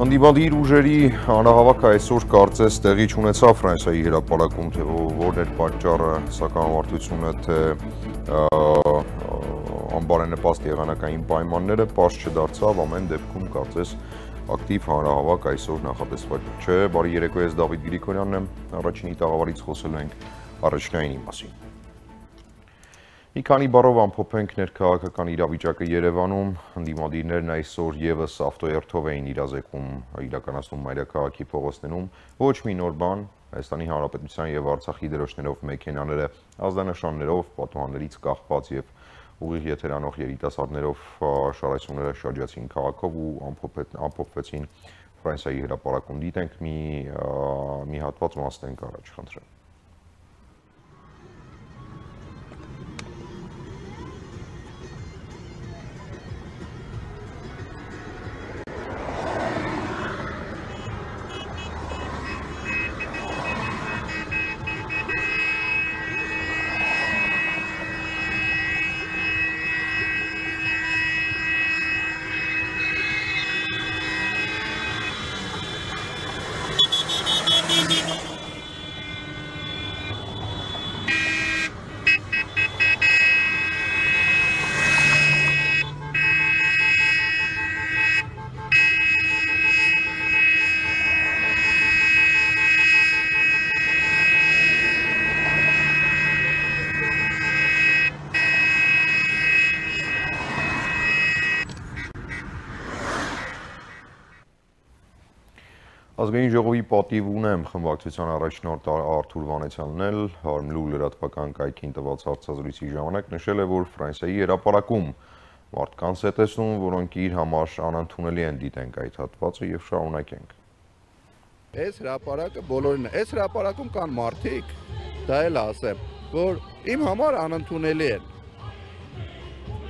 Անդիվադիր ուժերի հանրահավաքը այսօր կարծես տեղի չունեցավ Ֆրանսիայի հրապարակում, թե որն էր պատճառը, սակավարտությունը, թե անբարենպաստ եղանակային պայմանները պարզ չդարձավ, ամեն դեպքում կարծես ակտիվ հանրահավաք այսօր նախատեսված չէ։ Բարի երեկո, ես Դավիթ Գրիգորյանն եմ, առաջինի տաղավարից խոսելու ենք առաջնայինի մասին։ Մի քանի բառով ամփոփենք ներքաղաքական իրավիճակը Երևանում, ընդդիմադիրներն այսօր եւս ավտոերթով էին իրականացնում մայրաքաղաքի փողոցներում, ոչ մի նոր բան, Հայաստանի Հանրապետության եւ Արցախի դրոշներով մեքենաները ազդանշաններով, պատուհաններից կախված եւ ուղիղ եթերանող երիտասարդներով շարացումները շրջացին քաղաքով ու ամփոփվեցին Ֆրանսիայի հրապարակում։ Դիտենք մի հատված մասնենք առաջ, խնդրեմ։ Ազգային ժողովի պատիվ ունեմ խմբակցության առաջնորդ Արթուր Վանեցյանն էլ Հարմլու լրատվական կայքին տված հարցազրույցի ժամանակ նշել է, որ Ֆրանսիայի հրապարակում մարդկանց է տեսնում, որոնք իր համար անընդունելի են, դիտենք այդ հատվածը եւ շարունակենք։ Այս հրապարակը բոլորին է, այս հրապարակում կան մարդիկ, դա էլ ասեմ, որ իմ համար անընդունելի են։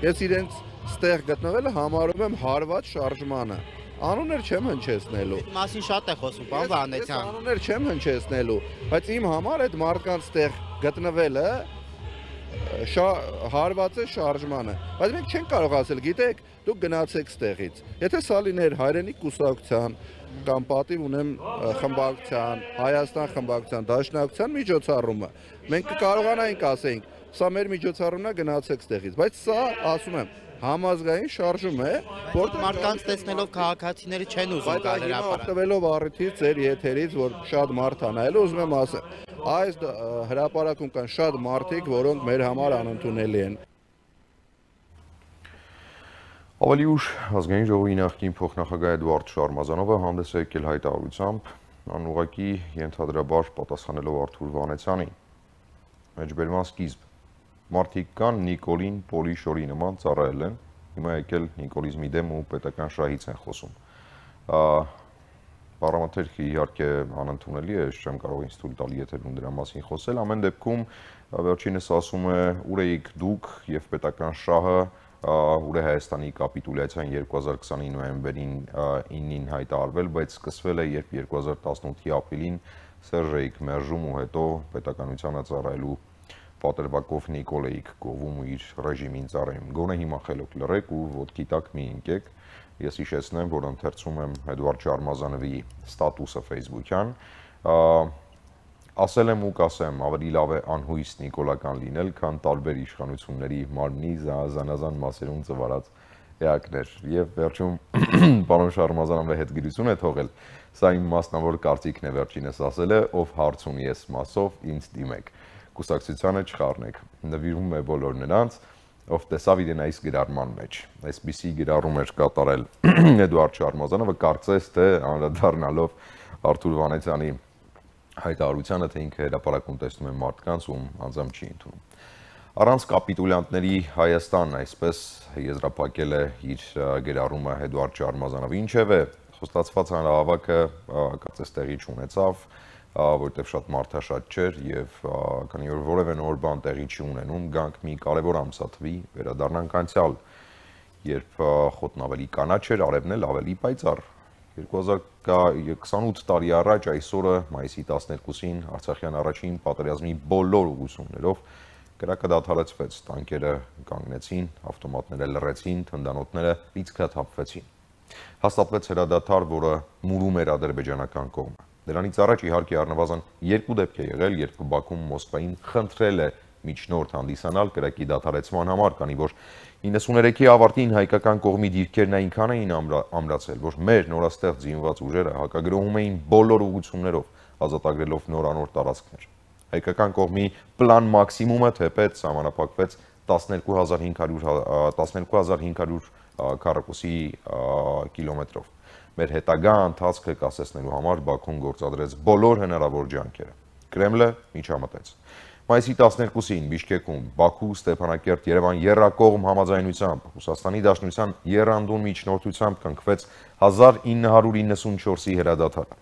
Ես իրենց ստեղ գտնվելը համարում եմ հարված շարժմանը։ Անուններ չեմ հնչեցնելու։ Այդ մասին շատ է խոսում, պարոն Վանեցյան։ Անուններ չեմ հնչեցնելու, բայց իմ համար այդ մարդկանց տեղ գտնվելը հարված է շարժմանը։ Բայց մենք չենք կարող ասել, գիտեք, դուք գնացեք ստեղից։ Եթե սա լիներ հայրենիք կուսակցության կամ պատիվ ունեմ խմբակցության, Հայաստան խմբակցության, Դաշնակցության միջոցառումը, մենք կկարողանայինք ասենք, սա մեր միջոցառումն է, գնացեք ստեղից, բայց սա, ասում եմ, համազգային շարժում է, որտեղ մարդկանց տեսնելով քաղաքացիները չեն ուզում գալ հրապարակ։ Օգտվելով առիթից, ձեր եթերից, որ շատ մարդ ա նայելու, ուզում եմ ասել, այս հրապարակում կան շատ մարդիկ, որոնք մեր համար անընդունելի են։ Ավելի ուշ ազգային ժողովի նախկին փոխնախագահ Էդվարդ Շարմազանովը հանդես է եկել հայտարարությամբ, անուղղակի ենթադրաբար պատասխանելով Արթուր Վանեցյանին։ Մեջբերման սկիզբ։ Մարդիկ կան Նիկոլին Պոլի շորի նման ծառայել են, հիմա եկել Նիկոլիզմի դեմ ու պետական շահից են խոսում։ Պարամետրը իհարկե անընդունելի է, չեմ կարող ինձ թույլ տալ եթերում դրա մասին խոսել, ամեն դեպքում վերջինս ասում է ուր էիք դուք եւ պետական շահը, ուր է Հայաստանի կապիտուլյացիան 2020-ի նոյեմբերին 9-ին հայտարարվել, բայց սկսվել է երբ 2018-ի ապրիլին Սերժեյք մերժում ու հետո պետականությանը ծառայելու պատրվակով Նիկոլեիք գովում ու իր ռեժիմին ծառայում։ Գոնե հիմա խելոք լռեք ու ոտքի տակ մի ընկեք։ Ես հիշեցնեմ, որ ընթերցում եմ Էդվարդ Շարմազանովի ստատուսը Facebook-յան։ Ասել եմ ու կասեմ, ավելի լավ է անհույս նիկոլական լինել, քան տարբեր իշխանությունների մարմնի զանազան մասերում ծվարած էակներ։ Եվ վերջում պարոն Շարմազանովը հետգրություն է թողել, սա իմ մասնավոր կարծիքն է, վերջինս ասել է, ով հարց ունի ես մասով, ինձ դիմեք։ Կուսակցությանը չխառնեք, նվիրում է բոլոր նրանց, ով տեսավ իրեն այս գրառման մեջ։ Այսպիսի գրառում էր կատարել Էդվարդ Շարմազանովը, կարծես թե անդրադառնալով Արթուր Վանեցյանի հայտարարությանը, թե ինքը հրապարակում տեսնում է մարդկանց, ում անձամբ չի ընդունում։ Առանց կապիտուլյանտների Հայաստանն այսպես եզրափակել է իր գրառումը Էդվարդ Շարմազանովը։ Ինչևէ, խոստացված հանրահավաքը կարծես տեղի չունեցավ, որտեղ շատ մարդաշատ չէր եւ քանի որ որևէ նոր բան տեղի չի ունենում, գանք մի կարևոր ամսաթվի, վերադառնանք անցյալ, երբ խոտն ավելի կանաչ էր, արևն էլ ավելի պայծառ։ 2028 տարի առաջ այսօրը մայիսի 12-ին Արցախյան առաջին պատերազմի բոլոր ուղղություններով կրակը դադարեցվեց, տանկերը կանգնեցին, ավտոմատները լռեցին, թնդանոթները լիցքաթափվեցին։ Հաստատվեց հրադադար, որը մուրում էր ադրբեջանական կողմը։ Դրանից առաջ իհարկե առնվազն 2 դեպք է եղել, երբ Բաքուն Մոսկվային խնդրել է միջնորդ հանդիսանալ կրակի դադարեցման համար, քանի որ 93-ի ավարտին հայկական կողմի դիրքերն այնքան էին ամրացել, որ մեր նորաստեղծ զինված ուժերը հակագրոհում էին բոլոր ուղղություններով, ազատագրելով նորանոր տարածքներ։ Հայկական կողմի պլան մաքսիմումը թեպետ սահմանափակվեց 12500 քառակուսի կիլոմետրով։ Մեր հետագա ընթացքը կասեցնելու համար Բաքուն գործադրեց բոլոր հնարավոր ջանքերը։ Կրեմլը միջամտեց։ Մայիսի 12-ին Բիշկեկում Բաքու, Ստեփանակերտ, Երևան եռակողմ համաձայնությամբ Ռուսաստանի Դաշնության եռանդուն միջնորդությամբ կնքվեց 1994-ի հրադադարը։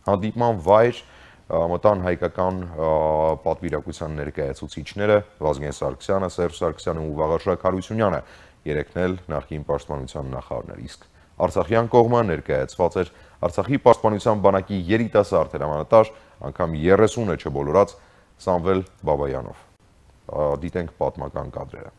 Հանդիպման վայր մտան հայկական պատվիրակության ներկայացուցիչները Վազգեն Սարգսյանը, Սերժ Սարգսյանը ու Վաղարշակ Հարությունյանը, երեքն էլ նախկին պաշտպանության նախարարներ, իսկ Արցախյան կողմը ներկայացված էր Արցախի պաշտպանության բանակի երիտասարդ հրամանատար, անգամ 30-ը չբոլորած Սամվել Բաբայանով։ Դիտենք պատմական կադրերը։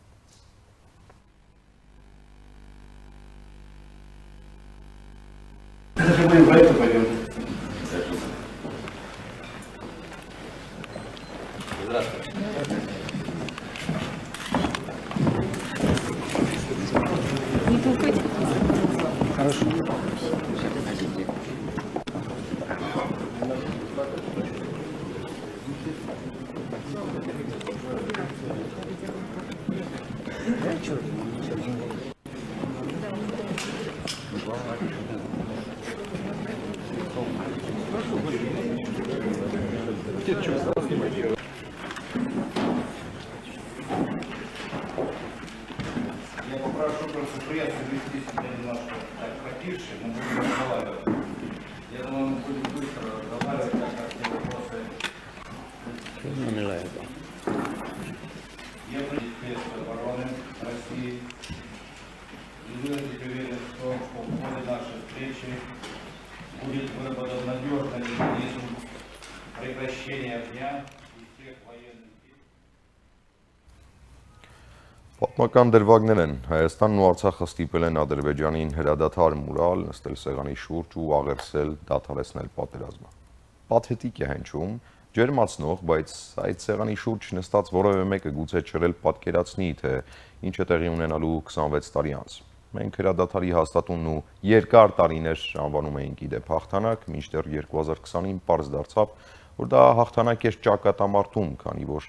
Я попрошу просто пресс вести себя немножко так потише, мы будем разговаривать. Я думаю, мы будем быстро разговаривать, так как все вопросы. Я министр обороны России и выразить уверенность в том, что в ходе нашей встречи будет выработан надежный механизм прекращения огня и всех военных действий. Պատմական դրվագներ են, Հայաստանն ու Արցախը ստիպել են Ադրբեջանին հրադադար մուրալ, նստել սեղանի շուրջ ու աղերսել դադարեցնել պատերազմը։ Պաթետիկ է հնչում, ջերմացնող, բայց այդ սեղանի շուրջ նստած որևէ մեկը գուցե չրել պատկերացնի, թե ինչ է տեղի ունենալու 26 տարի անց։ Մենք հրադադարի հաստատումն ու երկար տարիներ անվանում էինք իդեպ հաղթանակ, մինչդեռ 2020-ին պարզ դարձավ, որ դա հաղթանակ էր ճակատամարտում, քանի որ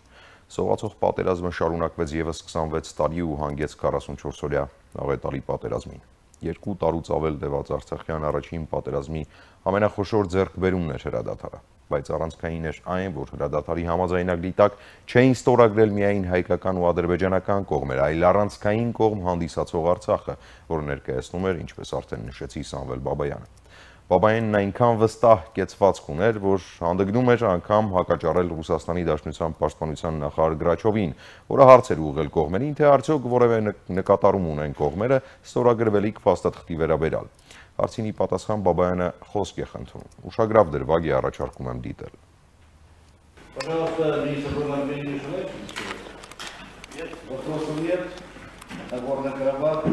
սողացող պատերազմը շարունակվեց եւս 26 տարի ու հանգեց 44-օրյա աղետալի պատերազմին։ 2 տարուց ավել տևած Արցախյան առաջին պատերազմի ամենախոշոր ձեռքբերումն էր հրադադարը, բայց առանցքային էր այն, որ հրադադարի համաձայնագրի տակ չէին ստորագրել միայն հայկական ու ադրբեջանական կողմեր, այլ առանցքային կողմ հանդիսացող Արցախը, որը ներկայացնում էր, ինչպես արդեն նշեցի, Սամվել Բաբայանը։ Բաբայանն այնքան վստահ կեցվածք ուներ, որ հանդգնում էր անգամ հակաճառել Ռուսաստանի Դաշնության պաշտպանության նախարար Գրաչովին, որը հարց էր ուղղել կողմերին, թե արդյոք որևէ նկատառում ունեն կողմերը ստորագրվելիք փաստաթղթի վերաբերյալ։ Հարցինի պատասխան Բաբայանը խոսք է խնդրում։ Ուշագրավ դրվագ է առաջարկում եմ դիտել։ Пожалуйста, министр обороны Армении желаете? Нет. Вопросов нет. Нагорный Карабах?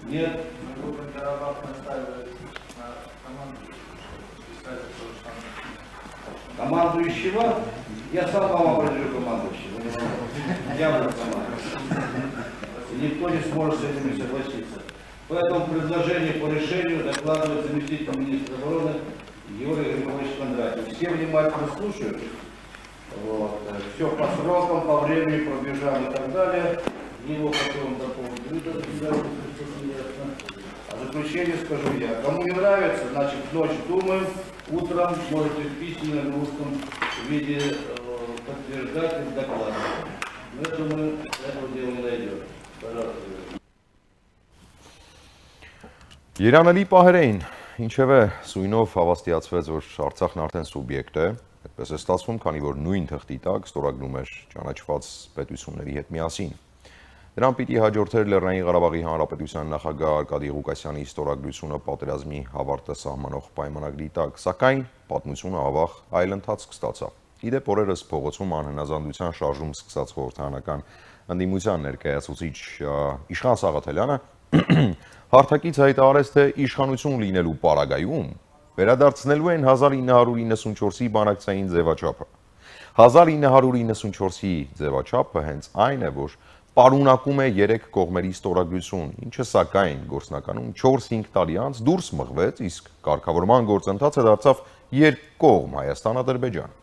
Нет. Нагорный Карабах настаивает на командующего. Я сам вам определю командующего. Я буду командующим. Никто не сможет с этим не согласиться. Поэтому предложение по решению докладывает заместитель министра обороны Юрий Григорьевич Кондратьев. Все внимательно слушают. Вот. Все по срокам, по времени пробежали и так далее. Его потом дополнительно. А заключение скажу я. Кому не нравится, значит, ночью думаем, утром можете в письменном русском виде подтверждать и докладывать. Но я думаю, этого дела не найдет. Пожалуйста. Երանելի պահեր էին, ինչևէ սույնով հավաստիացվեց, որ Արցախն արդեն սուբյեկտ է, այդպես է ստացվում, քանի որ նույն թղթի տակ ստորագրում էր ճանաչված պետությունների հետ միասին։ Դրան պիտի հաջորդեր Լեռնային Ղարաբաղի Հանրապետության նախագահ Արկադի Ղուկասյանի ստորագրությունը պատերազմի հավարտը սահմանող պայմանագրի տակ, սակայն պատմությունը ավաղ այլ ընթացք ստացավ։ Իդեպ օրերս փողոցում անհնազանդության շարժում սկսած խորհրդարանական ընդդիմության ներկայացուցիչ Իշխան Սաղաթելյանը հարթակից հայտարարեց, թե իշխանություն լինելու պարագայում վերադարձնելու են 1994-ի բանակցային ձևաչափը։ 1994-ի ձևաչափը հենց այն է, որ պարունակում է 3 կողմերի ստորագրություն, ինչը սակայն գործնականում 4-5 տարի անց դուրս մղվեց, իսկ կարգավորման գործընթացը դարձավ երկկողմ Հայաստան-Ադրբեջան։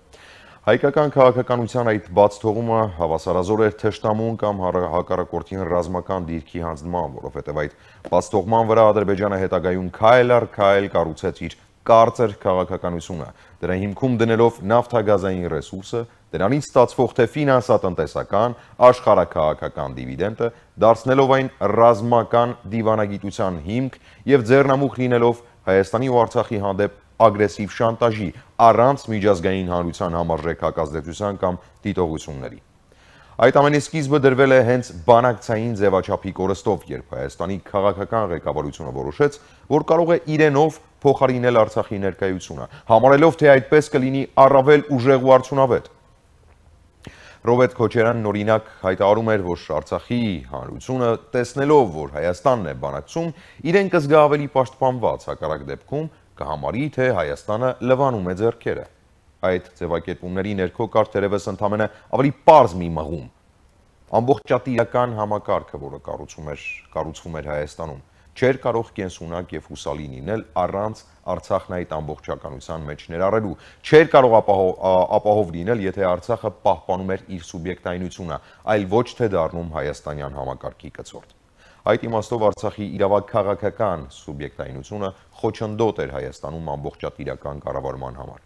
Հայկական քաղաքականության այդ բաց թողումը հավասարազոր էր թշնամուն կամ հակառակորդին ռազմական դիրքի հանձնման, որովհետև այդ բաց թողման վրա Ադրբեջանը հետագայում քայլ առ քայլ կառուցեց իր կարծր քաղաքականությունը, դրա հիմքում դնելով նավթագազային ռեսուրսը, դրանից ստացվող թե ֆինանսատնտեսական, աշխարհաքաղաքական դիվիդենտը, դարձնելով այն ռազմական դիվանագիտության հիմք եւ ձեռնամուխ լինելով Հայաստանի ու Արցախի հանդեպ ագրեսիվ շանտաժի առանց միջազգային հանրության համարժեք հակազդեցության կամ դիտողությունների։ Այդ ամենի սկիզբը դրվել է հենց բանակցային ձևաչափի կորստով, երբ Հայաստանի քաղաքական ղեկավարությունը որոշեց, որ կարող է իրենով փոխարինել Արցախի ներկայությունը, համարելով, թե այդպես կլինի առավել ուժեղ ու արդյունավետ։ Ռոբերտ Քոչարյանն օրինակ հայտարարում էր, որ Արցախի հանրությունը տեսնելով, որ Հայաստանն է բանակցում, իրեն կզգա ավելի պաշտպանված, հակառակ դեպքում կհամարի, թե Հայաստանը լվանում է ձեռքերը։ Այդ ձևակերպումների ներքո կար թերևս ընդամենը ավելի պարզ մի մղում։ Ամբողջատիրական համակարգը, որը կառուցվում էր Հայաստանում, չէր կարող կենսունակ եւ հուսալի լինել առանց Արցախն այդ ամբողջականության մեջ ներառելու, չէր կարող ապահով լինել, եթե Արցախը պահպանում էր իր սուբյեկտայնությունը, այլ ոչ թե դառնում հայաստանյան համակարգի կցորդ։ Այդ իմաստով Արցախի իրավաքաղաքական սուբյեկտայնությունը խոչընդոտ էր Հայաստանում ամբողջատիրական կառավարման համար։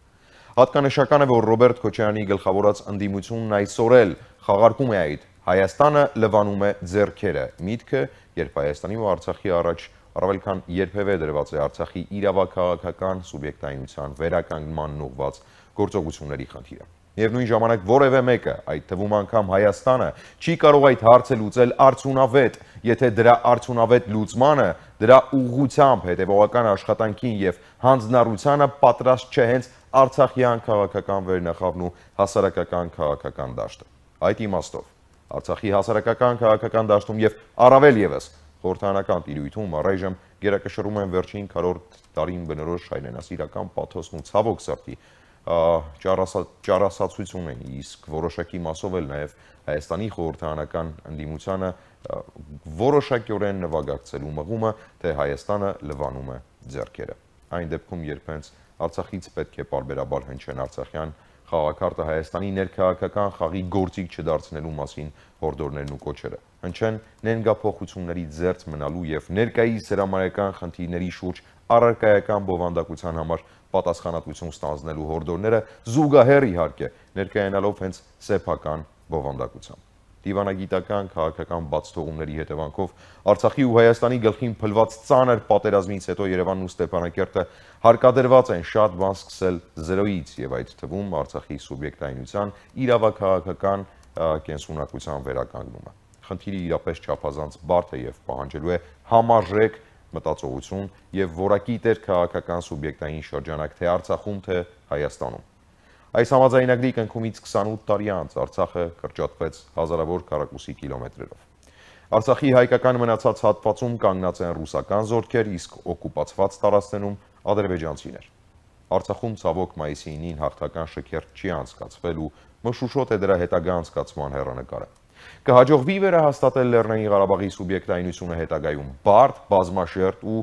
Հատկանշական է, որ Ռոբերտ Քոչարյանի գլխավորած ընդդիմությունն այսօր էլ խաղարկում է այդ Հայաստանը լվանում է ձեռքերը միտքը, երբ Հայաստանի ու Արցախի առաջ առավել քան երբևէ դրված է Արցախի իրավաքաղաքական սուբյեկտայնության վերականգնման ուղղված գործողությունների խնդիրը։ Միևնույն ժամանակ որևէ մեկը, այդ թվում անգամ Հայաստանը, չի կարող այդ հարցը լուծել արդյունավետ, եթե դրա արդյունավետ լուծմանը, դրա ուղղությամբ հետևողական աշխատանքին եւ հանձնառությանը պատրաստ չէ հենց Արցախյան քաղաքական վերնախավն ու հասարակական քաղաքական դաշտը։ Այդ իմաստով Արցախի հասարակական քաղաքական դաշտում եւ առավել եւս խորհրդարանական տիրույթում առայժմ գերակշռում են վերջին 40 տարին բնորոշ հայրենասիրական պաթոսն ու ցավոք սրտի ճառասացություն են, իսկ որոշակի մասով էլ նաեւ Հայաստանի խորհրդարանական ընդդիմությանը որոշակիորեն նվագակցելու մղումը, թե Հայաստանը լվանում է ձեռքերը։ Այն դեպքում, երբ հենց Արցախից պետք է պարբերաբար հնչեն արցախյան խաղաքարտը Հայաստանի ներքաղաքական խաղի գործիք չդարձնելու մասին հորդորներն ու կոչերը, հնչեն ներգաղափոխությունների զերծ մնալու եւ ներկայիս հրամայական խնդիրների շուրջ առարկայական բովանդակության համար պատասխանատվություն ստանձնելու հորդորները զուգահեռ իհարկե ներկայանալով հենց սեփական բովանդակությամբ։ Դիվանագիտական քաղաքական բացթողումների հետևանքով Արցախի ու Հայաստանի գլխին փլված ծանր պատերազմից հետո Երևանն ու Ստեփանակերտը հարկադրված են շատ բան սկսել զրոյից եւ այդ թվում Արցախի սուբյեկտայնության իրավաքաղաքական կենսունակության վերականգնումը։ Խնդիրը իրապես չափազանց բարդ է եւ պահանջելու է համարժեք մտածողություն եւ որակի տեր քաղաքական սուբյեկտային շրջանակ թե Արցախում, թե Հայաստանում։ Այս համաձայնագրի կնքումից 28 տարի անց Արցախը կրճատվեց հազարավոր քառակուսի կիլոմետրերով։ Արցախի հայկական մնացած հատվածում կանգնած են ռուսական զորքեր, իսկ օկուպացված տարածքներում ադրբեջանցիներ։ Արցախում ցավոք մայիսի 9-ին հաղթական շքերթ չի անցկացվել ու մշուշոտ է դրա հետագա անցկացման հեռանկարը։ Կհաջողվի վերահաստատել Լեռնային Ղարաբաղի սուբյեկտայնությունը հետագայում բարդ, բազմաշերտ ու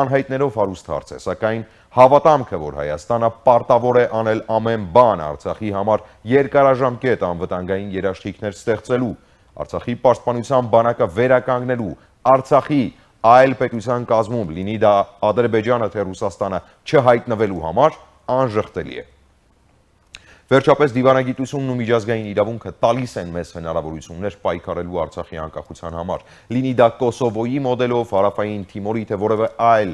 անհայտներով հարուստ հարց է, սակայն հավատամքը, որ Հայաստանը պարտավոր է անել ամեն բան Արցախի համար երկարաժամկետ անվտանգային երաշխիքներ ստեղծելու, Արցախի պաշտպանության բանակը վերականգնելու, Արցախի այլ պետության կազմում, լինի դա Ադրբեջանը թե Ռուսաստանը, չհայտնվելու համար անժխտելի է։ Վերջապես դիվանագիտությունն ու միջազգային իրավունքը տալիս են մեզ հնարավորություններ պայքարելու Արցախի անկախության համար, լինի դա Կոսովոյի մոդելով, Հարավային Թիմորի թե որևէ այլ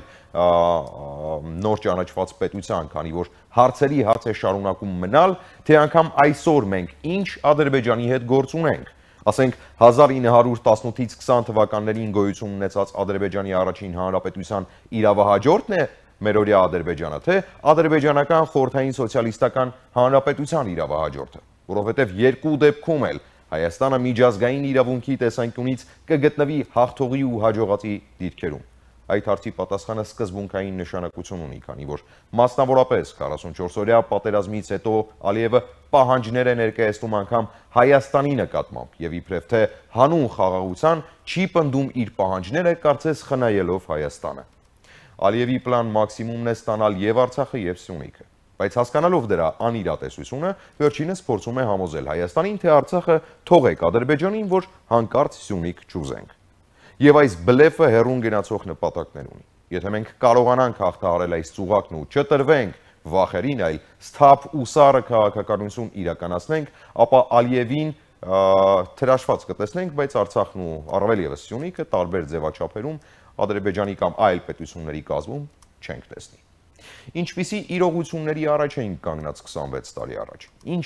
նոր ճանաչված պետության, քանի որ հարցերի հարց է շարունակում մնալ, թե անգամ այսօր մենք ինչ Ադրբեջանի հետ գործ ունենք։ Ասենք 1918-ից 20 թվականներին գոյություն ունեցած Ադրբեջանի առաջին հանրապետության իրավահաջորդն է մերօրյա Ադրբեջանը, թե ադրբեջանական խորհրդային սոցիալիստական հանրապետության իրավահաջորդը, որովհետև երկու դեպքում էլ Հայաստանը միջազգային իրավունքի տեսանկյունից կգտնվի հաղթողի ու հաջողածի դիրքերում։ Այդ հարցի պատասխանը սկզբունքային նշանակություն ունի, քանի որ մասնավորապես 44-օրյա պատերազմից հետո Ալիևը պահանջներ է ներկայացնում անգամ Հայաստանի նկատմամբ եւ իբրև թե հանուն խաղաղության չի պնդում իր պահանջները, կարծես խնայելով Հայաստանը։ Ալիևի պլան մաքսիմումն է ստանալ եւ Արցախը եւ Սյունիքը, բայց հասկանալով դրա անիրատեսությունը, վերջինս փորձում է համոզել Հայաստանին, թե Արցախը թողեք Ադրբեջանին, որ հանկարծ Սյունիք չուզենք։ Եվ այս բլեֆը հեռուն գնացող նպատակներ ունի։ Եթե մենք կարողանանք հաղթահարել այս ծուղակն ու չտրվենք վախերին, այլ սթափ ու սառը քաղաքականություն իրականացնենք, ապա Ալիևին թրաշված կտեսնենք, բայց Արցախն ու առավել եւս Սյունիքը տարբեր ձևաչափերում Ադրբեջանի կամ այլ պետությունների կազմում չենք տեսնի։ Ինչպիսի իրողությունների առաջ էինք կանգնած 26 տարի առաջ, ինչ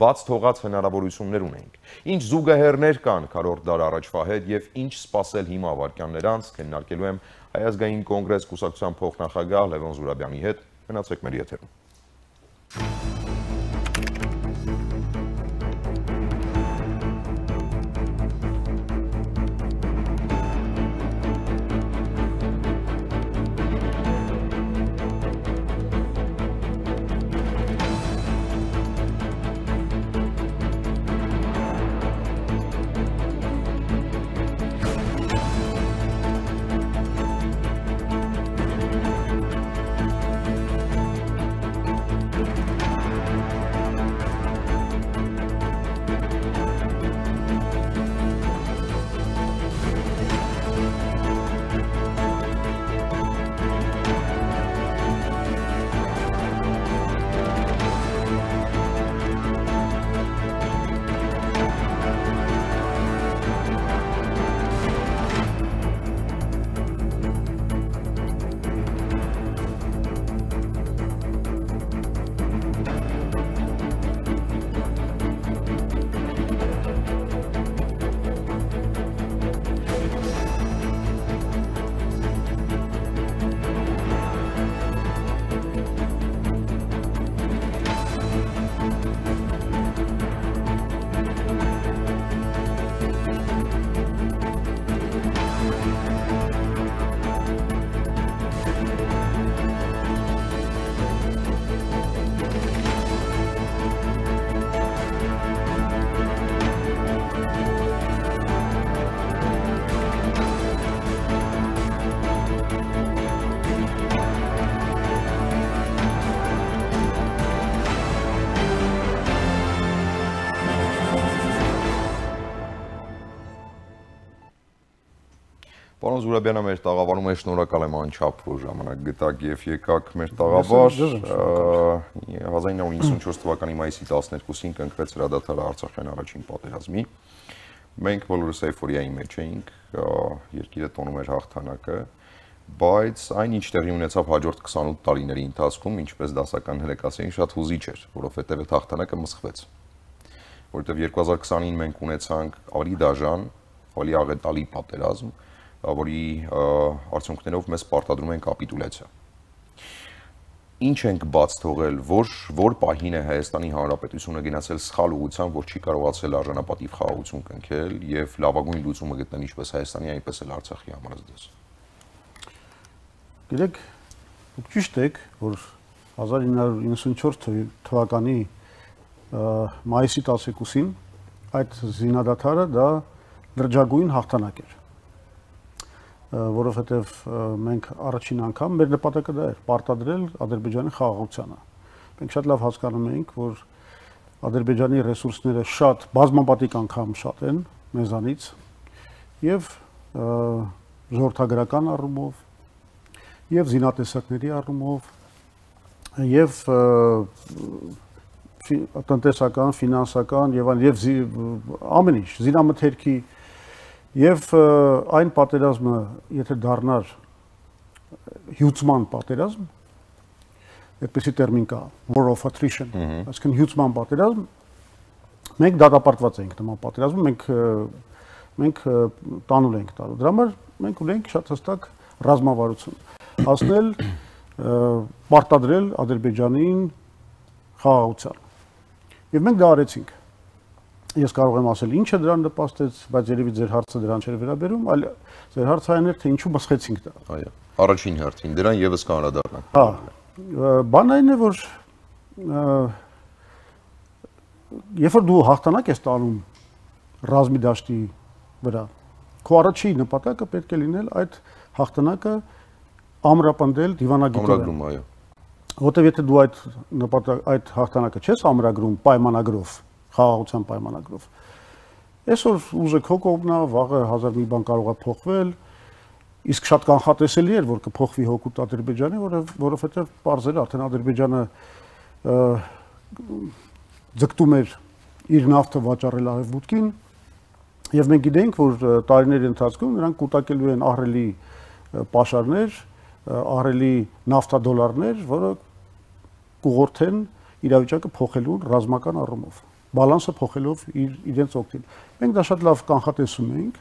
բաց թողած հնարավորություններ ունենք, ինչ զուգահեռներ կան 40 դար առաջվա հետ եւ ինչ սպասել հիմա վարքյաններ անց, քննարկելու եմ Հայ ազգային կոնգրես կուսակցության փոխնախագահ Լևոն Զուրաբյանի հետ, մնացեք մեր եթերում։ Պարոն Զուրաբյանը մեր տաղավարում է, շնորհակալ եմ անչափ, որ ժամանակ գտաք եւ եկաք մեր տաղավար։ 1994 թվականի մայիսի 12-ին կնքվեց հրադադարը Արցախյան առաջին պատերազմի։ Մենք բոլորս էյֆորիայի մեջ էինք, երկիրը տոնում էր հաղթանակը, բայց այն ինչ տեղի ունեցավ հաջորդ 28 տարիների ընթացքում, ինչպես դասական հրեկացին, շատ հուզիչ էր, որովհետեւ այդ հաղթանակը մսխվեց։ Որովհետեւ 2020-ին մենք ունեցանք ավելի դաժան, ավելի աղետալի պատերազմ, որի արդյունքներով մեզ պարտադրում են կապիտուլյացիա։ Ինչ ենք բաց թողել, որ պահին է Հայաստանի Հանրապետությունը գնացել սխալ ուղղությամբ, որ չի կարողացել արժանապատիվ խաղաղություն կնքել եւ լավագույն լուծումը գտնել ինչպես Հայաստանի, այնպես էլ Արցախի համար դες։ Գիտեք, դուք ճիշտ եք, որ 1994 թվականի մայիսի 12-ին այդ զինադադարը դա լրջագույն հաղթանակ էր, որովհետև մենք առաջին անգամ մեր նպատակը դա էր պարտադրել Ադրբեջանի խաղաղությանը։ Մենք շատ լավ հասկանում էինք, որ Ադրբեջանի ռեսուրսները շատ բազմապատիկ անգամ շատ են մեզանից եւ ժողովրդագրական առումով եւ զինատեսակների առումով եւ տնտեսական, ֆինանսական եւ ամեն ինչ, զինամթերքի եւ այն պատերազմը, եթե դառնար հյուծման պատերազմ, այդպեսի տերմին կա, war of attrition, այսինքն հյուծման պատերազմ, մենք դատապարտված ենք նման պատերազմում, մենք տանուլ ենք տալու։ Դրա համար մենք ունենք շատ հստակ ռազմավարություն, հասնել պարտադրել Ադրբեջանին խաղաղության։ Եվ մենք դա արեցինք։ Ես կարող եմ ասել ինչը դրան նպաստեց, բայց երևի ձեր հարցը դրան չէր վերաբերում, այլ ձեր հարցը այն էր, թե ինչու բացեցինք դա։ Այո։ Առաջին հերթին դրան եւս կանդրադառնանք։ Հա։ Բանն այն է, որ երբ որ դու հաղթանակ ես տանում ռազմի դաշտի վրա, քո առաջին նպատակը պետք է լինել այդ հաղթանակը ամրապնդել դիվանագիտորեն։ Ամրագրում, այո։ Որտեւ եթե դու այդ հաղթանակը չես ամրագրում պայմանագրով, խաղաղության պայմանագրով, այսօր ուժը քո կողմն է, վաղը հազար մի բան կարող է փոխվել, իսկ շատ կանխատեսելի էր, որ կփոխվի հօգուտ Ադրբեջանի, որովհետեւ պարզել արդեն Ադրբեջանը ձգտում էր իր նավթը վաճառել Արևմուտքին, եւ մենք գիտենք, որ տարիների ընթացքում նրանք կուտակելու են ահռելի պաշարներ, ահռելի նավթադոլարներ, որը կուղղորդեն իրավիճակը փոխելուն ռազմական առումով, բալանսը փոխելով իրենց օգտին։ Մենք դա շատ լավ կանխատեսում ենք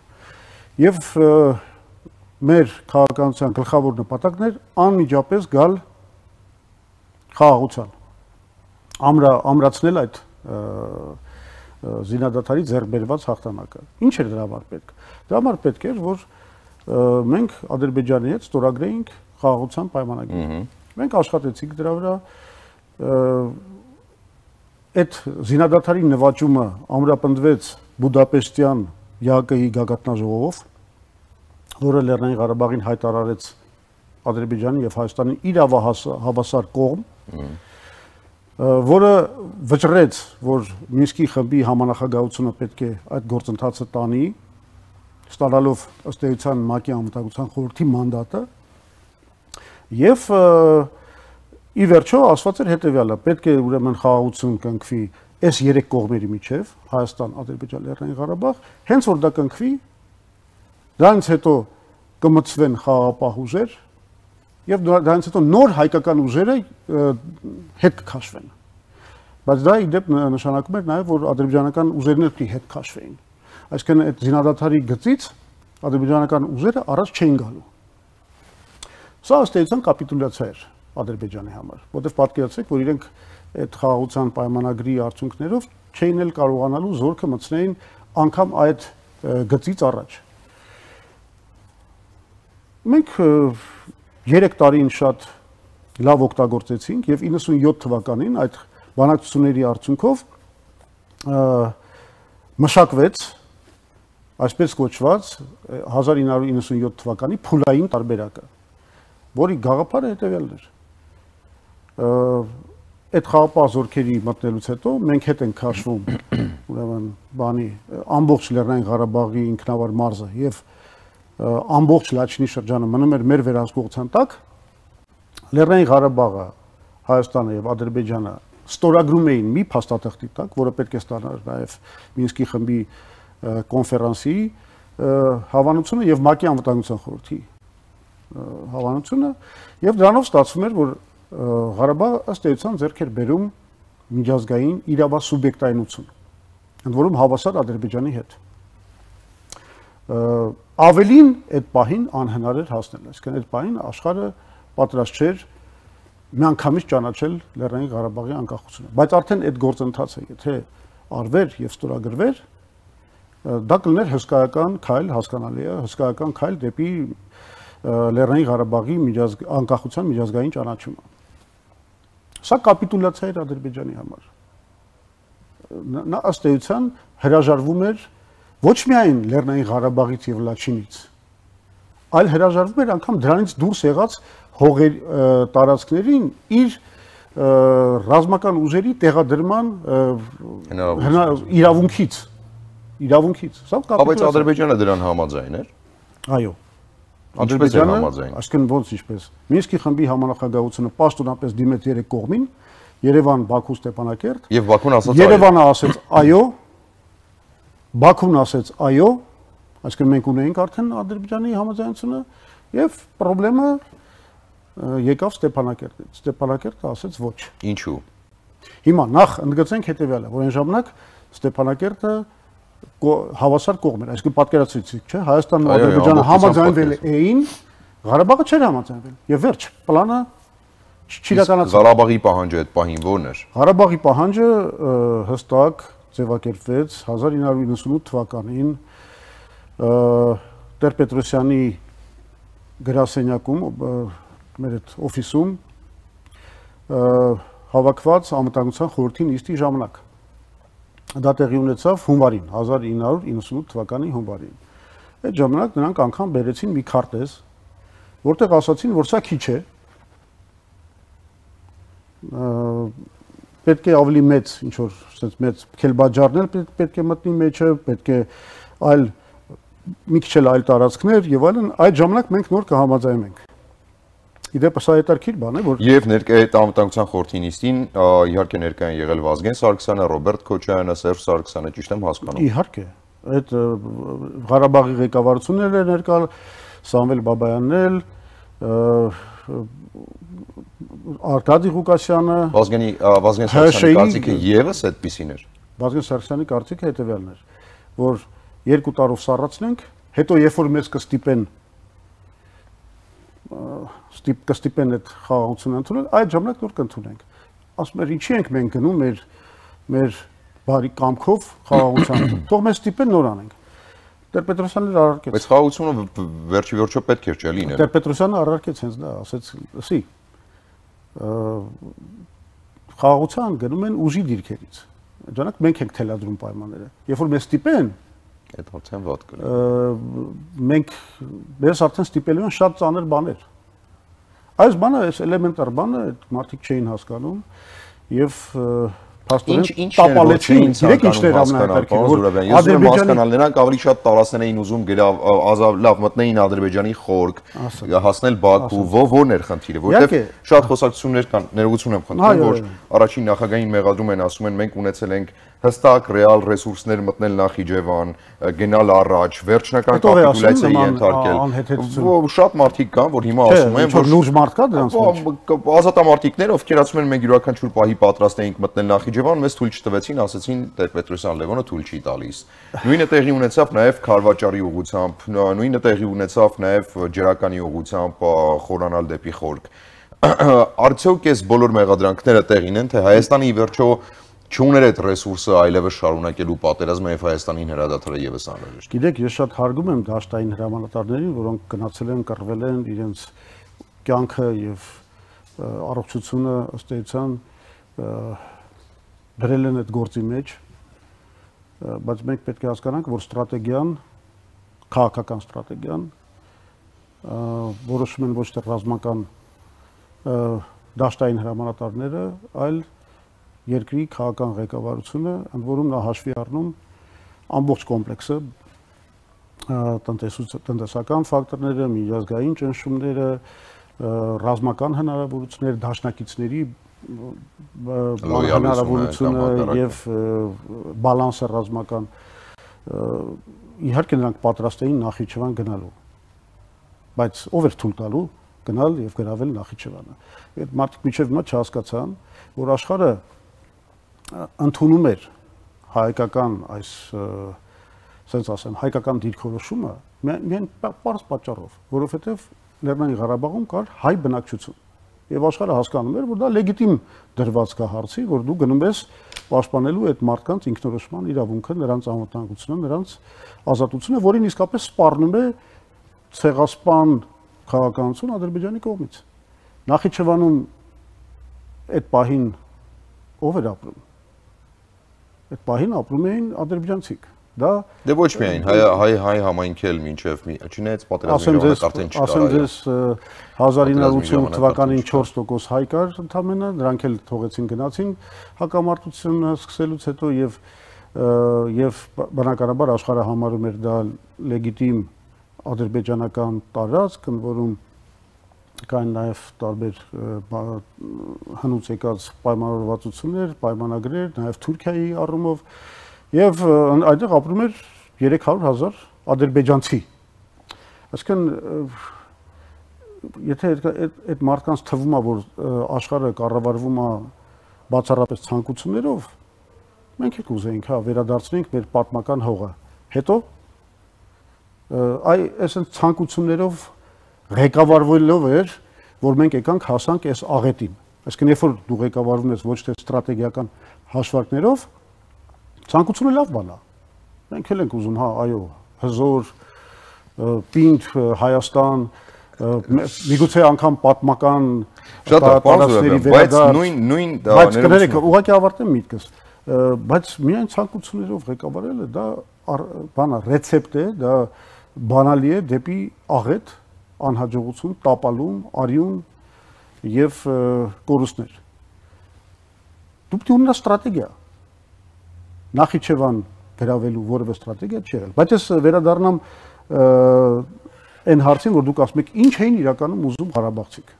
եւ մեր քաղաքականության գլխավոր նպատակն էր անմիջապես գալ խաղաղության, ամրացնել այդ զինադադարի ձեռք բերված հաղթանակը։ Ինչ էր դրա համար պետք։ Դրա համար պետք էր, որ մենք Ադրբեջանի հետ ստորագրեինք խաղաղության պայմանագիր։ Մենք աշխատեցինք դրա վրա, այդ զինադադարի նվաճումը ամրապնդվեց Բուդապեշտյան ԵԱԿ-ի գագաթնաժողովով, որը Լեռնային Ղարաբաղին հայտարարեց Ադրբեջանի եւ Հայաստանի իրավահավասար կողմ, որը վճռեց, որ Մինսկի խմբի համանախագահությունը պետք է այդ գործընթացը տանի, ստանալով ըստ էության ՄԱԿ-ի անվտանգության խորհրդի մանդատը, եւ ի վերջո ասված էր հետեւյալը. պետք է ուրեմն խաղաղություն կնքվի այս երեք կողմերի միջև, Հայաստան, Ադրբեջան, Լեռնային Ղարաբաղ, հենց որ դա կնքվի, դրանից հետո կմտցվեն խաղաղապահ ուժեր եւ դրանից հետո նոր հայկական ուժերը հետ կքաշվեն։ Բայց դա ի դեպ նշանակում էր նաեւ, որ ադրբեջանական ուժերն էլ պետք է հետ քաշվեին։ Այսինքն այդ զինադադարի գծից ադրբեջանական ուժերը առաջ չէին գալու։ Սա ըստ էության կապիտուլյացիա էր Ադրբեջանի համար, որտեղ պատկերացրեք, որ իրենք այդ խաղաղության պայմանագրի արդյունքներով չէին էլ կարողանալու զորքը մտցնեին անգամ այդ գծից առաջ։ Մենք 3 տարին շատ լավ օգտագործեցինք եւ 97 թվականին այդ բանակցությունների արդյունքով մշակվեց այսպես կոչված 1997 թվականի փուլային տարբերակը, որի գաղափարը հետեւյալն էր։ Այդ խաղապահ զորքերի մտնելուց հետո մենք հետ ենք քաշվում ուրեմն բանի ամբողջ Լեռնային Ղարաբաղի ինքնավար մարզը եւ ամբողջ Լաչինի շրջանը մնում էր մեր վերահսկողության տակ, Լեռնային Ղարաբաղը, Հայաստանը եւ Ադրբեջանը ստորագրում էին մի փաստաթղթի տակ, որը պետք է ստանար նաեւ Մինսկի խմբի կոնֆերանսի հավանությունը եւ ՄԱԿ-ի անվտանգության խորհրդի հավանությունը, եւ դրանով ստացվում էր, որ Ղարաբաղը ըստ էության ձեռք էր բերում միջազգային իրավասուբյեկտայնություն, ընդ որում հավասար Ադրբեջանի հետ։ Ավելին այդ պահին անհնար էր հասնել, այսինքն այդ պահին աշխարհը պատրաստ չէր միանգամից ճանաչել Լեռնային Ղարաբաղի անկախությունը, բայց արդեն այդ գործընթացը եթե արվեր եւ ստորագրվեր, դա կլիներ հսկայական քայլ, հասկանալի է, հսկայական քայլ դեպի Լեռնային Ղարաբաղի անկախության միջազգային ճանաչումը։ Սա կապիտուլյացիա էր Ադրբեջանի համար։ Նա ըստ էության հրաժարվում էր ոչ միայն Լեռնային Ղարաբաղից եւ Լաչինից, այլ հրաժարվում էր անգամ դրանից դուրս եղած հողեր տարածքներին իր ռազմական ուժերի տեղադրման իրավունքից։ Սա բայց Ադրբեջանը դրան համաձայն էր։ Այո։ Ադրբեջանը, այսինքն ոնց ինչպես Մինսկի խմբի համանախագահությունը պաշտոնապես դիմեց երեք կողմին, Երևան, Բաքու, Ստեփանակերտ, եւ Բաքուն ասաց Երևանը ասաց այո, Բաքուն ասաց այո, այսինքն մենք ունեինք արդեն Ադրբեջանի համաձայնությունը եւ խնդրեմը եկավ Ստեփանակերտից։ Ստեփանակերտը ասաց ոչ։ Ինչու։ Հիմա նախ ընդգծենք հետեւյալը, որ այն ժամանակ Ստեփանակերտը հավասար կողմ էր, այսինքն պատկերացրիք, չէ՞, Հայաստանն ու Ադրբեջանը համաձայնվել էին, Ղարաբաղը չէր համաձայնվել։ Եվ վերջ, պլանը չիրականացավ։ Ղարաբաղի պահանջը այդ պահին ո՞րն էր։ Ղարաբաղի պահանջը հստակ, ձևակերպվեց 1998 թվականին Տեր-Պետրոսյանի գրասենյակում, մեր այդ օֆիսում հավաքված անվտանգության խորհրդի նիստի ժամանակ։ Դա տեղի ունեցավ հունվարին, 1998 թվականի հունվարին։ Այդ ժամանակ նրանք անգամ բերեցին մի քարտեզ, որտեղ ասացին, որ սա քիչ է, պետք է ավելի մեծ, ինչ որ ասած մեծ քելբաջարներ պետք է մտնի մեջը, պետք է այլ մի քիչ էլ այլ տարածքներ եւ այլն, այդ ժամանակ մենք նոր կհամաձայնենք։ Իդեպ սա հետաքրքիր բան է, որ Եվ ներկայ անվտանգության խորհրդի նիստին իհարկե ներկայ են եղել Վազգեն Սարգսյանը, Ռոբերտ Քոչարյանը, Սերժ Սարգսյանը, ճիշտ եմ հասկանում։ Իհարկե, այդ Ղարաբաղի ղեկավարությունները ներկա, Սամվել Բաբայանն էլ, Արտադի Ղուկասյանը, Վազգեն Սարգսյանի կարծիքը եւս այդպիսին էր։ Վազգեն Սարգսյանի կարծիքը հետեւյալն էր, որ 2 տարով սառացնենք, հետո երբ որ մեզ կստիպեն այդ խաղաղությունը ընդունել, այդ ժամանակ նոր կընդունենք։ Ասում էր, ինչի ենք մենք գնում մեր բարի կամքով խաղաղության, թող մեզ ստիպեն նոր անենք։ Տեր-Պետրոսյանն առարկեց։ Բայց խաղաղությունը վերջի վերջո պետք էր չէ լինել։ Տեր-Պետրոսյանը առարկեց հենց դա, ասեց, «Սի, խաղաղության գնում են ուժի դիրքերից։ Ժամանակ մենք ենք թելադրում պայմանները։ Երբ որ մեզ ստիպեն, Այդ արդեն վատ կլինի։ մենք մեզ արդեն ստիպելու են շատ ծանր բաներ։ Այս բանը, այս էլեմենտար բանը մարդիկ չէին հասկանում եւ փաստորեն տապալեցին, իրեք ինչներ ամենահետաքրքիր, որ հասկանալ նրանք ավելի շատ տարածքներ էին ուզում լավ մտնեին Ադրբեջանի խորք, հասնել Բաքու, որն էր խնդիրը, որովհետեւ շատ խոսակցություններ կան, ներողություն եմ խնդրում, որ առաջին նախագահային մեղադրում են, ասում են մենք ունեցել ենք հստակ ռեալ ռեսուրսներ մտնել Նախիջևան, գնալ առաջ, վերջնական կապիտուլյացիայի ենթարկել։ Շատ մարդիկ կան, որ հիմա ասում են, որ լուրջ մարդ կա դրանց մեջ։ Ազատամարտիկներ, ովքեր ասում են մենք յուրաքանչյուր պահի պատրաստ էինք մտնել Նախիջևան, մեզ թույլ չտվեցին, ասացին Տեր-Պետրոսյան Լևոնը թույլ չի տալիս։ Նույնը տեղի ունեցավ նաև Քարվաճարի ուղղությամբ, նույնը տեղի ունեցավ նաև Ջրականի ուղղությամբ խորանալ դեպի խորք։ Արդյոք այս բոլոր մեղադրանքները տեղին են, թե Հայաստանի վերջո չուներ այդ ռեսուրսը այլևս շարունակելու պատերազմը եւ Հայաստանին հրադադարը եւս անհրաժեշտ։ Գիտեք, ես շատ հարգում եմ դաշտային հրամանատարներին, որոնք գնացել են, կռվել են իրենց կյանքը եւ առողջությունը ըստ էության դրել են այդ գործի մեջ, բայց մենք պետք է հասկանանք, որ ստրատեգիան, քաղաքական ստրատեգիան որոշում են ոչ թե ռազմական դաշտային հրամանատարները, այլ երկրի քաղաքական ղեկավարությունը, ընդ որում նա հաշվի առնում ամբողջ կոմպլեքսը, տնտեսական ֆակտորները, միջազգային ճնշումները, ռազմական հնարավորությունները, դաշնակիցների հնարավորությունը եւ բալանսը ռազմական, իհարկե նրանք պատրաստ էին Նախիջևան գնալու, բայց ով էր թույլ տալու գնալ եւ գրավել Նախիջևանը։ Այդ մարդիկ միջև հիմա չհասկացան, որ աշխարհը ընդունում էր հայկական այս, ասենց ասեմ, հայկական դիրքորոշումը միայն պարզ պատճառով, որովհետև Լեռնային Ղարաբաղում կար հայ բնակչություն։ Եվ աշխարհը հասկանում էր, որ դա լեգիտիմ դրված կա հարցի, որ դու գնում ես պաշտպանելու այդ մարդկանց ինքնորոշման իրավունքը, նրանց անվտանգությունը, նրանց ազատությունը, որին իսկապես սպառնում է ցեղասպան քաղաքականություն Ադրբեջանի կողմից։ Նախիջևանում այդ պահին ով էր ապրում։ Այդ պահին ապրում էին ադրբեջանցիք։ Դա դե ոչ միայն հայ համայնքի էլ մինչև չնայած պատերազմի ժամանակ արդեն չկար։ Ասեմ ձեզ 1988 թվականին 4% հայ կար ընդամենը, նրանք էլ թողեցին գնացին հակամարտությունը սկսելուց հետո եւ բնականաբար աշխարհը համարում էր դա լեգիտիմ ադրբեջանական տարածք, ընդ որում կային նաև տարբեր հնուց եկած պայմանավորվածություններ, պայմանագրեր, նաև Թուրքիայի առումով եւ այդտեղ ապրում էր 300,000 ադրբեջանցի։ Այսինքն եթե այդ մարդկանց թվում է, որ աշխարհը կառավարվում է բացառապես ցանկություններով, մենք էլ կուզեինք, հա, վերադարձնենք մեր պատմական հողը։ Հետո այսինքն ցանկություններով ղեկավարվելով էր, որ մենք եկանք հասանք այս աղետին։ Այսինքն երբ որ դու ղեկավարվում ես ոչ թե ստրատեգիական հաշվարկներով, Ցանկությունը լավ բան է։ Մենք էլ ենք ուզում, հա, այո, հզոր, պինդ Հայաստան, միգուցե անգամ պատմական տարածքների վերադարձ, բայց կներեք, ուղղակի ավարտեմ միտքս, բայց միայն ցանկություններով ղեկավարելը դա բան է, ռեցեպտ է, դա բանալի է դեպի աղետ, անհաջողություն, տապալում, արյուն եւ կորուստներ։ Դու պետք է ունենաս ստրատեգիա։ Նախիջևան գրավելու որևէ ստրատեգիա չի եղել։ Բայց ես վերադառնամ այն հարցին, որ դուք ասում եք, ինչ էին իրականում ուզում Ղարաբաղցիք։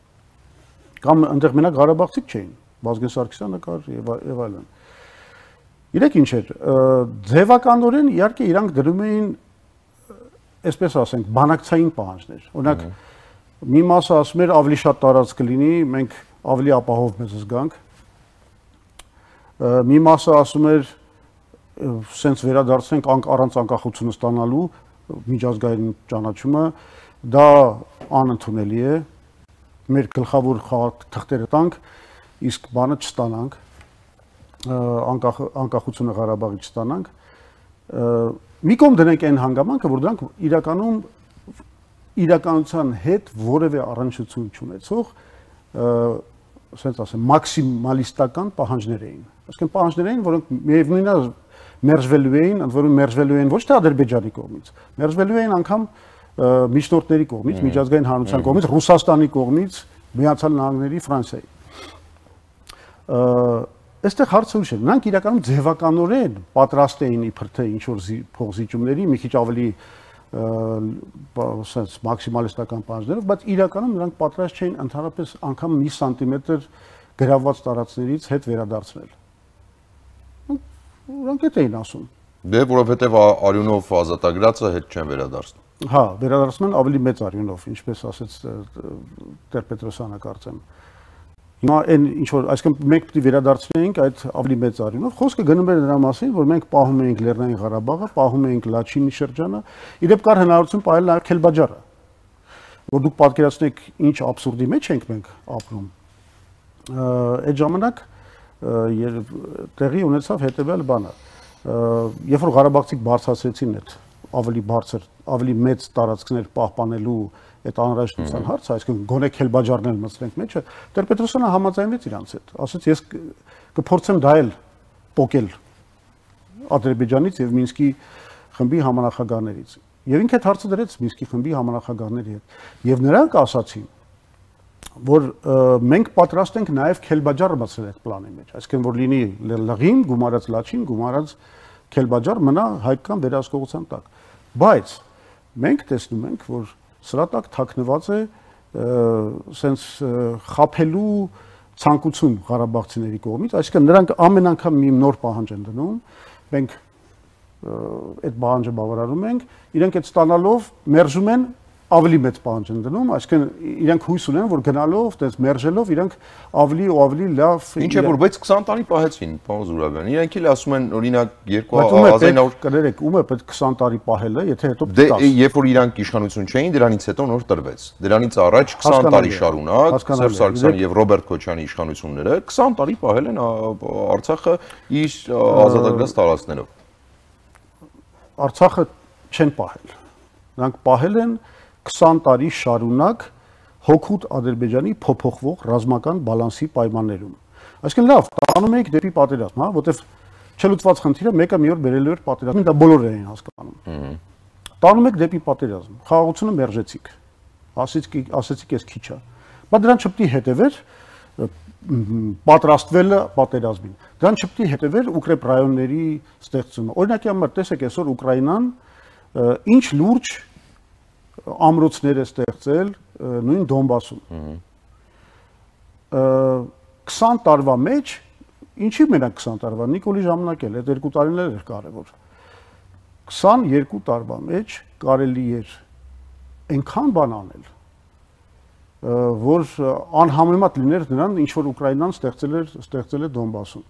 Կամ այնտեղ մենակ Ղարաբաղցիք չէին, Վազգեն Սարգսյանը կար եւ այլն։ Իրեք ինչ էր, ձևականորեն իհարկե իրանք դրում էին, այսպես ասենք, բանակցային պահանջներ։ Օրինակ, մի մասը ասում էր ավելի շատ տարածք կլինի, մենք ավելի ապահով մեզ զգանք։ Մի մասը ասում էր սենց վերադարձնենք առանց անկախություն ստանալու միջազգային ճանաչումը, դա անընդունելի է, մեր գլխավոր թղթերը տանք, իսկ բանը չստանանք, անկախությունը Ղարաբաղի չստանանք։ Մի կողմ դնենք այն հանգամանքը, որ դրանք իրականում իրականության հետ որևէ առնչություն չունեցող, ասենց ասեմ, մաքսիմալիստական պահանջներ էին։ Այսինքն պահանջներ էին, որոնք միևնույնն է մերժվելու էին, ընդ որում մերժվելու էին ոչ թե Ադրբեջանի կողմից, մերժվելու էին անգամ միջնորդների կողմից, միջազգային հանրության կողմից, Ռուսաստանի կողմից, Միացյալ Նահանգների, Ֆրանսիայի։ Այստեղ հարցը ուրիշ է, նրանք իրականում ձևականորեն պատրաստ էին իբր թե ինչ-որ փոխզիջումների, մի քիչ ավելի sense մաքսիմալիստական պահանջներով, բայց իրականում նրանք պատրաստ չէին ընդհանրապես անգամ մի սանտիմետր գրավված տարածքներից հետ վերադարձնել։ Նրանք այդ էին ասում։ Դե որովհետև արյունով ազատագրածը հետ չեն վերադարձնում։ Հա, վերադարձնում են ավելի մեծ արյունով, ինչպես ասեց Տեր-Պետրոսյանը կարծեմ։ Հիմա այն ինչ որ, այսինքն մենք պետք է վերադարձնեինք այդ ավելի մեծ արյունով։ Խոսքը գնում էր նրա մասին, որ մենք պահում էինք Լեռնային Ղարաբաղը, պահում էինք Լաչինի շրջանը, իդեպ կար հնարավորություն պահել նաև Քելբաջարը։ Որ դուք պատկերացնեք ինչ աբսուրդի մեջ ենք մենք ապրում։ Այդ ժամանակ տեղի ունեցավ հետևյալ բանը։ Երբ որ Ղարաբաղցիք բարձրացրեցին այդ ավելի բարձր, ավելի մեծ տարածքներ պահպանելու այդ անհրաժեշտության հարցը, այսինքն գոնե Քելբաջարն մտցնենք մեջը, Տեր-Պետրոսյանը համաձայնվեց իրանց հետ, ասաց ես կփորձեմ դա էլ պոկել Ադրբեջանից եւ Մինսկի խմբի համանախագահներից։ Եվ ինքը այդ հարցը դրեց Մինսկի խմբի համանախագահների հետ։ Եվ նրանք ասացին, որ մենք պատրաստ ենք նաև Քելբաջարը մտցնել այդ պլանի մեջ, այսինքն որ լինի Լղին, գումարած Լաչին, գումարած Քելբաջար մնա հայկական վերահսկողության տակ։ Բայց մենք տեսնում ենք, որ սրա տակ թաքնված է սենց խափելու ցանկություն Ղարաբաղցիների կողմից, այսինքն նրանք ամեն անգամ մի նոր պահանջ են դնում, մենք այդ պահանջը բավարարում ենք, իրենք այդ ստանալով մերժում են ավելի մեծ պահանջ են դնում, այսինքն իրենք հույս ունեն, որ գնալով, այդպես մերժելով, իրենք ավելի ու ավելի լավ։ Ինչ է որ, բայց 20 տարի պահեցին, պարոն Զուրաբյան։ Իրենք էլ ասում են, օրինակ 2900 կներեք, ում է պետք 20 տարի պահելը, եթե հետո դե երբ որ իրանք իշխանություն չէին, դրանից հետո նոր տրվեց։ Դրանից առաջ 20 տարի շարունակ Սերժ Սարգսյանի եւ Ռոբերտ Քոչյանի իշխանությունները 20 տարի պահել են Արցախը իր ազատագրած տարածքներով։ Արցախը չեն պահել։ Նրանք պահել են 20 տարի շարունակ հոգուտ Ադրբեջանի փոփոխվող ռազմական բալանսի պայմաններում։ Այսինքն լավ, տանում եք դեպի պատերազմ, հա, որտեվ չլուծված խնդիրը մեկը մի օր բերելու էր պատերազմին, դա բոլորը էին հասկանում։ Տանում եք դեպի պատերազմ, խաղաղությունը մերժեցիք։ Ասեցիք ես քիչ է։ Բայց դրան չպետք է հետևեր պատրաստվելը պատերազմին։ Դրան չպետք է հետևեր ուկրեփ ռայոնների ստեղծումը։ Օրինակի համար տեսեք այսօր Ուկրաինան ինչ լուրջ ամրոցներ է ստեղծել նույն Դոնբասում։ 20 տարվա մեջ, ինչի մենակ 20 տարվա, Նիկոլի ժամանակել, այդ 2 տարին էր կարևոր։ 22 տարվա մեջ կարելի էր այնքան բան անել, որ անհամեմատ լիներ նրան, ինչ որ Ուկրաինան ստեղծել է Դոնբասում։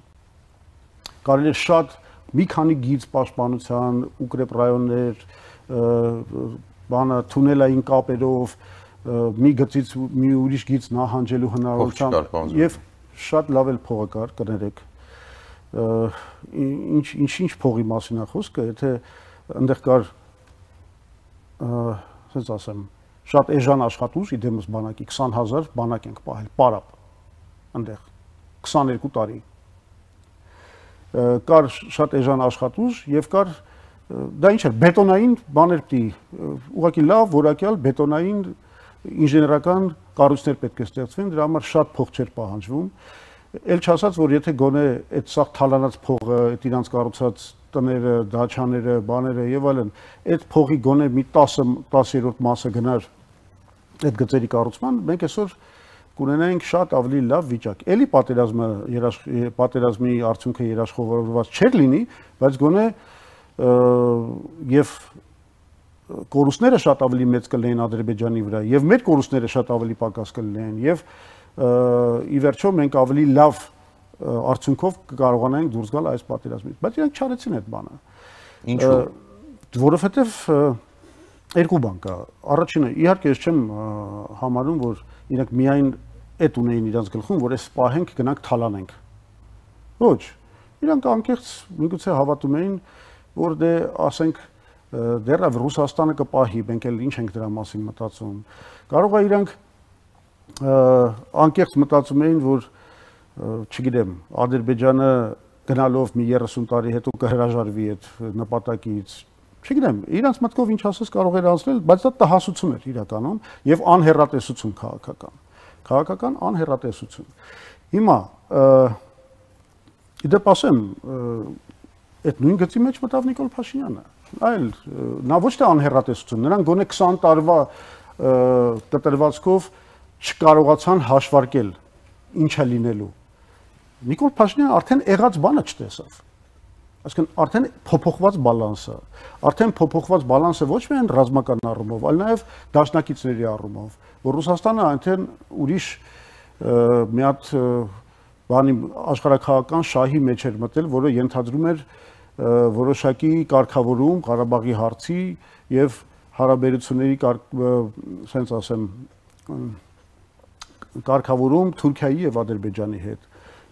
Կարելի էր շատ մի քանի գիծ պաշտպանության, ուկրեփ ռայոններ, բանը թունելային կապերով մի գծից մի ուրիշ գիծ նահանջելու հնարավորությամբ եւ շատ լավ էլ փողը կար, կներեք։ ինչ փողի մասին է խոսքը, եթե այնտեղ կար ասենց ասեմ, շատ էժան աշխատուժ, իդեմս բանակի 20,000 բանակ ենք պահել, պարապ այնտեղ 22 տարի։ Կար շատ էժան աշխատուժ եւ կար դա ինչ էր, բետոնային բաներ պիտի ուղղակի լավ, որակյալ բետոնային ինժեներական կառույցներ պետք է ստեղծվեն, դրա համար շատ փող չէր պահանջվում։ Էլ չասած, որ եթե գոնե այդ սաղ թալանած փողը, այդ իրանց կառուցած տները, դաչաները, բաները եւ այլն, այդ փողի գոնե մի 10-րդ մասը գնար այդ գծերի կառուցման, մենք այսօր կունենայինք շատ ավելի լավ վիճակ։ Էլի պատերազմի արդյունքը երաշխավորված չէր լինի, բայց գոնե եւ կորուստները շատ ավելի մեծ կլինեն Ադրբեջանի վրա եւ մեր կորուստները շատ ավելի պակաս կլինեն եւ ի վերջո մենք ավելի լավ արդյունքով կկարողանանք դուրս գալ այս պատերազմից, բայց իրանք չարեցին այդ բանը։ Ինչու՞։ Որովհետեւ երկու բան կա։ Առաջինը, իհարկե ես չեմ համարում, որ իրանք միայն այդ ունեին իրանց գլխում, որ այս պահենք գնանք թալանենք։ Ոչ։ Իրանք անկեղծ միգուցե հավատում էին, որ դե ասենք դեռ Ռուսաստանը կպահի, մենք էլ ինչ ենք դրա մասին մտածում։ Կարող է իրանք անկեղծ մտածում էին, որ չգիտեմ, Ադրբեջանը գնալով մի 30 տարի հետո կհրաժարվի այդ նպատակից։ Չգիտեմ, իրանց մտքով ինչ ասես կարող էր անցնել, բայց դա տհասություն էր իրականում եւ անհեռատեսություն քաղաքական։ Քաղաքական անհեռատեսություն։ Հիմա իդեպ ասեմ, այդ նույն գծի մեջ մտավ Նիկոլ Փաշինյանը։ Այլ նա ոչ թե անհեռատեսություն, նրանք գոնե 20 տարվա կտրվածքով չկարողացան հաշվարկել ինչա լինելու։ Նիկոլ Փաշինյանը արդեն եղած բանը չտեսավ։ Այսինքն արդեն փոփոխված բալանսը, արդեն փոփոխված բալանսը ոչ միայն ռազմական առումով, այլ նաև դաշնակիցների առումով, որ Ռուսաստանը այնտեղ ուրիշ մի հատ բանի աշխարհակաղական շահի մեջ էր մտել, որը ենթադրում էր որոշակի կարգավորում Ղարաբաղի հարցի եւ հարաբերությունների սենց ասեմ կարգավորում Թուրքիայի եւ Ադրբեջանի հետ։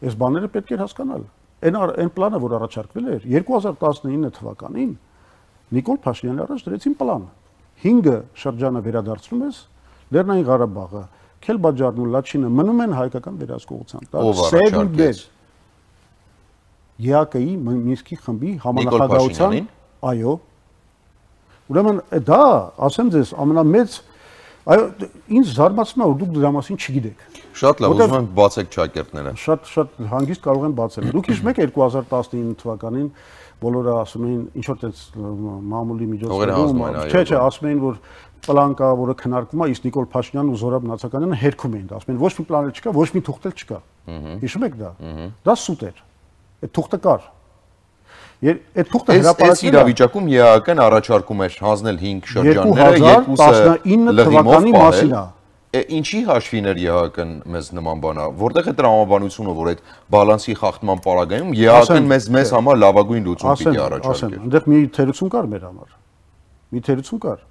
Այս բաները պետք է հասկանալ։ Այն պլանը, որ առաջարկվել էր 2019 թվականին, Նիկոլ Փաշինյանը առաջ դրեցին պլան։ 5 շրջանը վերադարձնում ես, Լեռնային Ղարաբաղը, Քելբաջարն ու Լաչինը մնում են հայկական վերահսկողության տակ։ Սերունդեր ԵԱԿ-ի Մինսկի խմբի համանախագահության, այո։ Ուրեմն դա, ասեմ ձեզ, ամենամեծ այո, ինձ զարմացնում է, որ դուք դրա մասին չգիտեք։ Շատ լավ, ուզում եմ բացեք ճակերտները։ Շատ հանգիստ կարող են բացել։ Դուք հիշում եք 2019 թվականին բոլորը ասում էին ինչ որ տես մամուլի միջոցներում, չէ, ասում էին, որ պլան կա, որը քննարկվում է, իսկ Նիկոլ Փաշինյանն ու Զորաբ Նացականյանը հերքում էին, ասում են ոչ մի պլան չկա, ոչ մի թուղթ չկա։ Հիշում եք դա։ Դա սուտ էր։ Այդ թուղթը կար։ Այդ թուղթը հրապարակել է իրավիճակում ԵԱԿ-ն առաջարկում էր հանձնել 5 շրջանները, 2019 թվականի մասին է։ Ինչի հաշվին էր ԵԱԿ-ն մեզ նման բանա, որտեղ է տրամաբանությունը, որ այդ բալանսի խախտման պարագայում ԵԱԿ-ն մեզ համար լավագույն լուծում պիտի առաջարկեր։ Այնտեղ մի թերություն կար մեր համար։ Մի թերություն կար։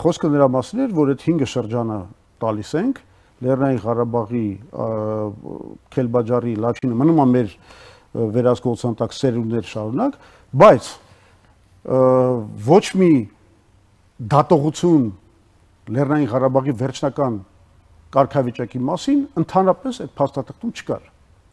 Խոսքը նրա մասին էր, որ այդ 5 շրջանը տալիս ենք, Լեռնային Ղարաբաղի, Քելբաջարի, Լաչինը մնում է մեր վերահսկողության տակ սերունդներ շարունակ, բայց ոչ մի դատողություն Լեռնային Ղարաբաղի վերջնական կարգավիճակի մասին ընդհանրապես այդ փաստաթղթում չկար։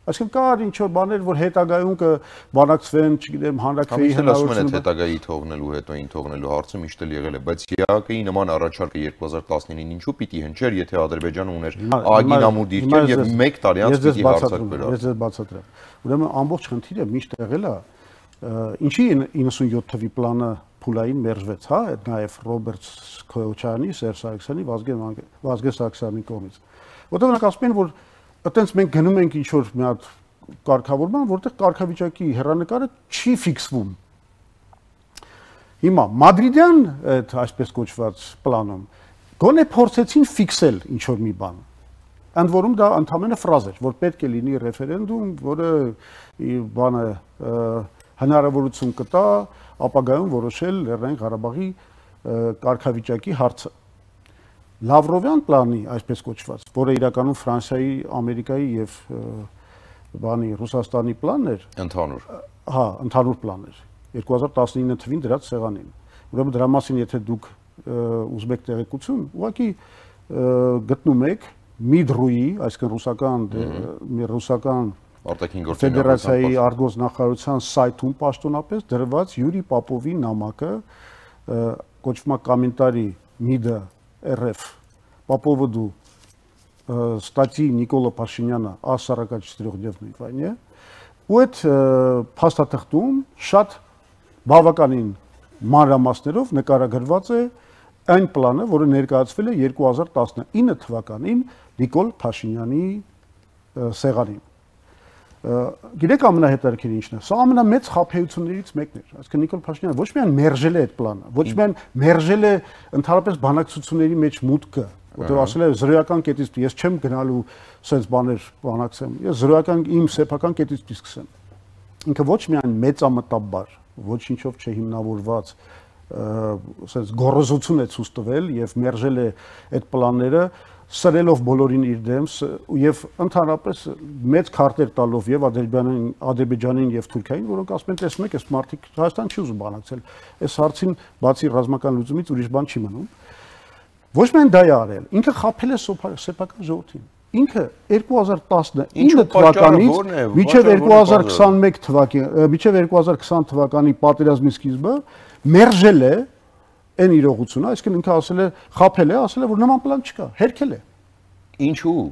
Այսինքն կար ինչ որ բաներ, որ հետագայում կբանակցվեն, չգիտեմ, հանրակրվեի հնարավորություն։ Հետագայի թողնելու հետո ին թողնելու հարցը միշտ էլ եղել է, բայց ԵԱԿ-ի նման առաջարկը 2019-ին ինչու պիտի հնչեր, եթե Ադրբեջանը ուներ ԱԳ-ին ամուր դիրքեր եւ 1 տարի անց պիտի հարցակվեր։ Ես ձեզ բացատրեմ։ Ուրեմն ամբողջ խնդիրը միշտ եղել է, ինչի 97 թվի պլանը փուլային մերժվեց, հա, այդ նաեւ Ռոբերտ Քոչյանի, Սերժ Սարգսյանի, Վազգեն Սարգսյանի կողմից։ Որտեղ նրանք ասում են, որ այտենց մենք գնում ենք ինչ որ մի հատ կարգավորման, որտեղ կարգավիճակի հեռանկարը չի ֆիքսվում։ Հիմա մադրիդյան այդ այսպես կոչված պլանում գոնե փորձեցին ֆիքսել ինչ որ մի բան։ Ընդ որում դա ընդհանրապես ֆրազ էր, որ պետք է լինի ռեֆերենդում, որը բանը հնարավորություն կտա ապագայում որոշել Լեռնային Ղարաբաղի կարգավիճակի հարցը։ Լավրովյան պլանի, այսպես կոչված, որը իրականում Ֆրանսիայի, Ամերիկայի եւ բանի Ռուսաստանի պլանն էր, Ընդհանուր։ հա, ընդհանուր պլան էր 2019 թվին դրած սեղանին։ Ուրեմն դրա մասին եթե դուք ուզում եք տեղեկություն, ուղղակի գտնում եք Միդրուի, այսինքն ռուսական Արտաքին գործերի Ֆեդերացիայի արտգործնախարարության սայթում պաշտոնապես դրված Յուրի Պապովի նամակը կոչվում է կոմենտարի MID RF Պապովոդու статьи Նիկոլա Փաշինյանը «Ա44 վայնի» ու այդ փաստաթղթում շատ բավականին մանրամասներով նկարագրված է այն պլանը, որը ներկայացվել է 2019 թվականին Նիկոլ Փաշինյանի սեղանին։ Գիտեք ամենահետաքրքիրը ինչն է։ Սա ամենամեծ խաբեություններից մեկն էր։ Այսինքն Նիկոլ Փաշինյանը ոչ միայն մերժել է այդ պլանը, ոչ միայն մերժել է ընդհանրապես բանակցությունների մեջ մուտքը, որտեղ ասել է զրոյական կետից ես չեմ գնալու սենց բաներ բանակցեմ, ես զրոյական իմ սեփական կետից կսկսեմ։ Ինքը ոչ միայն մեծամտաբար, ոչինչով չհիմնավորված սենց գոռոզություն է ցույց տվել եւ մերժել է այդ պլանները, սրելով բոլորին իր դեմ եւ ընդհանրապես մեծ քարտեր տալով եւ Ադրբեջանին եւ Թուրքիային, որոնք ասում են, տեսնում եք, այս մարդիկ Հայաստան չի ուզում բանակցել։ Այս հարցին բացի ռազմական լուծումից ուրիշ բան չի մնում։ Ոչ միայն դա է արել, ինքը խաբել է սեփական ժողովրդին։ Ինքը 2019 թվականից մինչև 2021 թվականի, մինչև 2020 թվականի պատերազմի սկիզբը մերժել է այն իրողությունը, այսինքն ինքը ասել է, խաբել է, ասել է, որ նման պլան չկա, հերքել է։ Ինչու՞։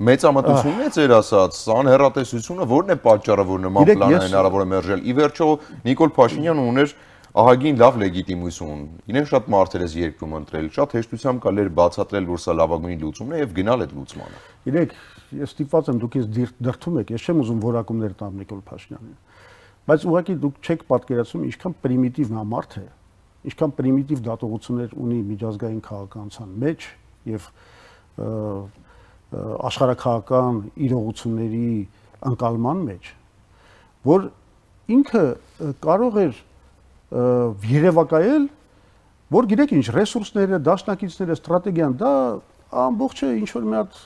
Մեծամտությունն է ձեր ասած, անհեռատեսությունը ո՞րն է պատճառը, որ նման պլան հնարավոր է մերժել։ Ի վերջո Նիկոլ Փաշինյանը ուներ ահագին լավ լեգիտիմություն։ Իրեն շատ մարդեր էս երկրում ընտրել, շատ հեշտությամբ կարելի էր բացատրել, որ սա լավագույն լուծումն է եւ գնալ այդ լուծմանը։ Գիտեք, ես ստիպված եմ դուք ինձ դրթում եք, ես չեմ ուզում որակումներ տամ Նիկոլ Փաշինյանին։ Բայց ուղղակի դուք չեք պատկերացնում ինչքան պրիմիտիվ նա մարդ է, ինչքան պրիմիտիվ դատողություններ ունի միջազգային քաղաքականության մեջ եւ աշխարհաքաղաքական իրողությունների ընկալման մեջ, որ ինքը կարող էր երևակայել, որ գիտեք ինչ, ռեսուրսները, դաշնակիցները, ստրատեգիան, դա ամբողջը ինչ որ մի հատ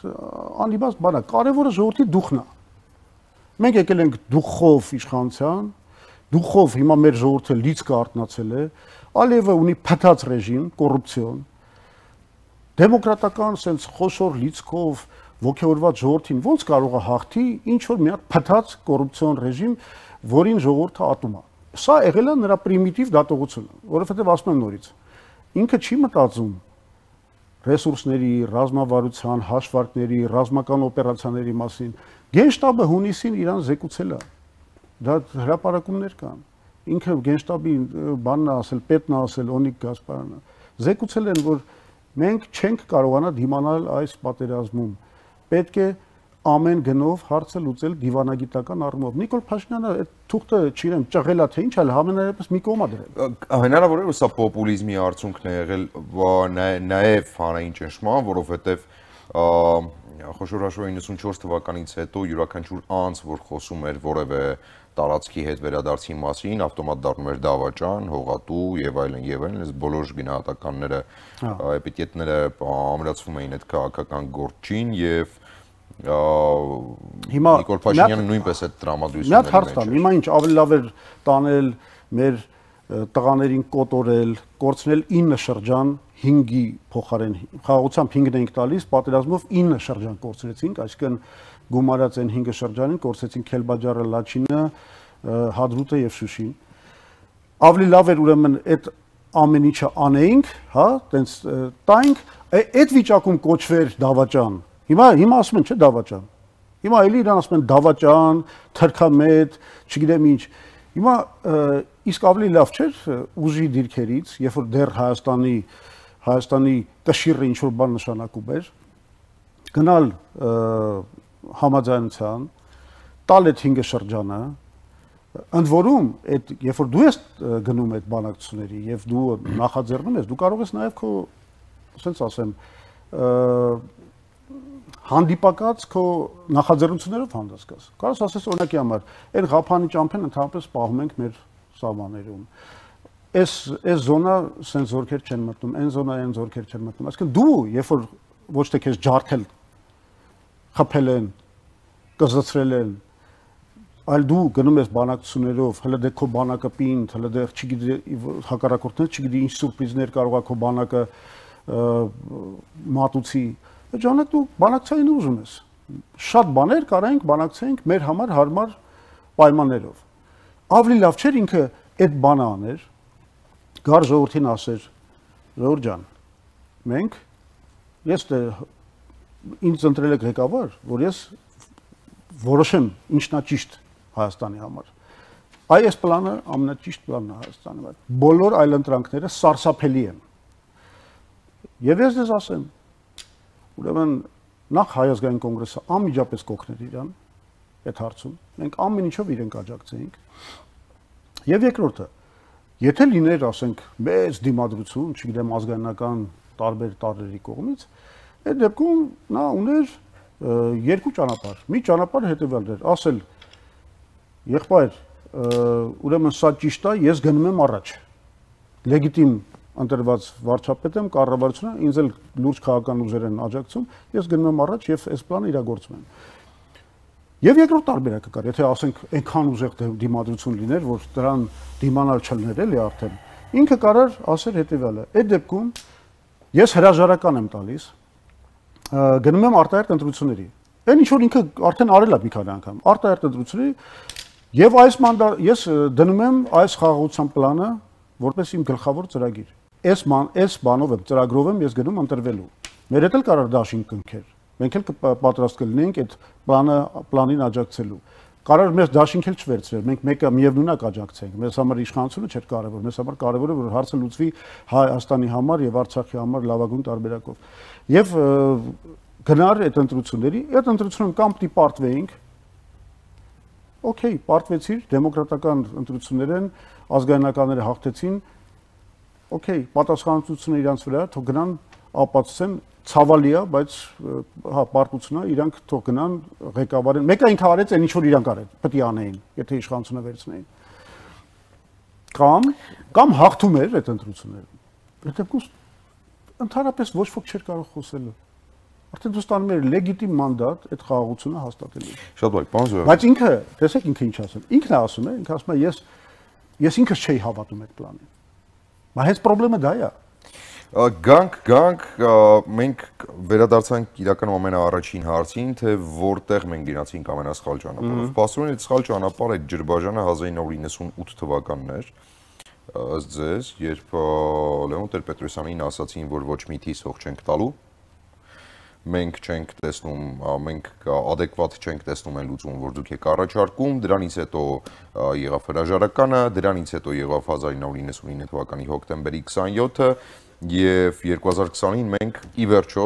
անիմաստ բան է, կարևորը ժողովրդի դուխն է։ Մենք եկել ենք դուխով իշխանության, դուխով հիմա մեր ժողովուրդը լիցքը արտնացել է, Ալիևը ունի փտած ռեժիմ, կոռուպցիոն, դեմոկրատական sense խոշոր լիցքով ողջորված ժողովրդին ոնց կարող է հաղթի ինչ որ մի հատ փտած կոռուպցիոն ռեժիմ, որին ժողովուրդը ատում է։ Սա եղել է նրա պրիմիտիվ դատողությունը, որովհետև ասում եմ նորից, ինքը չի մտածում ռեսուրսների, ռազմավարության, հաշվարկների, ռազմական օպերացիաների մասին։ Գենշտաբը հունիսին իրան զեկուցել է։ Դա հրապարակումներ կան։ Ինքը Գենշտաբի բանն ասել, պետն ասել, Օնիկ Գասպարյանը զեկուցել են, որ մենք չենք կարողանա դիմանալ այս պատերազմում։ Պետք է ամեն գնով հարցը լուծել դիվանագիտական առումով։ Նիկոլ Փաշինյանը այդ թուղթը չիրեմ ճղելա թե ինչ այլ համենայնպես մի կողմ է դրել։ Հնարավոր է որ սա պոպուլիզմի արդյունքն է եղել նաև հանրային ճնշման, որովհետև խոշոր հաշվով 94 թվականից հետո յուրաքանչյուր անձ, որ խոսում էր որևէ տարածքի հետ վերադարձի մասին, ավտոմատ դառնում էր դավաճան, հողատու եւ այլն, այս բոլոր գնահատականները, էպիտետները ամրացվում էին այդ քաղաքական գործին եւ հիմա Նիկոլ Փաշինյանը նույնպես այդ տրամադրությունների մեջ։ Մի հատ հարց տամ, հիմա ինչ ավելի լավ էր տանել մեր տղաներին կոտորել, կորցնել 9 շրջան 5-ի փոխարեն խաղաղությամբ 5-ն էինք տալիս, պատերազմով 9 շրջան կորցրեցինք, այսինքն գումարած այն 5 շրջանին կորցրեցինք Քելբաջարը, Լաչինը, Հադրութը եւ Շուշին։ Ավելի լավ էր ուրեմն այդ ամեն ինչը անեինք, հա, տենց տայինք, այդ վիճակում կոչվեր դավաճան։ Հիմա ասում են, չէ, դավաճան։ Հիմա էլի իրան ասում են դավաճան, թրքամետ, չգիտեմ ինչ։ Հիմա իսկ ավելի լավ չէր ուժի դիրքերից, երբ որ դեռ Հայաստանի կշիռը ինչ որ բան նշանակում էր, գնալ համաձայնության, տալ այդ 5 շրջանը, ընդ որում այդ երբ որ դու ես գնում այդ բանակցությունների եւ դու նախաձեռնում ես, դու կարող ես նաեւ քո, ասենց ասեմ, հանդիպակաց քո նախաձեռնություններով հանդես գաս։ Կարոս ասես օրինակի համար, այդ Ղափանի ճամփեն ընդհանրապես պահում ենք մեր սահմաններում։ Այս զոնա սենց զորքեր չեն մտնում, այն զոնա այն զորքեր չեն մտնում։ Այսինքն դու, երբ որ ոչ թե քեզ ջարդել, խփել են, կզծրել են, այլ դու գնում ես բանակցություններով, հələ դե քո բանակը պինդ, հələ դե չգիտի հակառակորդները չգիտի ինչ սուրպրիզներ կարող է քո բանակը մատուցի։ Այդ ժամանակ դու բանակցային ուզում ես։ Շատ բաներ կարայինք բանակցեինք մեր համար հարմար պայմաններով։ Ավելի լավ չէր ինքը այդ բանը աներ, գար ժողովրդին ասեր, ժողովուրդ ջան, մենք ես ինձ ընտրել եք ղեկավար, որ ես որոշեմ ինչն է ճիշտ Հայաստանի համար։ Այս պլանը ամենաճիշտ պլանն է Հայաստանի համար։ Բոլոր այլընտրանքները սարսափելի են։ Եվ ես դες ասեմ, ուրեմն նախ Հայ ազգային կոնգրեսը անմիջապես կօգներ իրան այդ հարցում։ Մենք ամեն ինչով իրեն կաջակցեինք։ Եվ երկրորդը, եթե լիներ, ասենք, մեծ դիմադրություն, չգիտեմ, ազգայնական տարբեր տարրերի կողմից, այդ դեպքում նա ուներ երկու ճանապարհ։ Մի ճանապարհ հետևյալն էր, ասել եղբայր, ուրեմն սա ճիշտ է, ես գնում եմ առաջ։ Լեգիտիմ ընտրված վարչապետ եմ, կառավարությունը ինձ էլ լուրջ քաղաքական ուժեր են աջակցում, ես գնում եմ առաջ եւ այս պլանը իրագործում եմ։ Եվ երկրորդ տարբերակը կար, եթե ասենք այնքան ուժեղ դիմադրություն լիներ, որ դրան դիմանալ չլներ էլի արդեն, ինքը կարար ասել հետեւյալը. այդ դեպքում ես հրաժարական եմ տալիս, գնում եմ արտահերթ ընտրությունների։ Այն ինչ որ ինքը արդեն արել է մի քանի անգամ, արտահերթ ընտրությունների եւ ես դնում եմ այս խաղաղության պլանը որպես իմ գլխավոր ծրագիր։ Այս բանով եմ, ծրագրով եմ ես գնում ընտրվելու։ Մեր հետ էլ կարար դաշինք կնքեր։ Մենք էլ պատրաստ կլինենք այդ պլանին աջակցելու։ Կարար մեզ դաշինք էլ չվերցրել, մենք մեկը միևնույնակ աջակցենք։ Մեզ համար իշխանությունը չէր կարևոր, մեզ համար կարևոր է որ հարցը լուծվի Հայաստանի համար եւ Արցախի համար լավագույն տարբերակով։ Եվ գնար այդ ընտրությունների, այդ ընտրությունում կամ պիտի պարտվեինք, օքեյ, պարտվեցիր, դեմոկրատական ընտրություններ են, ազգայնականները հաղթեցին, օքեյ, պատասխանատվությունը իրանց վրա, թող գնան ապացուցեն, ցավալի է, բայց հա, պարտությունը իրանք թող գնան ղեկավարեն։ Մեկը ինքը արեց այն ինչ որ իրանք արել, պետք է անեին, եթե իշխանությունը վերցնեին։ Կամ հաղթում էր այդ ընտրությունները։ Այդ դեպքում ընդհանրապես ոչ ոք չէր կարող խոսել։ Արդեն դու ստանում ես լեգիտիմ մանդատ այդ խաղաղությունը հաստատելու։ Շատ բարի, պարոն Զոհրաբ։ Բայց ինքը, տեսեք ինքը ինչ ասում։ Ինքն է ասում, ինքը ասում է ես ինքս չէի հավատում այդ պլանին։ Բայց հենց խնդրեմը դա է։ Գանք, մենք վերադարձանք իրականում ամենաառաջին հարցին, թե որտեղ մենք գնացինք ամենասխալ ճանապարհով։ Պաստրոնի այդ սխալ ճանապարհը այդ Ջրբաժանը 1998 թվականն էր, ըստ ձեզ, երբ Լևոն Տեր-Պետրոսյանին ասացին, որ ոչ մի թիվ հող չենք տալու, մենք չենք տեսնում, մենք adekvat չենք տեսնում այն լուծում, որ դուք եք առաջարկում, դրանից հետո եղավ հրաժարականը, դրանից հետո եղավ 1999 թվականի հոկտեմբերի 27-ը եւ 2020-ին մենք ի վերջո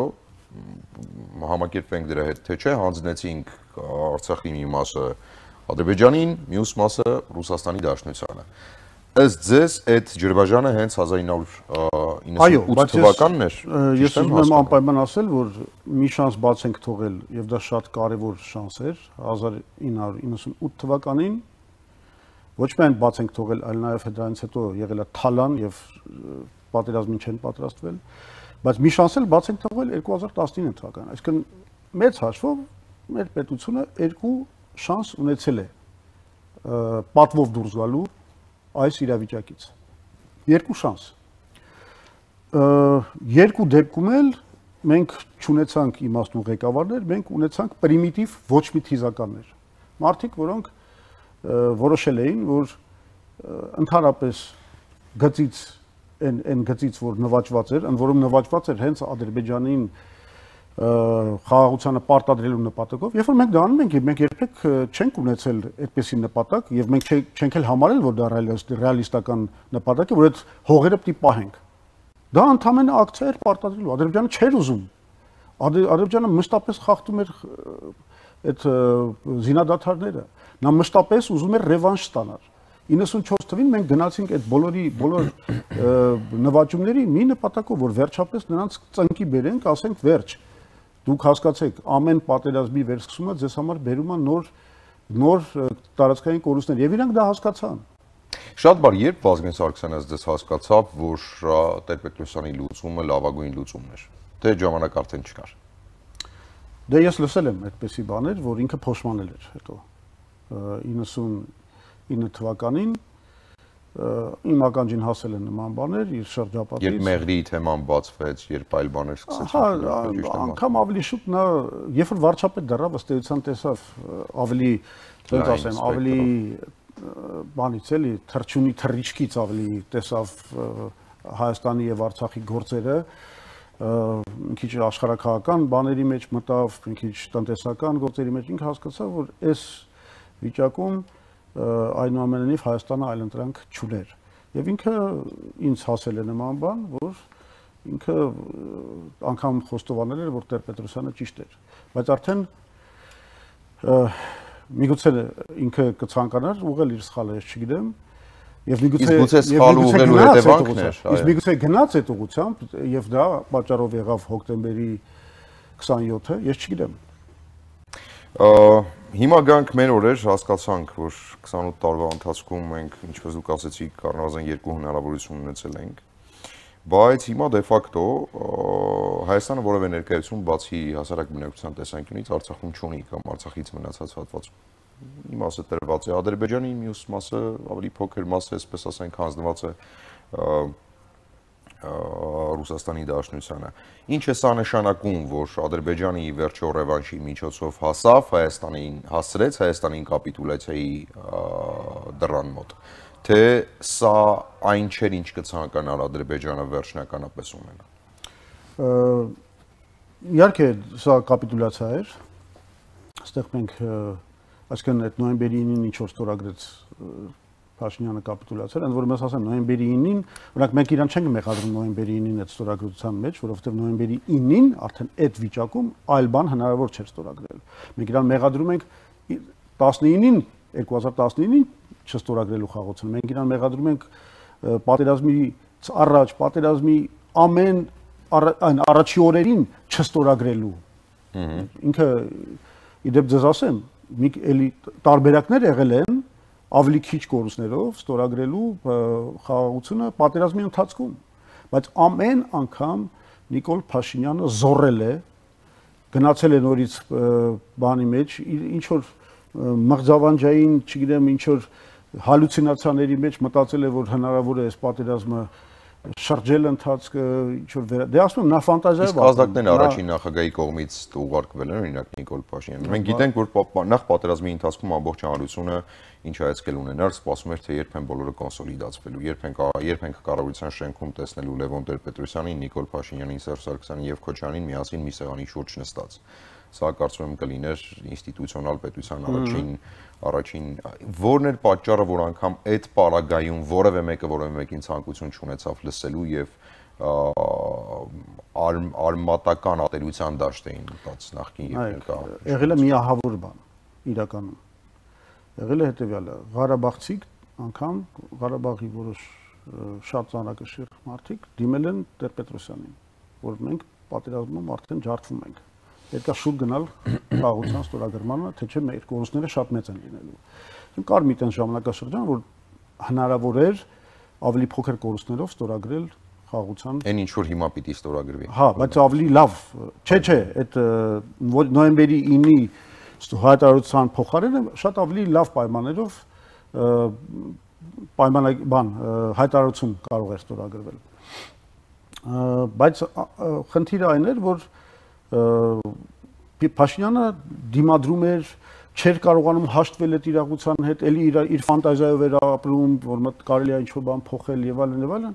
համակերպվենք դրա հետ, թե չէ, հանձնեցինք Արցախի մի մասը Ադրբեջանին, մյուս մասը Ռուսաստանի Դաշնությանը։ Ըստ ձեզ այդ Ջրբաժանը հենց 1998 թվականն էր։ Ես ուզում եմ անպայման ասել, որ մի շանս բաց ենք թողել եւ դա շատ կարեւոր շանս էր 1998 թվականին ոչ միայն բաց ենք թողել, այլ նաեւ դրանից հետո եղել է թալան եւ պատերազմին չեն պատրաստվել, բայց մի շանս էլ բաց ենք թողել 2019 թվականին։ Այսինքն մեծ հաշվով մեր պետությունը երկու շանս ունեցել է պատվով դուրս գալու այս իրավիճակից։ Երկու շանս։ Երկու դեպքում էլ մենք չունեցանք իմաստուն ղեկավարներ, մենք ունեցանք պրիմիտիվ ոչ մի թիզականներ։ Մարդիկ, որոնք որոշել էին, որ ընդհանրապես գծից այն գծից, որ նվաճված էր, ընդ որում նվաճված էր հենց Ադրբեջանին խաղաղությանը պարտադրելու նպատակով, երբ որ մենք դա անում ենք, մենք երբեք չենք ունեցել այդպիսի նպատակ եւ մենք չենք էլ համարել, որ դա ռեալիստական նպատակ է, որ այդ հողերը պիտի պահենք։ Դա ընդհանրապես ակցիա էր պարտադրելու։ Ադրբեջանը չէր ուզում։ Ադրբեջանը մշտապես խախտում էր այդ զինադադարները։ Նա մշտապես ուզում էր ռևանշ ստանալ։ 94 թվականին մենք գնացինք այդ բոլոր նվաճումների մի նպատակով, որ վերջապես նրանց ծնկի բերենք, ասենք վերջ։ Դուք հասկացեք, ամեն պատերազմի վերսկսումը ձեզ համար բերում է նոր տարածքային կորուստներ, եւ իրանք դա հասկացան։ Շատ բար, երբ Վազգեն Սարգսյանը դες հասկացավ, որ Տեր-Պետրոսյանի լուծումը լավագույն լուծումն էր, թե ժամանակ արդեն չկար։ Դե ես լսել եմ այդպիսի բաներ, որ ինքը փոշմանել էր հետո 99 թվականին իմ ականջին հասել են նման բաներ իր շրջապատից։ Երբ Մեղրի թեման բացվեց, երբ այլ բաներ սկսեցին։ Հա, անգամ ավելի շուտ նա, երբ որ վարչապետ դառավ, ըստ էության տեսավ ավելի, ոնց ասեմ, ավելի բանից էլի, թրջունի թռիչքից ավելի տեսավ Հայաստանի եւ Արցախի գործերը, մի քիչ աշխարհակահական բաների մեջ մտավ, մի քիչ տնտեսական գործերի մեջ ինքը հասկացավ, որ այս վիճակում այնուամենայնիվ Հայաստանը այլընտրանք չուներ։ Եվ ինքը ինձ հասել է նման բան, որ ինքը անգամ խոստովանել էր, որ Տեր-Պետրոսյանը ճիշտ էր, բայց արդեն միգուցե ինքը կցանկանար ուղղել իր սխալը, ես չգիտեմ, եւ միգուցե սխալ ուղղելու հետևանքն էր, իսկ միգուցե գնաց այդ ուղղությամբ եւ դա պատճառով եղավ հոկտեմբերի 27-ը, ես չգիտեմ։ Հիմա գանք մեր օրեր, հասկացանք, որ 28 տարվա ընթացքում մենք, ինչպես դուք ասեցիք, առնվազն 2 հնարավորություն ունեցել ենք, բայց հիմա դե ֆակտո Հայաստանը որևէ ներկայություն բացի հասարակ բնակչության տեսանկյունից Արցախում չունի կամ Արցախից մնացած հատվածում։ Մի մասը տրված է Ադրբեջանի, մյուս մասը ավելի փոքր մաս է, այսպես ասենք, հանձնված է Ռուսաստանի Դաշնությանը։ Ինչ է սա նշանակում, որ Ադրբեջանի վերջո ռևանշի միջոցով հասավ Հայաստանին, հասրեց Հայաստանին կապիտուլյացիայի դռան մոտ, թե սա այն չէր, ինչ կցանկանար Ադրբեջանը վերջնականապես ունենա։ Իհարկե, սա կապիտուլյացիա էր, այստեղ մենք այսինքն այդ նոյեմբերի 9-ին ինչ որ ստորագրեց Փաշինյանը կապիտուլյացիա, ընդ որում ես ասեմ նոյեմբերի 9-ին, օրինակ մենք իրան չենք մեղադրում նոյեմբերի 9-ին այդ ստորագրության մեջ, որովհետև նոյեմբերի 9-ին արդեն այդ վիճակում այլ բան հնարավոր չէր ստորագրել։ Մենք իրան մեղադրում ենք 19-ին 2019-ին չստորագրելու խաղացումը։ Մենք իրան մեղադրում ենք պատերազմից առաջ, պատերազմի ամեն առաջի օրերին չստորագրելու։ Ինքը իդեպ ձեզ ասեմ, մի էլի տարբերակներ եղել են ավելի քիչ կորուստներով ստորագրելու խաղաղությունը պատերազմի ընթացքում, բայց ամեն անգամ Նիկոլ Փաշինյանը զոռել է, գնացել է նորից բանի մեջ, ինչ որ մղձավանջային, չգիտեմ, ինչ որ հալյուցինացիաների մեջ մտածել է, որ հնարավոր է այս պատերազմը շրջել ընթացքը, ինչ որ դե ասում եմ, նա ֆանտազիա է։ Իսկ ազդակներն առաջին նախագահի կողմից ուղարկվել են, օրինակ Նիկոլ Փաշինյանը։ Մենք գիտենք, որ նախ պատերազմի ընթացքում ամբողջ հանրությունը ինչ հայացքել ունենար, սպասում էր, թե երբ են բոլորը կոնսոլիդացվելու, երբ են կառավարության շենքում տեսնելու Լևոն Տեր-Պետրոսյանին, Նիկոլ Փաշինյանին, Սերժ Սարգսյանին եւ Քոչարյանին միասին մի սեղանի շուրջ նստած։ Սա կարծում եմ կլիներ ինստիտուցիոնալ պետության առաջին որն էր պատճառը, որ անգամ այդ պարագայում որևէ մեկին ցանկություն չունեցավ լսելու եւ արմատական ատելության դաշտ էին մտած նախկին եւ ներկա։ Եղել է միահավոր բան իրականում։ Եղել է հետեւյալը, Ղարաբաղցիք անգամ Ղարաբաղի որոշ շատ ծանրակշիռ մարդիկ դիմել են Տեր-Պետրոսյանին, որ մենք պատերազմում արդեն ջարդվում ենք։ Պետք է շուտ գնալ խաղաղության ստորագրմանը, թե չէ մեր կորուստները շատ մեծ են լինելու։ Կար մի տեն ժամանակաշրջան, որ հնարավոր էր ավելի փոքր կորուստներով ստորագրել խաղաղության։ Այն ինչ որ հիմա պիտի ստորագրվի։ Հա, բայց ավելի լավ։ Չէ, այդ նոյեմբերի 9-ի հայտարարության փոխարենը շատ ավելի լավ պայմաններով հայտարարություն կարող էր ստորագրվել։ Բայց խնդիրը այն էր, որ Փաշինյանը դիմադրում էր, չէր կարողանում հաշտվել այդ իրողության հետ, էլի իր ֆանտազիայով էր ապրում, որ կարելի է ինչ-որ բան փոխել եւ այլն եւ այլն։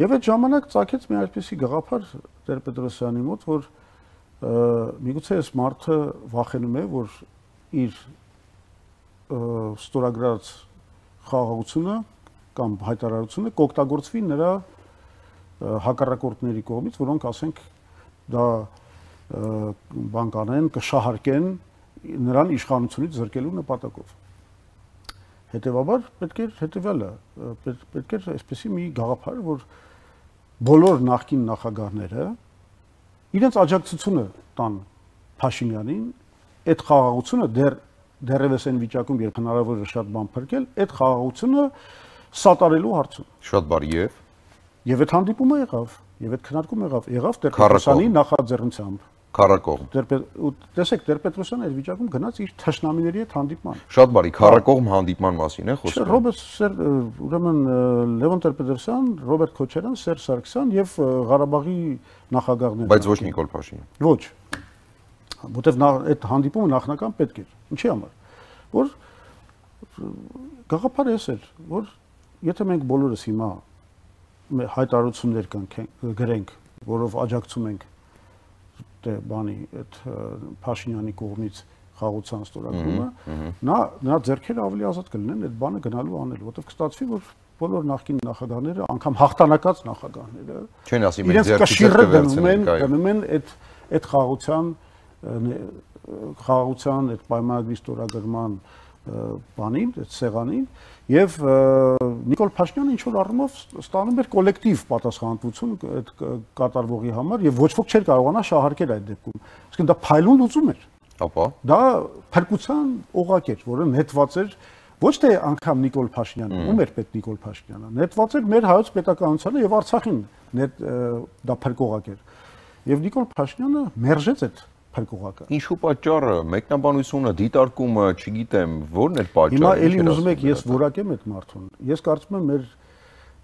Եվ այդ ժամանակ ծագեց մի այսպիսի գաղափար Տեր-Պետրոսյանի մոտ, որ միգուցե այս մարդը վախենում է, որ իր ստորագրած խաղաղությունը կամ հայտարարությունը կօգտագործվի նրա հակառակորդների կողմից, որոնք ասենք դա բան կանեն, կշահարկեն նրան իշխանությունից զրկելու նպատակով։ Հետևաբար պետք էր հետևյալը, պետք էր այսպեսի մի գաղափար, որ բոլոր նախկին նախագահները իրենց աջակցությունը տան Փաշինյանին, այդ խաղաղությունը դեռևս այն վիճակում, երբ հնարավոր է շատ բան փրկել, այդ խաղաղությունը սատարելու հարցում։ Շատ բարի Եվ այդ հանդիպումը եղավ, եւ այդ քննարկումը եղավ Տեր-Պետրոսյանի նախաձեռնությամբ։ Քարակողմ։ Տեսեք, Տեր-Պետրոսյանը այդ վիճակում գնաց իր թշնամիների հետ հանդիպման։ Շատ բարի, քարակողմ հանդիպման մասին է խոսքը։ Ռոբերտ ուրեմն Լևոն Տեր-Պետրոսյան, Ռոբերտ Քոչարյան, Սերժ Սարգսյան եւ Ղարաբաղի նախագահները։ Բայց ոչ Նիկոլ Փաշինյան։ Ոչ։ Որտեվ այդ հանդիպումը նախնական պետք էր։ Ինչի համար։ Որ գաղափարը էս էր, որ եթե մենք բոլորս հիմա հայտարարություններ գրենք, որով աջակցում ենք բանի այդ Փաշինյանի կողմից խաղաղության ստորագրումը, նա ձեռքերը ավելի ազատ կլինեն այդ բանը գնալու անել, որտեղ կստացվի, որ բոլոր նախկին նախագահները, անգամ հաղթանակած նախագահները, չեն ասի մենք իրենց կշիռը դնում են այդ խաղաղության այդ պայմանագրի ստորագրման բանին, այդ սեղանին, եւ Նիկոլ Փաշինյանը ինչ որ առումով ստանում էր կոլեկտիվ պատասխանատվություն այդ կատարվողի համար եւ ոչ ոք չէր կարողանա շահարկել այդ դեպքում։ Իսկ դա փայլուն լուծում էր։ Ապա դա փրկության օղակ էր, որը նետված էր ոչ թե անգամ Նիկոլ Փաշինյանը, ում էր պետ Նիկոլ Փաշինյանը, նետված էր մեր հայոց պետականությանը եւ Արցախին դա փրկողակ էր։ Եվ Նիկոլ Փաշինյանը մերժեց այդ փրկողակը։ Ինչու պատճառը, մեկնաբանությունը, դիտարկումը, չգիտեմ, ո՞րն էր պատճառը։ Հիմա էլի ուզում եք ես որակեմ այդ մարդուն։ Ես կարծում եմ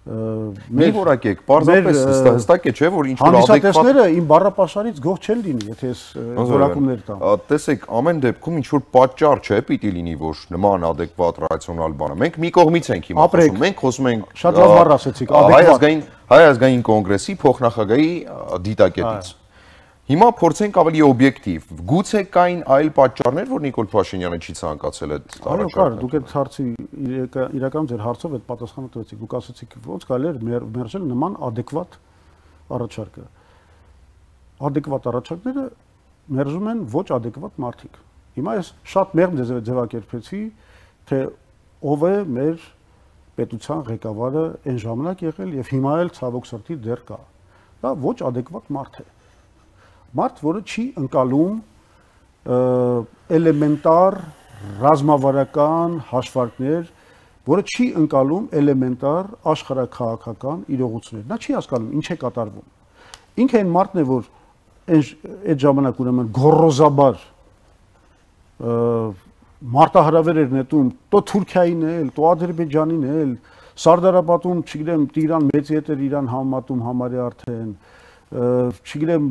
մեր որակեք, պարզապես հստակ է, չէ՞, որ ինչ որ հանդիսատեսները իմ բառապաշարից գող չեն լինի, եթե ես որակումներ տամ։ Տեսեք, ամեն դեպքում ինչ որ պատճառ չէ պիտի լինի, որ նման adekvat ռացիոնալ բանը։ Մենք մի կողմից ենք հիմա խոսում, մենք խոսում ենք շատ լավ բառ ասեցիք, adekvat Հայ ազգային կոնգրեսի փոխնախագահի դիտակետից։ Հիմա փորձենք ավելի օբյեկտիվ։ Գուցե կային այլ պատճառներ, որ Նիկոլ Փաշինյանը չի ցանկացել այդ Այո, կար, դուք այդ հարցի իրական ձեր հարցով այդ պատասխանը տվեցիք։ Դուք ասացիք, ոնց կարելի էր մերժել նման adekvat առաջարկը։ Adekvat առաջարկները մերժում են ոչ adekvat մարդիկ։ Հիմա ես շատ մեղմ ձևակերպեցի, թե ով է մեր պետության ղեկավարը այն ժամանակ եղել եւ հիմա էլ ցավոք սրտի դեռ կա։ Դա ոչ adekvat մարդ է։ Մարդ, որը չի ընկալում էլեմենտար ռազմավարական հաշվարկներ, որը չի ընկալում էլեմենտար աշխարհաքաղաքական իրողություններ։ Նա չի հասկանում ինչ է կատարվում։ Ինքը այն մարդն է, որ այդ ժամանակ ուրեմն գոռոզաբար մարտահրավեր էր նետում տո Թուրքիային էլ, տո Ադրբեջանին էլ, Սարդարապատում, չգիտեմ, Տիգրան մեծի հետ էր իրան համատում համարի արդեն, չգիտեմ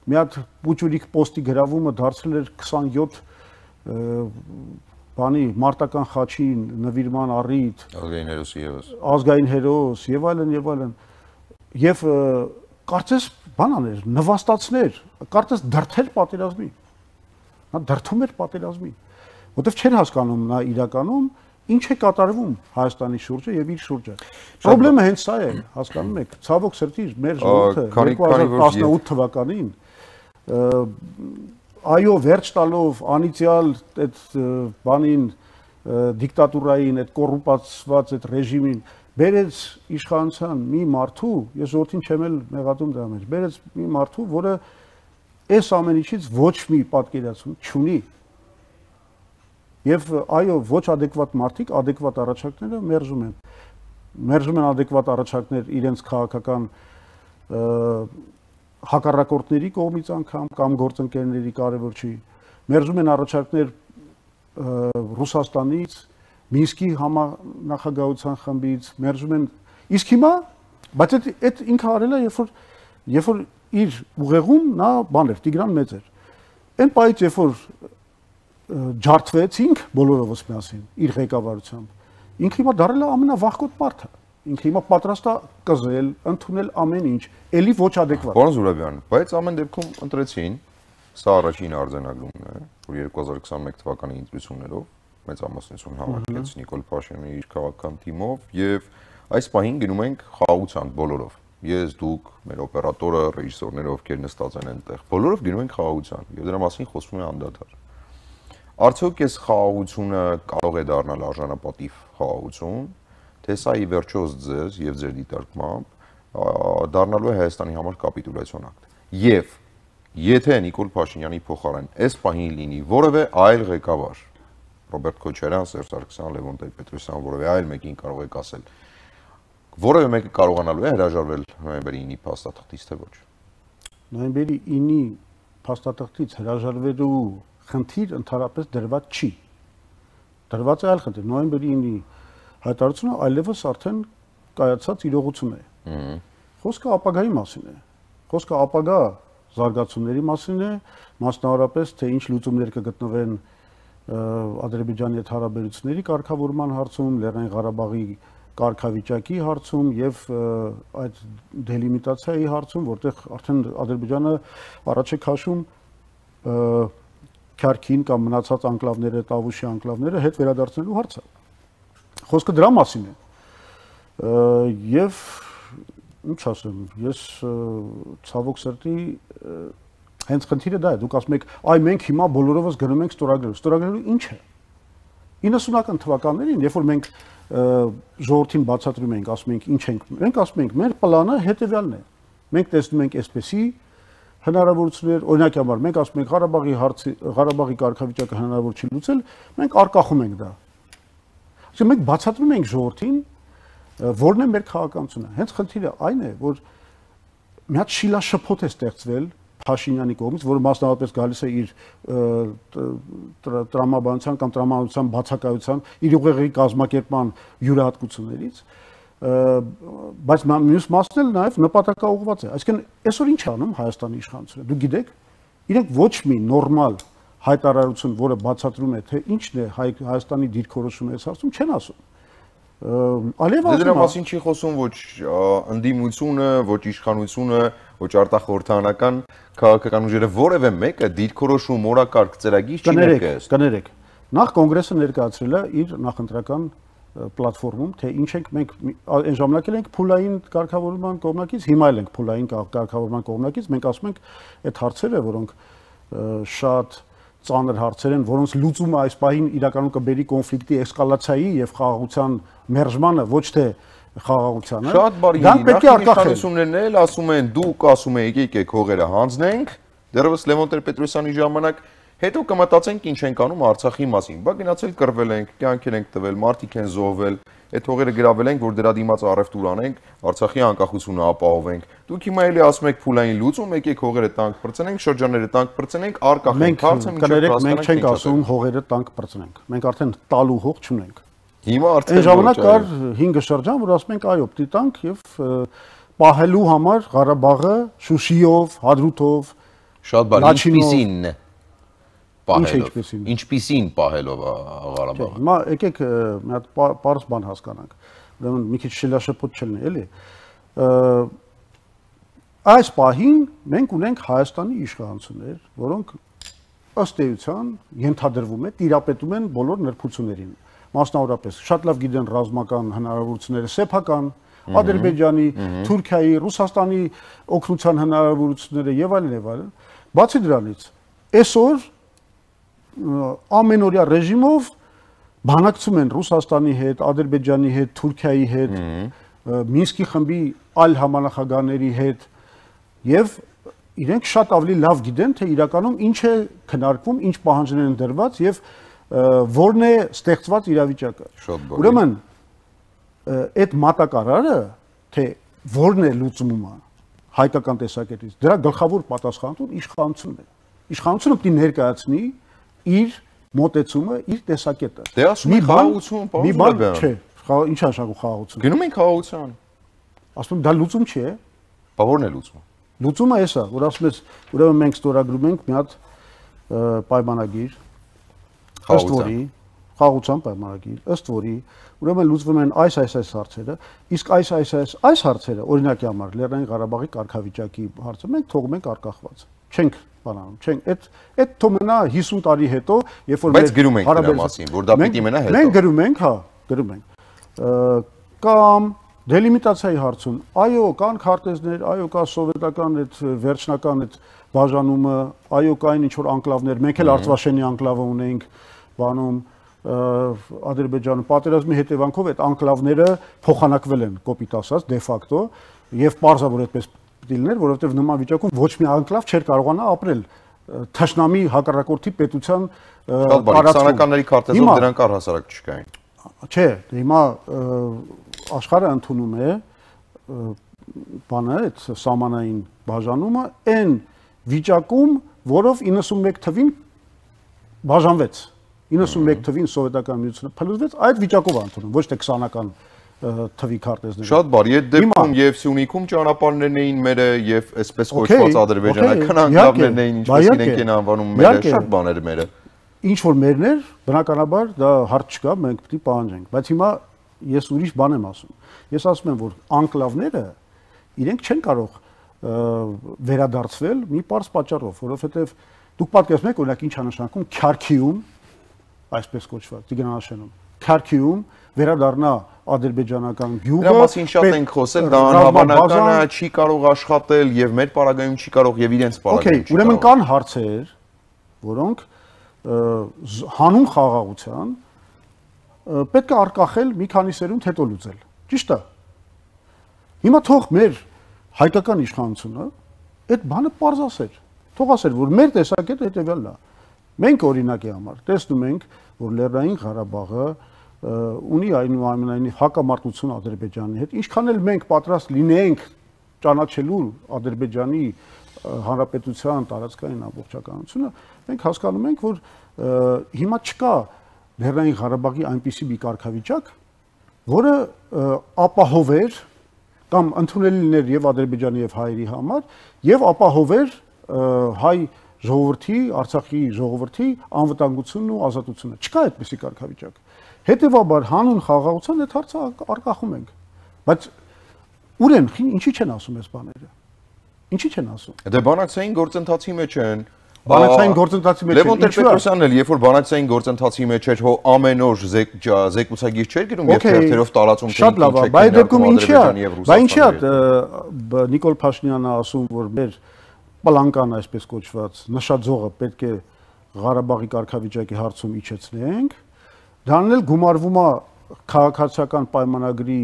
մի հատ Պուչուրիկ պոստի գրավումը դարձել էր 27 բանի մարտական խաչին նվիրման առիթ ազգային հերոս եւ այլն եւ կարծես բանաներ նվաստացներ կարծես դրթեր պատերազմի նա դրթում էր պատերազմի որովհետեւ չէր հասկանում նա իրականում ինչ է կատարվում Հայաստանի շուրջը եւ իր շուրջը խնդրեմը հենց սա է հասկանում եք ցավոք սրտի մեր ժողովուրդը 2018 թվականին այո վերջ տալով անիցիալ այդ բանին դիկտատուրային այդ կոռուպացված այդ ռեժիմին բերեց իշխանության մի մարդու ես ժողովրդին չեմ էլ մեղադրում դրա մեջ բերեց մի մարդու որը այս ամեն ինչից ոչ մի պատկերացում չունի եւ այո ոչ adekvat մարդիկ adekvat առաջարկները մերժում են adekvat առաջարկներ իրենց քաղաքական հակառակորդների կողմից անգամ կամ գործընկերների կարևոր չի մերժում են առաջարկներ Ռուսաստանից Մինսկի համանախագահության խմբից մերժում են իսկ հիմա բայց այդ ինքը արել է երբ որ իր ուղեղում նա բան էր Տիգրան մեծ էր այն պայից երբ որ ջարդվեցինք բոլորովս միասին իր ղեկավարությամբ ինքը հիմա դարել է ամենավախկոտ մարդը ինքը հիմա պատրաստ է կզել, ընդունել ամեն ինչ, էլի ոչ adekvat։ Պարոն Զուրաբյան, բայց ամեն դեպքում ընտրեցին, սա առաջին արձանագրումն է, որ 2021 թվականի ընտրություններով մեծամասնություն հավաքեց Նիկոլ Փաշինյանը իր քաղաքական թիմով եւ այս պահին գնում ենք խաղաղության բոլորով։ Ես, դուք, մեր օպերատորը, ռեժիսորները, ովքեր նստած են այնտեղ, բոլորով գնում ենք խաղաղության եւ դրա մասին խոսվում է անդադար։ Արդյոք այս խաղաղությունը կարող է դառնալ արժանապատիվ խաղաղություն, թե սա ի վերջո ձեզ եւ ձեր դիտարկմամբ դառնալու է Հայաստանի համար կապիտուլյացիոն ակտ։ Եվ եթե Նիկոլ Փաշինյանի փոխարեն այս պահին լինի որևէ այլ ղեկավար, Ռոբերտ Քոչարյան, Սերժ Սարգսյան, Լևոն Տեր-Պետրոսյան, որևէ այլ մեկին կարող եք ասել, որևէ մեկը կարողանալու է հրաժարվել նոյեմբերի 9-ի փաստաթղթից թե ոչ։ Նոյեմբերի 9-ի փաստաթղթից հրաժարվելու խնդիր ընդհանրապես դրված չի։ Դրված է այլ խնդիր։ Նոյեմբերի 9-ի հայտարարությունը այլևս արդեն կայացած իրողություն է։ Խոսքը ապագայի մասին է։ Խոսքը ապագա զարգացումների մասին է, մասնավորապես թե ինչ լուծումներ կգտնվեն Ադրբեջանի հետ հարաբերությունների կարգավորման հարցում, Լեռնային Ղարաբաղի կարգավիճակի հարցում եւ այդ դելիմիտացիայի հարցում, որտեղ արդեն Ադրբեջանը առաջ է քաշում Քարքին կամ մնացած անկլավները, Տավուշի անկլավները հետ վերադարձնելու հարցը։ Խոսքը դրա մասին է։ Եվ ինչ ասեմ, ես ցավոք սրտի հենց խնդիրը դա է, դուք ասում եք, այ մենք հիմա բոլորովս գնում ենք ստորագրելու ինչ է։ 90-ական թվականներին, երբ որ մենք ժողովրդին բացատրում ենք, ասում ենք ինչ ենք, մենք ասում ենք, մեր պլանը հետևյալն է։ Մենք տեսնում ենք այսպեսի հնարավորություններ, օրինակի համար մենք ասում ենք Ղարաբաղի կարգավիճակը հնարավոր չի լուծել, մենք արկախում ենք դա։ Այսինքն մենք բացատրում ենք ժողովրդին, որն է մեր քաղաքականությունը։ Հենց խնդիրը այն է, որ մի հատ շիլաշփոթ է ստեղծվել Փաշինյանի կողմից, որը մասնավորապես գալիս է իր տրամաբանության կամ տրամաբանության բացակայության, իր ուղեղի կազմակերպման յուրահատկություններից, բայց մյուս մասն էլ նաև նպատակաուղղված է։ Այսինքն այսօր ինչ է անում Հայաստանի իշխանությունը։ Դուք գիտեք, իրենք ոչ մի նորմալ հայտարարություն, որը բացատրում է, թե ինչն է Հայաստանի դիրքորոշումը այս հարցում, չեն ասում։ Դրա մասին չի խոսում ոչ ընդդիմությունը, ոչ իշխանությունը, ոչ արտախորհրդարանական քաղաքական ուժերը, որևէ մեկը դիրքորոշում օրակարգ ծրագիր չի ներկայացնում։ Կներեք, նախ կոնգրեսը ներկայացրել է իր նախընտրական պլատֆորմում, թե ինչ ենք մենք այն ժամանակ ենք փուլային կարգավորման կողմնակից, հիմա էլ ենք փուլային կարգավորման կողմնակից, մենք ասում ենք այդ հարցերը, որոնք շատ ծանր հարցեր են, որոնց լուծումը այս պահին իրականում կբերի կոնֆլիկտի էսկալացիայի եւ խաղաղության մերժմանը, ոչ թե խաղաղությանը։ Շատ բարի, իշխանություններն էլ ասում են, դուք ասում եք եկեք հողերը հանձնենք, դեռևս Լևոն Տեր-Պետրոսյանի ժամանակ, հետո կմտածենք ինչ ենք անում Արցախի մասին։ Բա գնացել կռվել ենք, կյանքեր ենք տվել, մարդիկ են զոհվել, այդ հողերը գրավել ենք, որ դրա դիմաց առևտուր անենք, Արցախի անկախությունը ապահովենք։ Դուք հիմա էլի ասում եք փուլային լուծում, եկեք հողերը տանկ պրծնենք, շրջանները տանկ պրծնենք, արկախենք հարցը մինչև մենք չենք ասում հողերը տանկ պրծնենք։ Մենք արդեն տալու հող չունենք։ Հիմա արդեն այն ժամանակ կար 5 շրջան, որ ասում ենք այո, պիտի տանք եւ պահելու համար Ղարաբաղը Շուշիով, Հադրութով, շատ բարի, ինչպիսին պահելով։ Ինչպիսին պահելով Ղարաբաղը։ Հիմա եկեք մի հատ պարզ բան հասկանանք։ Ուրեմն մի քիչ շիլաշփոթ չլինի, էլի։ Այս պահին մենք ունենք Հայաստանի իշխանություններ, որոնք ըստ էության ենթադրվում է տիրապետում են բոլոր նրբություններին։ Մասնավորապես շատ լավ գիտեն ռազմական հնարավորությունները սեփական, Ադրբեջանի, Թուրքիայի, Ռուսաստանի օգնության հնարավորությունները եւ այլն եւ այլն։ Բացի դրանից, այսօր ամենօրյա ռեժիմով բանակցում են Ռուսաստանի հետ, Ադրբեջանի հետ, Թուրքիայի հետ, Մինսկի խմբի այլ համանախագահների հետ եւ իրենք շատ ավելի լավ գիտեն, թե իրականում ինչ է քննարկվում, ինչ պահանջներ են դրված եւ որն է ստեղծված իրավիճակը։ Ուրեմն այդ մատակարարը, թե որն է լուծումը հայկական տեսակետից, դրա գլխավոր պատասխանատուն իշխանությունն է։ Իշխանությունը պետք է ներկայացնի իր մոտեցումը, իր տեսակետը։ Դե ասում են խաղաղություն, պարոն չէ, ինչ է նշանակում խաղաղություն։ Գնում ենք խաղաղության։ Ասում դա լուծում չի է։ Բա ո՞րն է լուծումը։ Լուծումը էսա, որ ասում ես, ուրեմն մենք ստորագրում ենք մի հատ պայմանագիր, ըստ որի խաղաղության պայմանագիր, ըստ որի ուրեմն լուծվում են այս հարցերը, իսկ այս հարցերը, օրինակի համար Լեռնային Ղարաբաղի կարգավիճակի հարցը մենք թողում ենք արկախված։ Չենք բանանում, չենք, այդ թողնա 50 տարի հետո, երբ որ մենք գրում ենք դրա մասին, որ դա պիտի մնա հետո։ Մենք գրում ենք, հա, գրում ենք։ Կամ դելիմիտացիայի հարցում, այո, կան քարտեզներ, այո, կա սովետական այդ վերջնական այդ բաժանումը, այո, կային ինչ որ անկլավներ, մենք էլ Արցվաշենի անկլավը ունենք, բանում Ադրբեջանում պատերազմի հետևանքով այդ անկլավները փոխանակվել են կոպիտ ասած դե ֆակտո եւ պարզավոր այդպես պիտի լիներ, որովհետեւ նման վիճակում ոչ մի անկլավ չէր կարողանա ապրել թշնամի հակառակորդի պետության տարածքների քարտեզով դրանք առհասարակ չկային։ Չէ, հիմա աշխարհը ընդունում է բանը այդ սահմանային բաժանումը այն վիճակում, որով 91 թվին բաժանվեց։ 91 թվին սովետական միությունը փլուզվեց, այդ վիճակով ընդունում, ոչ թե 20-ական թվի քարտեզները։ Շատ բարի, այդ դեպքում եւ Սյունիքում ճանապարհներն էին մերը եւ այսպես կոչված ադրբեջանական անկլավներն էին, ինչպես իրենք են անվանում մերը, շատ բաներ մերը։ Ինչ որ մերներ, բնականաբար դա հարց չկա, մենք պետք է պահանջենք, բայց հիմա ես ուրիշ բան եմ ասում։ Ես ասում եմ, որ անկլավները իրենք չեն կարող վերադարձվել մի պարզ պատճառով, որովհետեւ դուք պատկերացնում եք, օրինակ ինչ է նշանակում Քարքիում, այսպես կոչված Տիգրանաշենում, Քարքիում վերադառնա ադրբեջանական գյուղը։ Դրա մասին շատ ենք խոսել, դա անհավանական է, չի կարող աշխատել եւ մեր պարագայում չի կարող եւ իրենց պարագայում չի կարող։ Ուրեմն կան հարցեր, որոնք հանուն խաղաղության պետք է արկախել մի քանի սերունդ հետո լուծել։ Ճիշտ է։ Հիմա թող մեր հայկական իշխանությունը այդ բանը պարզ ասեր։ Թող ասեր, որ մեր տեսակետը հետեւյալն է։ Մենք օրինակի համար տեսնում ենք, որ Լեռնային Ղարաբաղը ունի այնուամենայնիվ հակամարտություն Ադրբեջանի հետ, ինչքան էլ մենք պատրաստ լինենք ճանաչելու Ադրբեջանի հանրապետության տարածքային ամբողջականությունը, մենք հասկանում ենք, որ հիմա չկա Լեռնային Ղարաբաղի այնպիսի մի կարգավիճակ, որը ապահովեր կամ ընդունելի լիներ եւ Ադրբեջանի եւ հայերի համար եւ ապահովեր հայ ժողովրդի, Արցախի ժողովրդի անվտանգությունն ու ազատությունը։ Չկա այդպիսի կարգավիճակ։ Հետևաբար հանուն խաղաղության այդ հարցը արկախում ենք։ Բայց ուր են, ինչի չեն ասում այս բաները։ Ինչի չեն ասում։ Դե բանակցային գործընթացի մեջ են։ Բանակցային գործընթացի մեջ Լևոն Տեր-Պետրոսյանն էլ, երբ որ բանակցային գործընթացի մեջ էր, հո ամեն օր զեկուցագիր չէր գրում եւ թերթերով տարածում թե շատ լավ է, բայց դեպքում ինչի է Նիկոլ Փաշինյանը ասում, որ մեր պլանկան այսպես կոչված նշաձողը պետք է Ղարաբաղի կարգավիճակի հարցում իջեցնենք, դրանն էլ գումարվում է քաղաքացիական պայմանագրի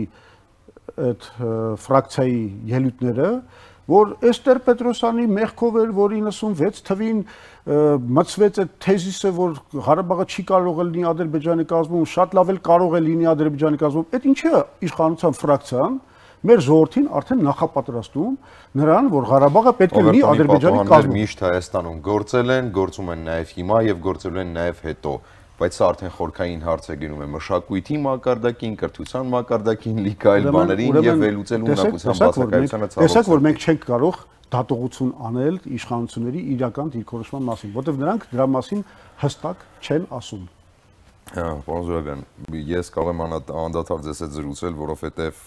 այդ ֆրակցիայի ելույթները, որ Էստեր Պետրոսյանի մեղքով էր, որ 96 թվին մցվեց այդ թեզիսը, որ Ղարաբաղը չի կարող լինի Ադրբեջանի կազմում, շատ լավ էլ կարող է լինի Ադրբեջանի կազմում։ Այդ ինչի է իշխանության ֆրակցիան մեր ժողովրդին արդեն նախապատրաստում նրան, որ Ղարաբաղը պետք է լինի Ադրբեջանի կազմում։ Միշտ Հայաստանում գործել են, գործում են նաև հիմա եւ գործելու են նաև հետո, բայց սա արդեն խորքային հարց է գնում է մշակույթի մակարդակին, կրթության մակարդակին, լիք այլ բաներին եւ վերլուծելու ունակության բացակայությանը ցավոք։ Տեսեք, որ մենք չենք կարող դատողություն անել իշխանությունների իրական դիրքորոշման մասին, որովհետեւ նրանք դրա մասին հստակ չեն ասում։ Պարոն Զուրաբյան, ես կարող եմ անդադար ձեզ հետ զրուցել, որովհետեւ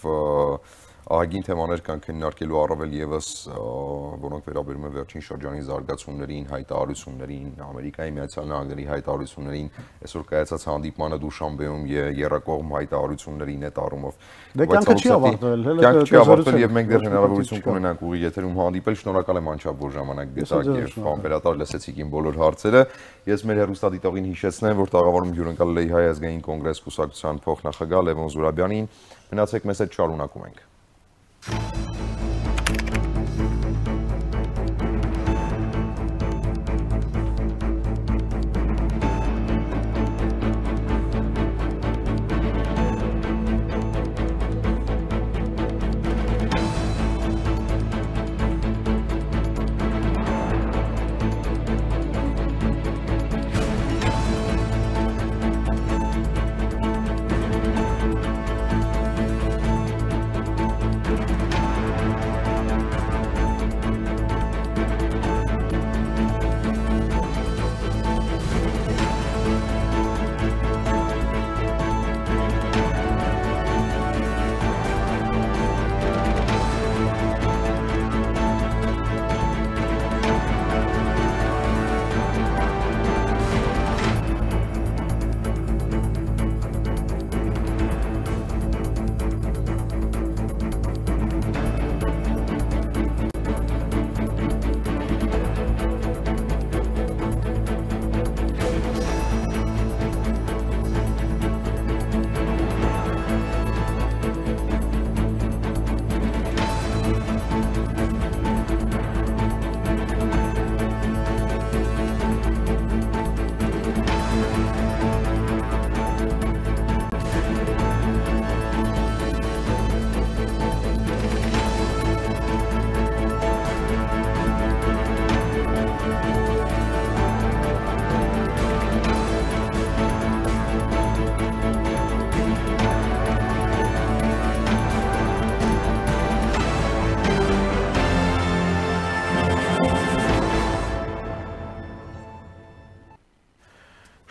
ահագին թեմաներ կան քննարկելու առավել եւս, որոնք վերաբերում են վերջին շրջանի զարգացումներին, հայտարարություններին, Ամերիկայի Միացյալ Նահանգների հայտարարություններին, այսօր կայացած հանդիպմանը Դուշանբեում երրակողմ հայտարարություններին այդ առումով։ Դե կյանքը չի ավարտվել, կյանքը չի ավարտվել եւ մենք դեռ հնարավորություն կունենանք ուղի եթերում հանդիպել։ Շնորհակալ եմ անչափ որ ժամանակ գտաք եւ անվերատար լսեցիք իմ բոլոր հարցերը։ Ես մեր հեռուստադիտողին հիշեցնեմ, որ տաղավարում հյուրընկալել էի Հայ ազգային կոնգրես կուսակցության փոխնախագահ Լևոն Զուրաբյանին։ Մնացեք մեզ հետ, շարունակում ենք։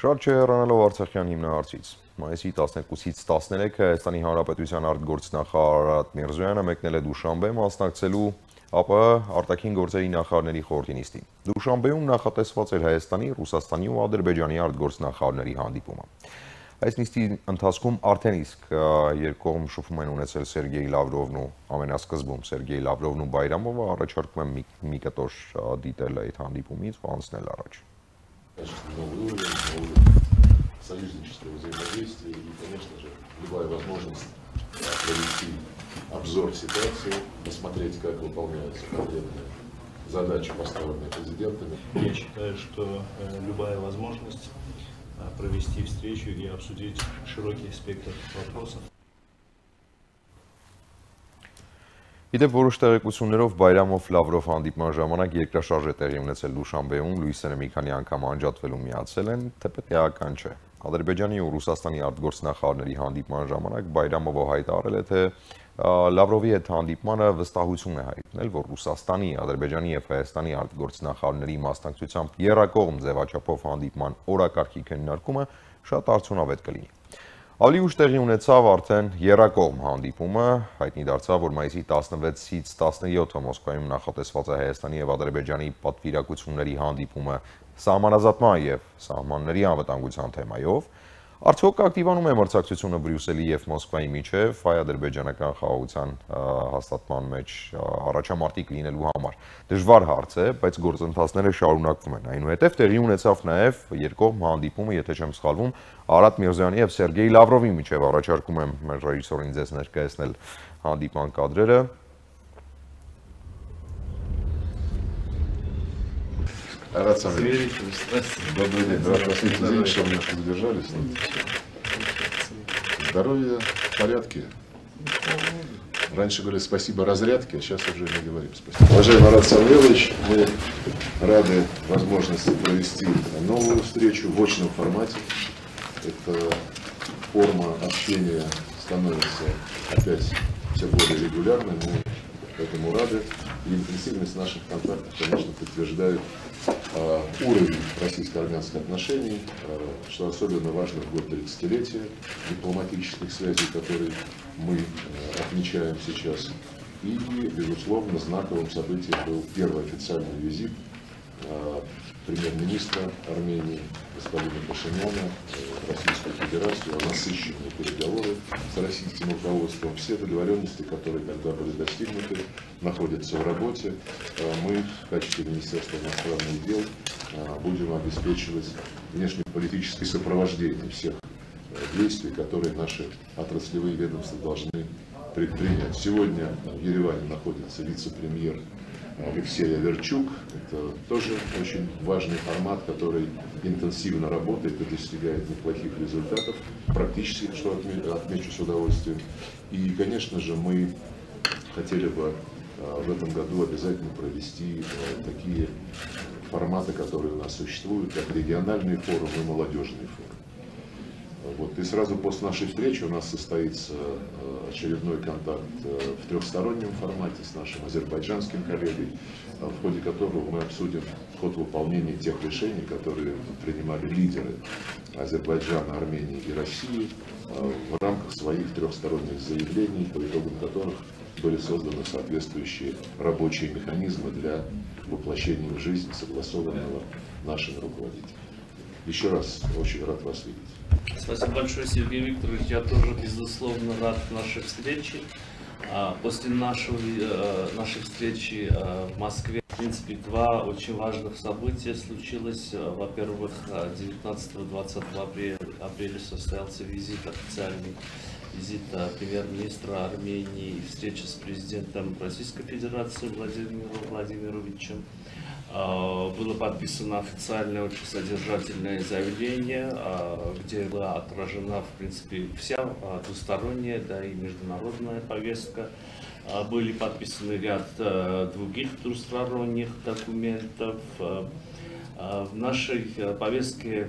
Շատ չհեռանալով Արցախյան հիմնահարցից, մայիսի 12-ից 13-ը Հայաստանի Հանրապետության արտգործնախարար Արարատ Միրզոյանը մեկնել է Դուշանբե մասնակցելու ԱՊՀ արտաքին գործերի նախարարների խորհրդի նիստին։ Դուշանբեում նախատեսված էր Հայաստանի, Ռուսաստանի ու Ադրբեջանի արտգործնախարարների հանդիպումը։ Այս նիստի ընթացքում արդեն իսկ երկկողմ շփում են ունեցել Սերգեյ Լավրովն ու ամենասկզբում Սերգեյ Լավրովն ու Բայրամովը, առաջարկում եմ մի կտոր դիտել այդ հանդիպումից ու անցնել առաջ։ Союзнического взаимодействия и, конечно же, любая возможность провести обзор ситуации, посмотреть, как выполняются конкретные задачи, поставленные президентами. Я считаю, что любая возможность провести встречу и обсудить широкий спектр вопросов. Իդեպ որոշ տեղեկություններով Բայրամով-Լավրով հանդիպման ժամանակ երկրաշարժ է տեղի ունեցել Դուշանբեում, լույսերը մի քանի անգամ անջատվելու միացել են, թեպետ էական չէ։ Ադրբեջանի ու Ռուսաստանի արտգործնախարարների հանդիպման ժամանակ Բայրամովը հայտարարել է, թե Լավրովի հետ հանդիպմանը վստահություն է հայտնել, որ Ռուսաստանի, Ադրբեջանի եւ Հայաստանի արտգործնախարարների մասնակցությամբ եռակողմ ձևաչափով հանդիպման օրակարգի քննարկումը շատ արդյունավետ կլինի։ Ավելի ուշ տեղի ունեցավ արդեն եռակողմ հանդիպումը, հայտնի դարձավ, որ մայիսի 16-ից 17-ը Մոսկվայում նախատեսված է Հայաստանի եւ Ադրբեջանի պատվիրակությունների հանդիպումը սահմանազատման եւ սահմանների անվտանգության թեմայով։ Արդյոք ակտիվանում է մրցակցությունը Բրյուսելի եւ Մոսկվայի միջև հայ-ադրբեջանական խաղաղության հաստատման մեջ առաջամարտիկ լինելու համար։ Դժվար հարց է, բայց գործընթացները շարունակվում են։ Այնուհետև տեղի ունեցավ նաեւ երկկողմ հանդիպումը, եթե չեմ սխալվում, Արարատ Միրզոյանի եւ Սերգեյ Լավրովի միջև, առաջարկում եմ մեր ռեժիսորին ձեզ ներկայացնել հանդիպման կադրերը։ Арат Самвелович, добрый день. Извините, что мы немножко задержались. Здоровье в порядке. Раньше говорили спасибо разрядке, а сейчас уже не говорим спасибо. Уважаемый Арат Самвелович, мы рады возможности провести новую встречу в очном формате. Эта форма общения становится опять все более регулярной. Мы этому рады. И интенсивность наших контактов, конечно, подтверждает уровень российско-армянских отношений, что особенно важно в год 30-летия дипломатических связей, которые мы отмечаем сейчас. И, безусловно, знаковым событием был первый официальный визит премьер-министра Армении господина Пашиняна в Российскую Федерацию, насыщенные переговоры с российским руководством. Все договоренности, которые тогда были достигнуты, находятся в работе. Мы в качестве Министерства иностранных дел будем обеспечивать внешнеполитическое сопровождение всех действий, которые наши отраслевые ведомства должны предпринять. Сегодня в Ереване находится вице-премьер Алексей Аверчук. Это тоже очень важный формат, который интенсивно работает и достигает неплохих результатов, практически, что отмечу с удовольствием. И, конечно же, мы хотели бы в этом году обязательно провести такие форматы, которые у нас существуют, как региональные форумы и молодежные форумы. Вот. И сразу после нашей встречи у нас состоится очередной контакт в трехстороннем формате с нашим азербайджанским коллегой, в ходе которого мы обсудим ход выполнения тех решений, которые принимали лидеры Азербайджана, Армении и России в рамках своих трехсторонних заявлений, по итогам которых были созданы соответствующие рабочие механизмы для воплощения в жизнь согласованного нашими руководителями. Еще раз очень рад вас видеть. Спасибо большое, Сергей Викторович. Я тоже, безусловно, рад нашей встрече. После нашей встречи в Москве, в принципе, два очень важных события случилось. Во-первых, 19-20 апреля состоялся официальный визит премьер-министра Армении и встреча с президентом Российской Федерации Владимиром Владимировичем. Было подписано официальное, очень содержательное заявление, где была отражена, в принципе, вся двусторонняя, да и международная повестка. Были подписаны ряд других двусторонних документов. В нашей повестке,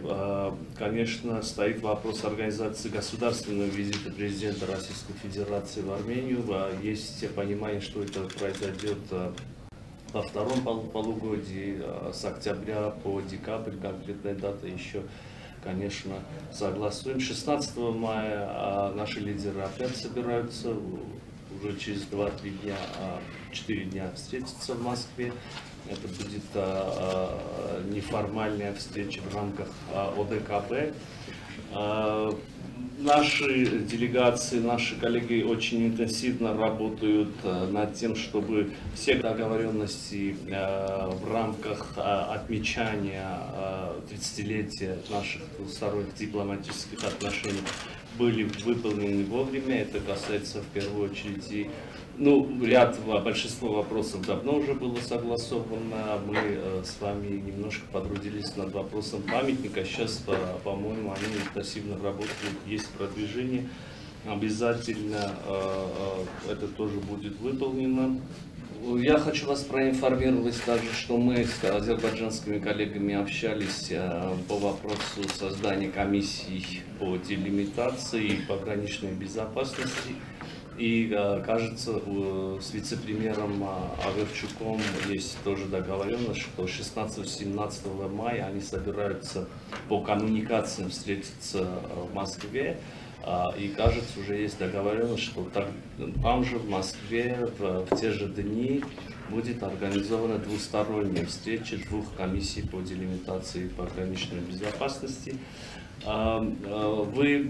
конечно, стоит вопрос организации государственного визита президента Российской Федерации в Армению. Есть понимание, что это произойдет во втором полугодии, с октября по декабрь, конкретная дата еще, конечно, согласуем. 16 мая наши лидеры опять собираются, уже через 2-3 дня, 4 дня встретиться в Москве. Это будет неформальная встреча в рамках ОДКБ. Наши делегации, наши коллеги очень интенсивно работают над тем, чтобы все договоренности в рамках отмечания 30-летия наших двусторонних дипломатических отношений были выполнены вовремя. Это касается в первую очередь и большинство вопросов давно уже было согласовано. Мы с вами немножко потрудились над вопросом памятника. Сейчас, по-моему, они интенсивно работают, есть продвижение. Обязательно это тоже будет выполнено. Я хочу вас проинформировать также, что мы с азербайджанскими коллегами общались по вопросу создания комиссий по делимитации и пограничной безопасности. И, кажется, с вице-премьером Аверчуком есть тоже договоренность, что 16-17 мая они собираются по коммуникациям встретиться в Москве. И, кажется, уже есть договоренность, что там же в Москве в те же дни будет организована двусторонняя встреча двух комиссий по делимитации и пограничной безопасности. Вы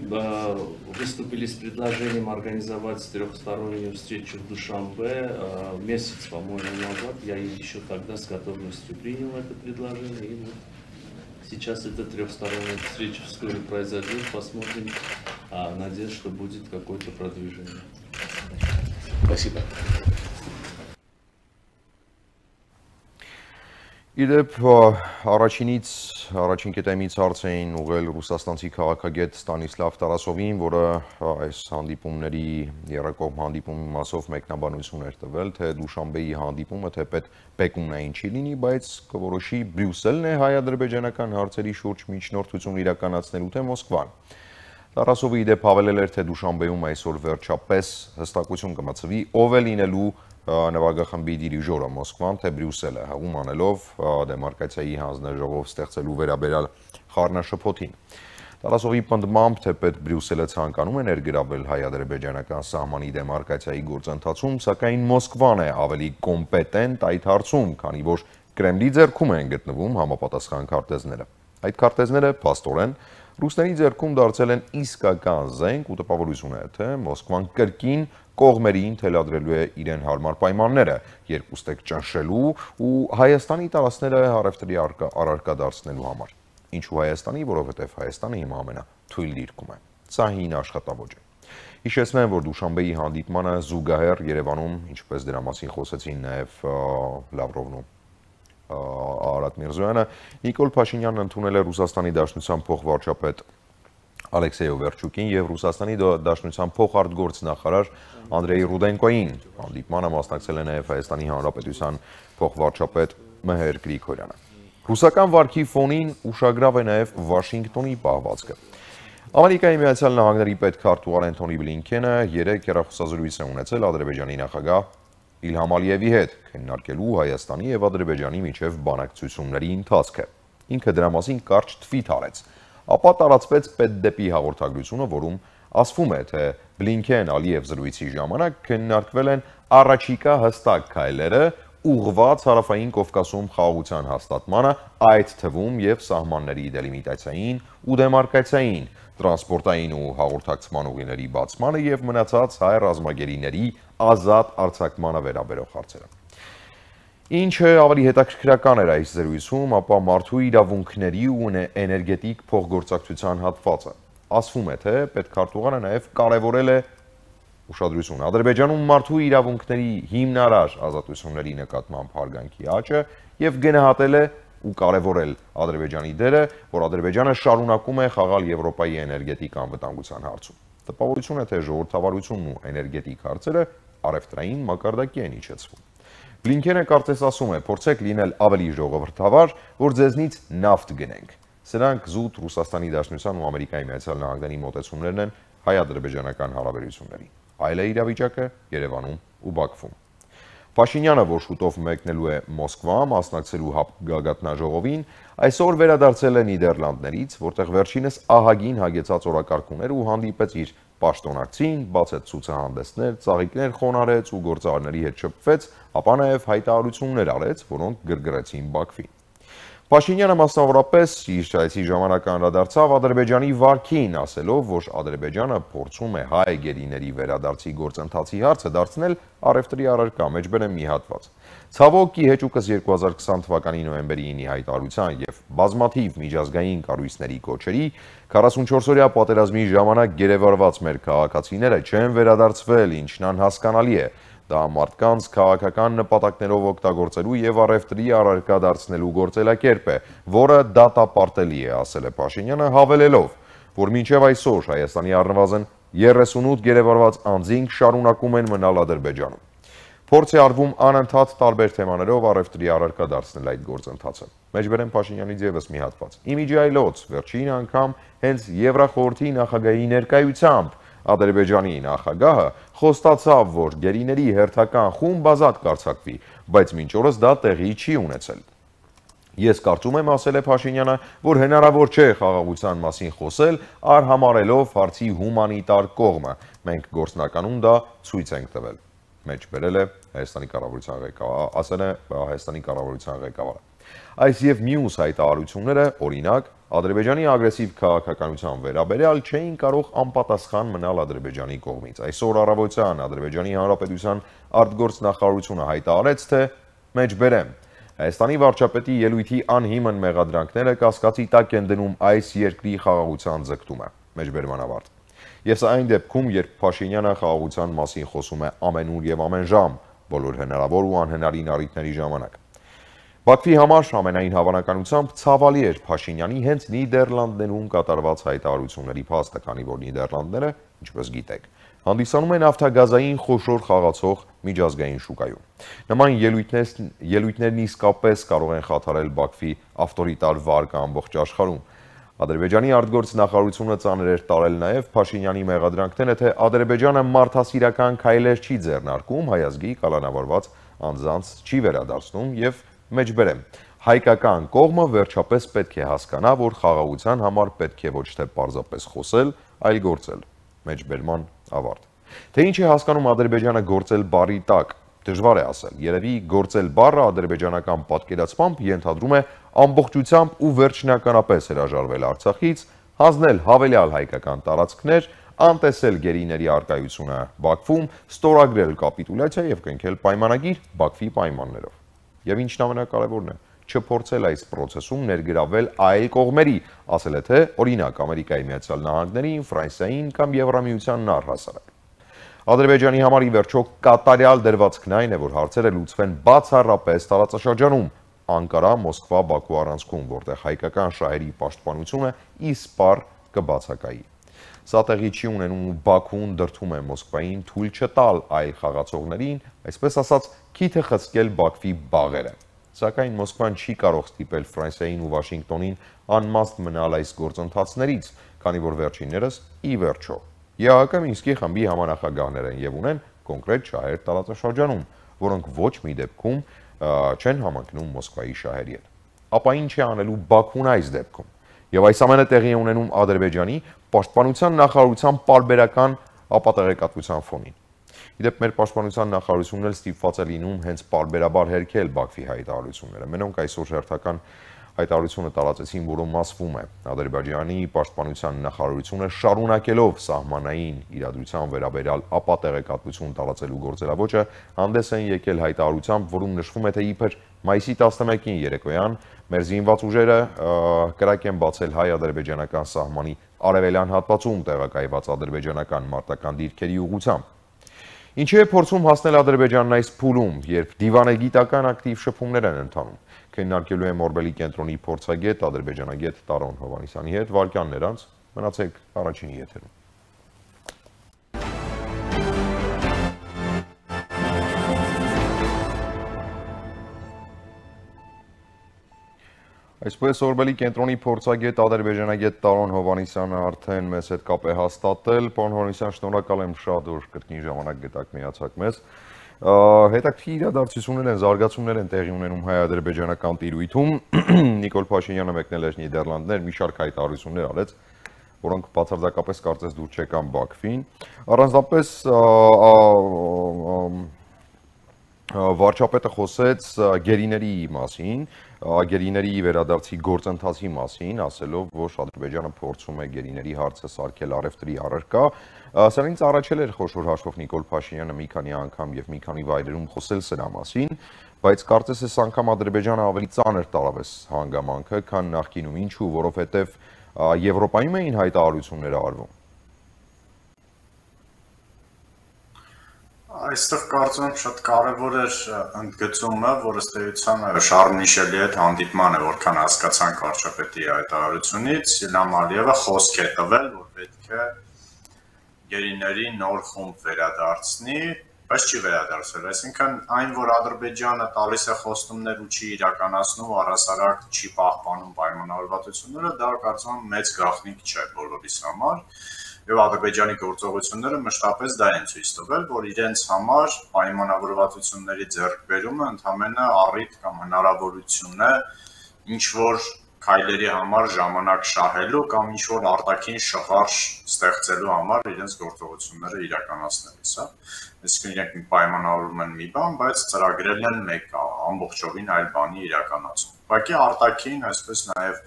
выступили с предложением организовать трехстороннюю встречу в Душанбе месяц, по-моему, назад. Я еще тогда с готовностью принял это предложение. И вот сейчас эта трехсторонняя встреча вскоре произойдет. Посмотрим. Надеюсь, что будет какое-то продвижение. Спасибо. Իդեպ առաջին կետեմից հարց էին ուղղել ռուսաստանցի քաղաքագետ Ստանիսլավ Տարասովին, որը այս հանդիպումների երակողմ հանդիպումի մասով մեկնաբանություն էր տվել, թե Դուշանբեի հանդիպումը թեպետ Պեկինային չի լինի, բայց կորոշի Բրյուսելն է հայ-ադրբեջանական հարցերի շուրջ միջնորդություն իրականացնելու թե Մոսկվան։ Տարասովը իդեպ հավելել էր, թե Դուշանբեում այսօր վերջապես հստակություն կմցվի, ով է լինելու նվագախմբի դիրիժորը Մոսկվան թե Բրյուսելը, հղում անելով դեմարկացիայի հանձնաժողով ստեղծելու վերաբերյալ խառնաշփոթին։ Տարասովի պնդմամբ, թեպետ Բրյուսելը ցանկանում է ներգրավել հայ-ադրբեջանական սահմանի դեմարկացիայի գործընթացում, սակայն Մոսկվան է ավելի կոմպետենտ այդ հարցում, քանի որ Կրեմլի ձեռքում են գտնվում համապատասխան քարտեզները։ Այդ քարտեզները փաստորեն ռուսների ձեռքում դարձել են իսկական զենք ու տպավորություն է, թե Մոսկվան կրկին կողմերին թելադրելու է իրեն հարմար պայմանները, երկուստեք ճնշելու ու Հայաստանի տարածքները առևտրի առարկա դարձնելու համար։ Ինչու Հայաստանի, որովհետև Հայաստանը հիմա ամենաթույլ դիրքում է։ Սա հին աշխատավոճ է։ Հիշեցնեմ, որ Դուշանբեի հանդիպմանը զուգահեռ Երևանում, ինչպես դրա մասին խոսեցին նաև Լավրովն ու Արարատ Միրզոյանը, Նիկոլ Փաշինյանն ընդունել է Ռուսաստանի Դաշնության փոխվարչապետ Ալեքսեյ Օվերչուկին եւ Ռուսաստանի Դաշնության փոխարտգործնախարար Անդրեյ Ռուդենկոյին։ Հանդիպմանը մասնակցել է նաեւ Հայաստանի Հանրապետության փոխվարչապետ Մեհեր Գրիգորյանը։ Ռուսական վարքի ֆոնին ուշագրավ է նաեւ Վաշինգտոնի պահվածքը։ Ամերիկայի Միացյալ Նահանգների պետքարտուղար Անթոնի Բլինքենը 3 հեռախոսազրույց է ունեցել Ադրբեջանի նախագահ Իլհամ Ալիևի հետ, քննարկելու Հայաստանի եւ Ադրբեջանի միջև բանակցությունների ընթացքը։ Ինքը դրա մասին կարճ թվիթ արեց։ Ապա տարածվեց պետդեպի հաղորդագրությունը, որում ասվում է, թե Բլինքեն-Ալիև զրույցի ժամանակ քննարկվել են առաջիկա հստակ քայլերը ուղղված Հարավային Կովկասում խաղաղության հաստատմանը, այդ թվում եւ սահմանների դելիմիտացիային ու դեմարկացիային, տրանսպորտային ու հաղորդակցման ուղիների բացմանը եւ մնացած հայ ռազմագերիների ազատ արձակմանը վերաբերող հարցերը։ Ինչը ավելի հետաքրքրական էր այս զրույցում, ապա մարդու իրավունքների ու էներգետիկ փոխգործակցության հատվածը։ Ասվում է, թե պետքարտուղարը նաև կարևորել է ուշադրություն Ադրբեջանում մարդու իրավունքների հիմնարար ազատությունների նկատմամբ հարգանքի աճը եւ գնահատել է ու կարևորել Ադրբեջանի դերը, որ Ադրբեջանը շարունակում է խաղալ Եվրոպայի էներգետիկ անվտանգության հարցում։ Տպավորություն է, թե ժողովրդավարությունն ու էներգետիկ հարցերը առևտրային մակարդակի են իջեցվում։ Բլինքենը կարծես ասում է, փորձեք լինել ավելի ժողովրդավար, որ ձեզնից նավթ գնենք։ Սրանք զուտ Ռուսաստանի Դաշնության ու Ամերիկայի Միացյալ Նահանգների մոտեցումներն են հայ-ադրբեջանական հարաբերություններին։ Այլ է իրավիճակը Երևանում ու Բաքվում։ Փաշինյանը, որ շուտով մեկնելու է Մոսկվա, մասնակցելու գագաթնաժողովին, այսօր վերադարձել է Նիդերլանդներից, որտեղ վերջինս ահագին հագեցած օրակարգ ուներ ու հանդիպեց իր պաշտոնակցին, բացեց ցուցահանդեսներ, ծաղիկներ խոնարհեց ու գործարարների հետ շփվեց, ապա նաև հայտարարություններ արեց, որոնք գրգռեցին Բաքվին։ Փաշինյանը մասնավորապես իր այցի ժամանակ անդրադարձավ Ադրբեջանի վարքին, ասելով, որ Ադրբեջանը փորձում է հայ գերիների վերադարձի գործընթացի հարցը դարձնել առևտրի առարկա, մեջբերեմ մի հատված։ Ցավոք, ի հեճուկս 2020 թվականի նոյեմբերի 9-ի հայտարարության եւ բազմաթիվ միջազգային կառույցների կոչերի 44-օրյա պատերազմի ժամանակ գերեվարված մեր քաղաքացիները չեն վերադարձվել, ինչն անհասկանալի է։ Դա մարդկանց քաղաքական նպատակներով օգտագործելու եւ առևտրի առարկա դարձնելու գործելակերպ է, որը դատապարտելի է, ասել է Փաշինյանը, հավելելով, որ մինչև այսօր Հայաստանի առնվազն 38 գերեվարված անձինք շարունակում են մնալ Ադրբեջանում։ Փորձ է արվում անընդհատ տարբեր թեմաներով առևտրի առարկա դարձնել այդ գործընթացը։ Մեջբերեմ Փաշինյանից եւս մի հատված։ Իմիջի այլոց վերջին անգամ հենց Եվրախորհրդի նախագահի ներկայությամբ Ադրբեջանի նախագահը խոստացավ, որ գերիների հերթական խումբ ազատ կարձակվի, բայց մինչ օրս դա տեղի չի ունեցել։ Ես կարծում եմ, ասել է Փաշինյանը, որ հնարավոր չէ խաղաղության մասին խոսել, արհամարելով հարցի հումանիտար կողմը։ Մենք գործնականում դա ցույց ենք տվել։ Մեջ բերել է Հայաստանի կառավարության ղեկավարը, ասել է Հայաստանի կառավարության ղեկավարը։ Այս եւ մյուս հայտարարությունները, օրինակ, Ադրբեջանի ագրեսիվ քաղաքականության վերաբերյալ չէին կարող անպատասխան մնալ Ադրբեջանի կողմից։ Այսօր առավոտյան Ադրբեջանի Հանրապետության արտգործնախարարությունը հայտարարեց, թե մեջբերեմ Հայաստանի վարչապետի ելույթի անհիմն մեղադրանքները կասկածի տակ են դնում այս երկրի խաղաղության ձգտումը։ Մեջբերման ավարտ։ Եվ սա այն դեպքում, երբ Փաշինյանը խաղաղության մասին խոսում է ամենուր եւ ամեն ժամ, բոլոր հնարավոր ու անհնարին առիթների ժամանակ։ Բաքվի համար ամենայն հավանականությամբ ցավալի էր Փաշինյանի հենց Նիդերլանդներում կատարված հայտարարությունների փաստը, քանի որ Նիդերլանդները, ինչպես գիտեք, հանդիսանում են նավթագազային խոշոր խաղացող միջազգային շուկայում։ Նման ելույթներն իսկապես կարող են խաթարել Բաքվի ավտորիտար վարկը ամբողջ աշխարհում։ Ադրբեջանի արտգործնախարարությունը ծանր էր տարել նաև Փաշինյանի մեղադրանքները, թե Ադրբեջանը մարդասիրական քայլեր չի ձեռնարկում, հայազգի կալանավորված անձանց չի վերադարձնում եւ մեջբերեմ հայկական կողմը վերջապես պետք է հասկանա, որ խաղաղության համար պետք է ոչ թե պարզապես խոսել, այլ գործել։ Մեջբերման ավարտ։ Թե ինչ է հասկանում Ադրբեջանը գործել բառի տակ, դժվար է ասել։ Երևի գործել բառը ադրբեջանական պատկերացմամբ ենթադրում է ամբողջությամբ ու վերջնականապես հրաժարվել Արցախից, հանձնել հավելյալ հայկական տարածքներ, անտեսել գերիների արկայությունը Բաքվում, ստորագրել կապիտուլյացիա եւ կնքել պայմանագիր Բաքվի պայմաններով։ Եվ ինչն ամենակարևորն է, չփորձել այս process-ում ներգրավել այլ կողմերի, ասել է թե օրինակ Ամերիկայի Միացյալ Նահանգներին, Ֆրանսիային կամ Եվրամիությանն առհասարակ։ Ադրբեջանի համար ի վերջո կատարյալ դրվածքն այն է, որ հարցերը լուծվեն բացառապես տարածաշրջանում, Անկարա, Մոսկվա, Բաքու առանցքում, որտեղ հայկական շահերի պաշտպանությունը իսպառ կբացակայի։ Սա տեղի չի ունենում ու Բաքուն դրդում է Մոսկվային թույլ չտալ այլ խաղացողներին, այսպես ասած, քիթը խցկել Բաքվի բաղերը։ Սակայն Մոսկվան չի կարող ստիպել Ֆրանսիային ու Վաշինգտոնին անմաստ մնալ այս գործընթացներից, քանի որ վերջիններս ի վերջո ԵԱՀԿ Մինսկի խմբի համանախագահներ են եւ ունեն կոնկրետ շահեր տարածաշրջանում, որոնք ոչ մի դեպքում չեն համընկնում Մոսկվայի շահերի հետ։ Ապա ինչ է անելու Բաքուն այս դեպքում։ Եվ այս ամենը տեղի է ունենում Ադրբեջանի պաշտպանության նախարարության պարբերական ապատեղեկատվության ֆոնին։ Իդեպ մեր պաշտպանության նախարարությունն էլ ստիպված է լինում հենց պարբերաբար հերքել Բաքվի հայտարարությունները։ Մենոնք այսօր հերթական հայտարարությունը տարածեցին, որում ասվում է Ադրբեջանի պաշտպանության նախարարությունը շարունակելով սահմանային իրադրության վերաբերյալ ապատեղեկատվություն տարածելու գործելավոճը հանդես են եկել հայտարարությամբ, որում նշվում է, թե իբր մայիսի 11-ին երեկոյան մեր զինված ուժերը կրակ են բացել հայ-ադրբեջանական սահմանի արևելյան հատվածում տեղակայված ադրբեջանական մարտական դիրքերի ուղղությամբ։ Ինչի է փորձում հասնել Ադրբեջանն այս փուլում, երբ դիվանագիտական ակտիվ շփումներ են ընթանում։ Քննարկելու եմ Օրբելի կենտրոնի փորձագետ, ադրբեջանագետ Տարոն Հովհաննիսյանի հետ, վարքյաններ անց, մնացեք առաջինի եթերում։ Այսպես Օրբելի կենտրոնի փորձագետ, ադրբեջանագետ Տարոն Հովհաննիսյանը արդեն մեզ հետ կապ է հաստատել։ Պարոն Հովհաննիսյան, շնորհակալ եմ շատ, որ կրկին ժամանակ գտաք միացաք մեզ։ Հետաքրքիր իրադարձություններ են, զարգացումներ են տեղի ունենում հայ-ադրբեջանական տիրույթում։ Նիկոլ Փաշինյանը մեկնել էր Նիդերլանդներ, մի շարք հայտարարություններ արեց, որոնք բացարձակապես կարծես դուր չեկան Բաքվին։ Առանձնապես վարչապետը խոսեց գերիների մասին, գերիների վերադարձի գործընթացի մասին, ասելով, որ Ադրբեջանը փորձում է գերիների հարցը սարքել առևտրի առարկա։ Սրանից առաջել էր խոշոր հաշվով Նիկոլ Փաշինյանը մի քանի անգամ եւ մի քանի վայրերում խոսել սրա մասին, բայց կարծես այս անգամ Ադրբեջանը ավելի ծանր տարավ այս հանգամանքը, քան նախկինում, ինչու, որովհետեւ Եվրոպայում էին հայտարարությունները արվում։ Այստեղ կարծում եմ շատ կարևոր էր ընդգծումը, որ ըստ էության Շարլ Միշելի հետ հանդիպմանը, որքան հասկացանք վարչապետի հայտարարությունից, Իլհամ Ալիևը խոսք է տվել, որ պետք է գերիների նոր խումբ վերադարձնի, բայց չի վերադարձել, այսինքն այն, որ Ադրբեջանը տալիս է խոստումներ ու չի իրականացնում, առհասարակ չի պահպանում պայմանավորվածությունները, դա կարծում եմ մեծ գաղտնիք չէ բոլորիս համար, եւ Ադրբեջանի գործողությունները մշտապես դա են ցույց տվել, որ իրենց համար պայմանավորվածությունների ձեռքբերումը ընդհանրապես առիթ կամ հնարավորություն է ինչ որ քայլերի համար ժամանակ շահելու կամ ինչ որ արտաքին շղարշ ստեղծելու համար իրենց գործողությունները իրականացնելիս, հա։ Այսինքն իրենք պայմանավորում են մի բան, բայց ծրագրել են մեկ ամբողջովին այլ բանի իրականացում։ Ուղղակի արտաքին, այսպես նաև,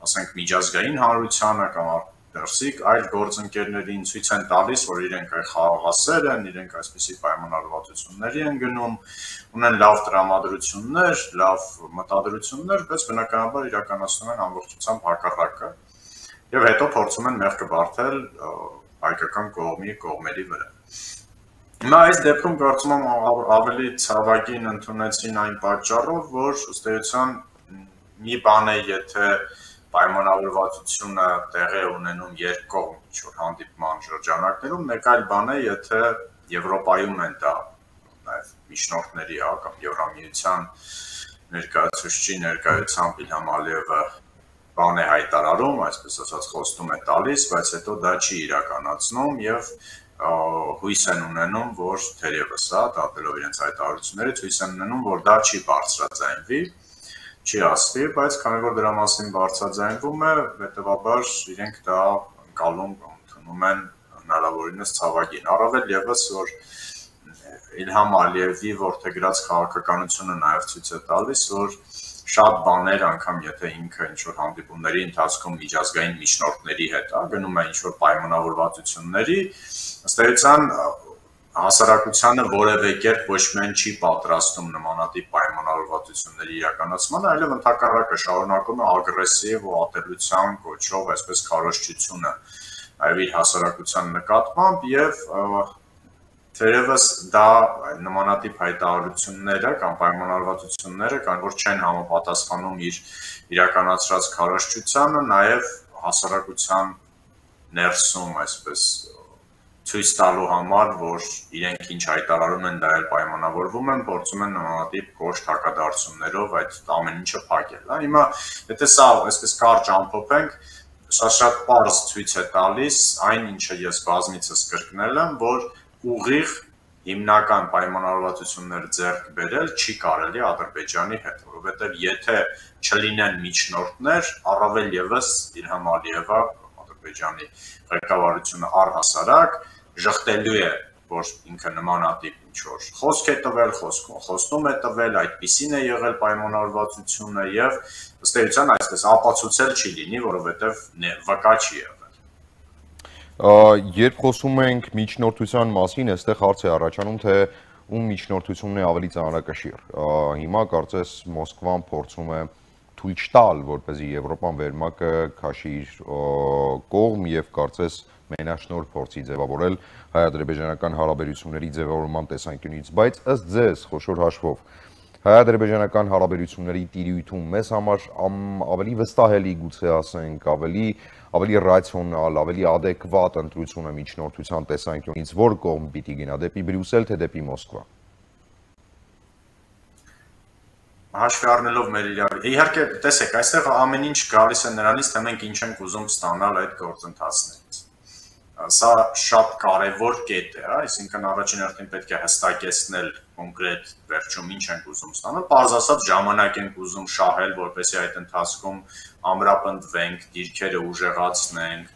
ասենք, միջազգային հանրությանը կամ դրսիկ այլ գործընկերներին ցույց են տալիս, որ իրենք խաղաղասեր են, իրենք այսպիսի պայմանավորվածությունների են գնում, ունեն լավ տրամադրություններ, լավ մտադրություններ, բայց բնականաբար իրականացնում են ամբողջությամբ հակառակը եւ հետո փորձում են մեղքը բարթել հայկական կողմերի վրա։ Հիմա այս դեպքում կարծում եմ ավելի ցավագին ընդունեցին այն պատճառով, որ ըստ էության մի բան է, եթե պայմանավորվածությունը տեղի ունենում երկկողմ ինչ-որ հանդիպման շրջանակներում, մեկ այլ բան է, եթե Եվրոպայում են դա նաև միջնորդների կամ Եվրամիության ներկայացուցչի ներկայությամբ Իլհամ Ալիևը բան է հայտարարում, այսպես ասած խոստում է տալիս, բայց հետո դա չի իրականացնում եւ հույս են ունենում, որ թերևս դատելով իրենց հայտարարություններից հույս են ունենում, որ դա չի բարձրաձայնվի, չի ասվի, բայց քանի որ դրա մասին բարձրաձայնվում է, հետեւաբար իրենք դա անցալում ընդունում են հնարավորինս ցավագին։ Առավել եւս, որ Իլհամ Ալիևի որդեգրած քաղաքականությունը նաև ցույց է տալիս, որ շատ բաներ անգամ եթե ինքը ինչ-որ հանդիպումների ընթացքում միջազգային միջնորդների հետ գնում է ինչ-որ պայմանավորվածությունների, ըստ էության հասարակությանը որևէ կերպ ոչ միայն չի պատրաստում նմանատիպ պայմանավորվածությունների իրականացմանը, այլև ընդհակառակը շարունակում է ագրեսիվ ու ատելության կոչով այսպես քարոզչությունը այլ իր հասարակության նկատմամբ եւ թերևս դա նմանատիպ հայտարարությունները կամ պայմանավորվածությունները կան, որ չեն համապատասխանում իր իրականացրած քարոզչությանը, նաև հասարակության ներսում այսպես ցույց տալու համար, որ իրենք ինչ հայտարարում են, դա էլ պայմանավորվում են, փորձում են նմանատիպ կոշտ հակադարձություններով այդ ամեն ինչը փակել։ Հիմա եթե սա այսպես կարճ ամփոփենք, շատ պարզ ցույց է տալիս այն, ինչը ես բազմիցս կրկնել եմ, որ ուղիղ հիմնական պայմանավորվածություններ ձեռք բերել չի կարելի Ադրբեջանի հետ, որովհետև եթե չլինեն միջնորդներ, առավել եւս Իլհամ Ալիևը Ադրբեջանի ղեկավարությունը առհասարակ ժխտելու է, որ ինքը նմանատիպ ինչ-որ խոսք է տվել, խոստում է տվել, այդպիսին է եղել պայմանավորվածությունը եւ ըստ էության այսպես ապացուցել չի լինի, որովհետև վկա չի եղել։ Երբ խոսում ենք միջնորդության մասին, այստեղ հարց է առաջանում, թե ում միջնորդությունն է ավելի ծանրակշիռ։ Հիմա կարծես Մոսկվան փորձում է թույլ չտալ, որպեսզի Եվրոպան վերմակը քաշի իր կողմ եւ կարծես մենաշնորհ փորձի ձևավորել հայ-ադրբեջանական հարաբերությունների ձևավորման տեսանկյունից, բայց ըստ ձեզ խոշոր հաշվով հայ-ադրբեջանական հարաբերությունների տիրույթում մեզ համար ավելի վստահելի գուցե ասենք, ավելի ռացիոնալ, ավելի adekvat ընտրությունը միջնորդության տեսանկյունից որ կողմ պիտի գնա, դեպի Բրյուսել թե դեպի Մոսկվա։ Հաշվի առնելով մեր իհարկե տեսեք, այստեղ ամեն ինչ գալիս է նրանից, թե մենք ինչ ենք ուզում ստանալ այդ գործընթացներից։ Սա շատ կարևոր կետ է, այսինքն առաջին հերթին պետք է հստակեցնել կոնկրետ վերջում ինչ ենք ուզում ստանալ, պարզ ասած ժամանակ ենք ուզում շահել, որպեսզի այդ ընթացքում ամրապնդվենք, դիրքերը ուժեղացնենք,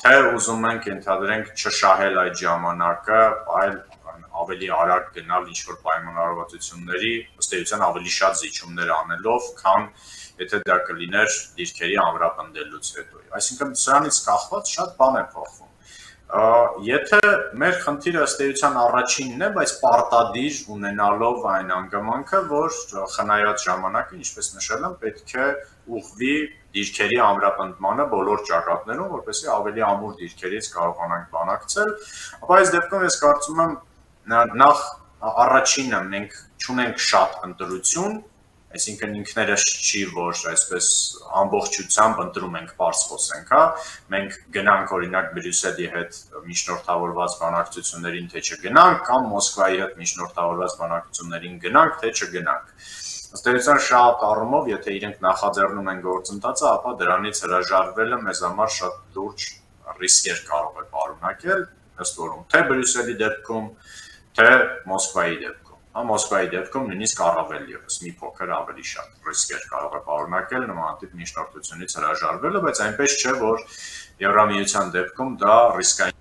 թե ուզում ենք ենթադրենք չշահել այդ ժամանակը, այլ ավելի արագ գնալ ինչ-որ պայմանավորվածությունների, ըստ էության ավելի շատ զիջումներ անելով, քան եթե դա կլիներ դիրքերի ամրապնդելուց հետո։ Այսինքն սրանից կախված շատ բան է փոխվում։ Եթե մեր խնդիրը ըստ էության առաջինն է, բայց պարտադիր ունենալով այն անգամանքը, որ խնայած ժամանակը, ինչպես նշել եմ, պետք է ուղղվի դիրքերի ամրապնդմանը բոլոր ճակատներում, որպեսզի ավելի ամուր դիրքերից կարողանանք բանակցել, ապա այս դեպքում ես կարծում եմ նախ առաջինը մենք չունենք շատ ընտրություն, այսինքն ինքներս չի, որ այսպես ամբողջությամբ ընտրում ենք պարզ խոսենք, հա, մենք գնանք օրինակ Բրյուսելի հետ միջնորդավորված բանակցություններին, թե չգնանք, կամ Մոսկվայի հետ միջնորդավորված բանակցություններին գնանք, թե չգնանք։ Ըստ էության շատ առումով, եթե իրենք նախաձեռնում են գործընթացը, ապա դրանից հրաժարվելը մեզ համար շատ լուրջ ռիսկեր կարող է պարունակել, ըստ որում թե Բրյուսելի դեպքում, թե Մոսկվայի դեպքում։ Մոսկվայի դեպքում նույնիսկ առավել ևս մի փոքր ավելի շատ ռիսկեր կարող է պարունակել նմանատիպ միջնորդությունից հրաժարվելը, բայց այնպես չէ, որ Եվրամիության դեպքում դա ռիսկային։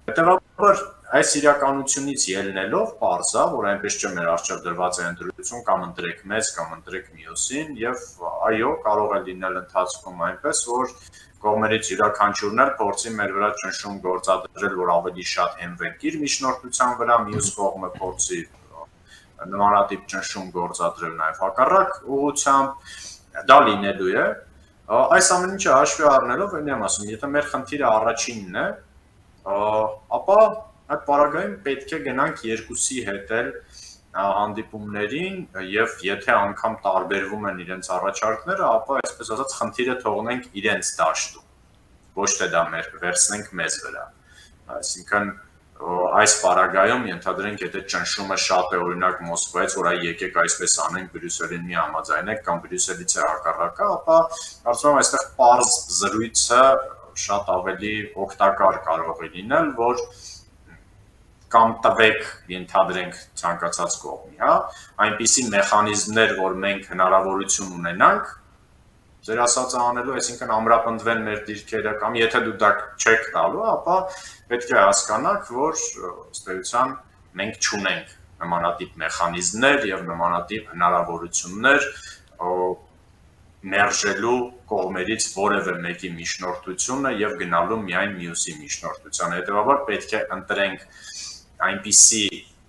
Հետևաբար այս իրականությունից ելնելով պարզ է, որ այնպես չէ մեր առջև դրված է ընտրություն կամ ընտրեք մեզ կամ ընտրեք մյուսին, եւ այո, կարող է լինել ընթացքում այնպես, որ կողմերից յուրաքանչյուրն էլ փորձի մեր վրա ճնշում գործադրել, որ ավելի շատ հենվենք իր միջնորդության վրա, մյուս կողմը փորձի նմանատիպ ճնշում գործադրել նաև հակառակ ուղղությամբ, դա լինելու է։ Այս ամեն ինչը հաշվի առնելով, այն եմ ասում, եթե մեր խնդիրը առաջինն է, ապա այդ պարագայում պետք է գնանք երկուսի հետ էլ հանդիպումներին եւ եթե անգամ տարբերվում են իրենց առաջարկները, ապա այսպես ասած խնդիրը թողնենք իրենց դաշտում, ոչ թե դա վերցնենք մեզ վրա։ Այսինքն այս պարագայում ենթադրենք, եթե ճնշումը շատ է օրինակ Մոսկվայից, որ այ եկեք այսպես անենք, Բրյուսելին մի համաձայնեք կամ Բրյուսելից է հակառակը, ապա կարծում եմ այստեղ պարզ զրույցը շատ ավելի օգտակար կարող է լինել, որ կամ տվեք ենթադրենք ցանկացած կողմի, հա, այնպիսի մեխանիզմներ, որ մենք հնարավորություն ունենանք ձեր ասածը անելու, այսինքն ամրապնդվեն մեր դիրքերը կամ եթե դու դա չեք տալու, ապա պետք է հասկանաք, որ ըստ էության մենք չունենք նմանատիպ մեխանիզմներ եւ նմանատիպ հնարավորություններ մերժելու կողմերից որևէ մեկի միջնորդությունը եւ գնալու միայն մյուսի միջնորդությանը։ Հետեւաբար պետք է ընտրենք այնպիսի,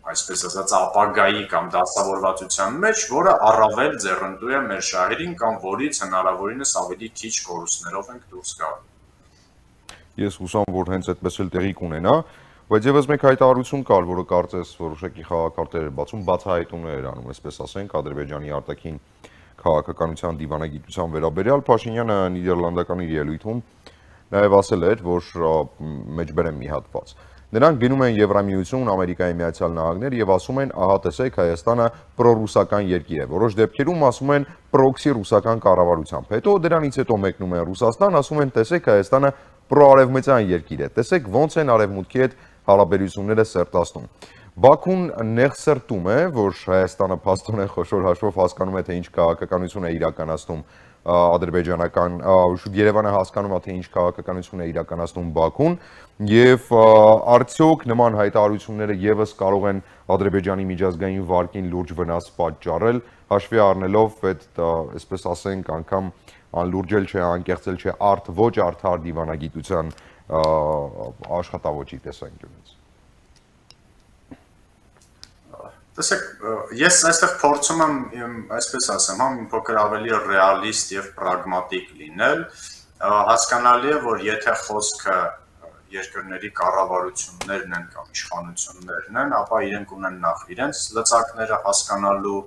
այսպես ասած, ապագայի կամ դասավորվածության մեջ, որը առավել ձեռնտու է մեր շահերին կամ որից հնարավորինս ավելի քիչ կորուստներով ենք դուրս գալու։ Ես հուսամ, որ հենց այդպես էլ տեղի կունենա, բայց եւս մեկ հայտարարություն կար, որը կարծես որոշակի խաղակարտեր էր բացում, բացահայտումներ էր անում, այսպես ասենք, Ադրբեջանի արտաքին քաղաքականության դիվանագիտության վերաբերյալ Փաշինյանը նիդերլանդական իր ելույթում նաև ասել էր, որ մեջբերեմ մի հատված։ Նրանք գնում են Եվրամիություն, Ամերիկայի Միացյալ Նահանգներ եւ ասում են, ահա տեսեք, Հայաստանը պրոռուսական երկիր է։ Որոշ դեպքերում ասում են պրոքսի ռուսական կառավարությամբ։ Հետո դրանից հետո մեկնում են Ռուսաստան, ասում են, տեսեք, Հայաստանը պրոարևմտյան երկիր է։ Տեսեք ոնց են արևմուտքի հետ հարաբերությունները սերտացնում։ Բաքուն նեղսրտում է, որ Հայաստանը փաստորեն խոշոր հաշվով հասկանում է, թե ինչ քաղաքականություն է իրականացնում ադրբեջանական, Երևանը հասկանում է, թե ինչ քաղաքականություն է իրականացնում Բաքուն եւ արդյոք նման հայտարարությունները եւս կարող են Ադրբեջանի միջազգային վարկին լուրջ վնաս պատճառել, հաշվի առնելով այդ, այսպես ասենք, անգամ անլուրջել չէ, անկեղծել չէ, ոչ արդար դիվանագիտության աշխատավոճի տեսանկյունից։ Տեսեք, ես այստեղ փորձում եմ, այսպես ասեմ, մի փոքր ավելի ռեալիստ եւ պրագմատիկ լինել, հասկանալի է, որ եթե խոսքը երկրների կառավարություններն են կամ իշխանություններն են, ապա իրենք ունեն նախ իրենց լծակները հասկանալու,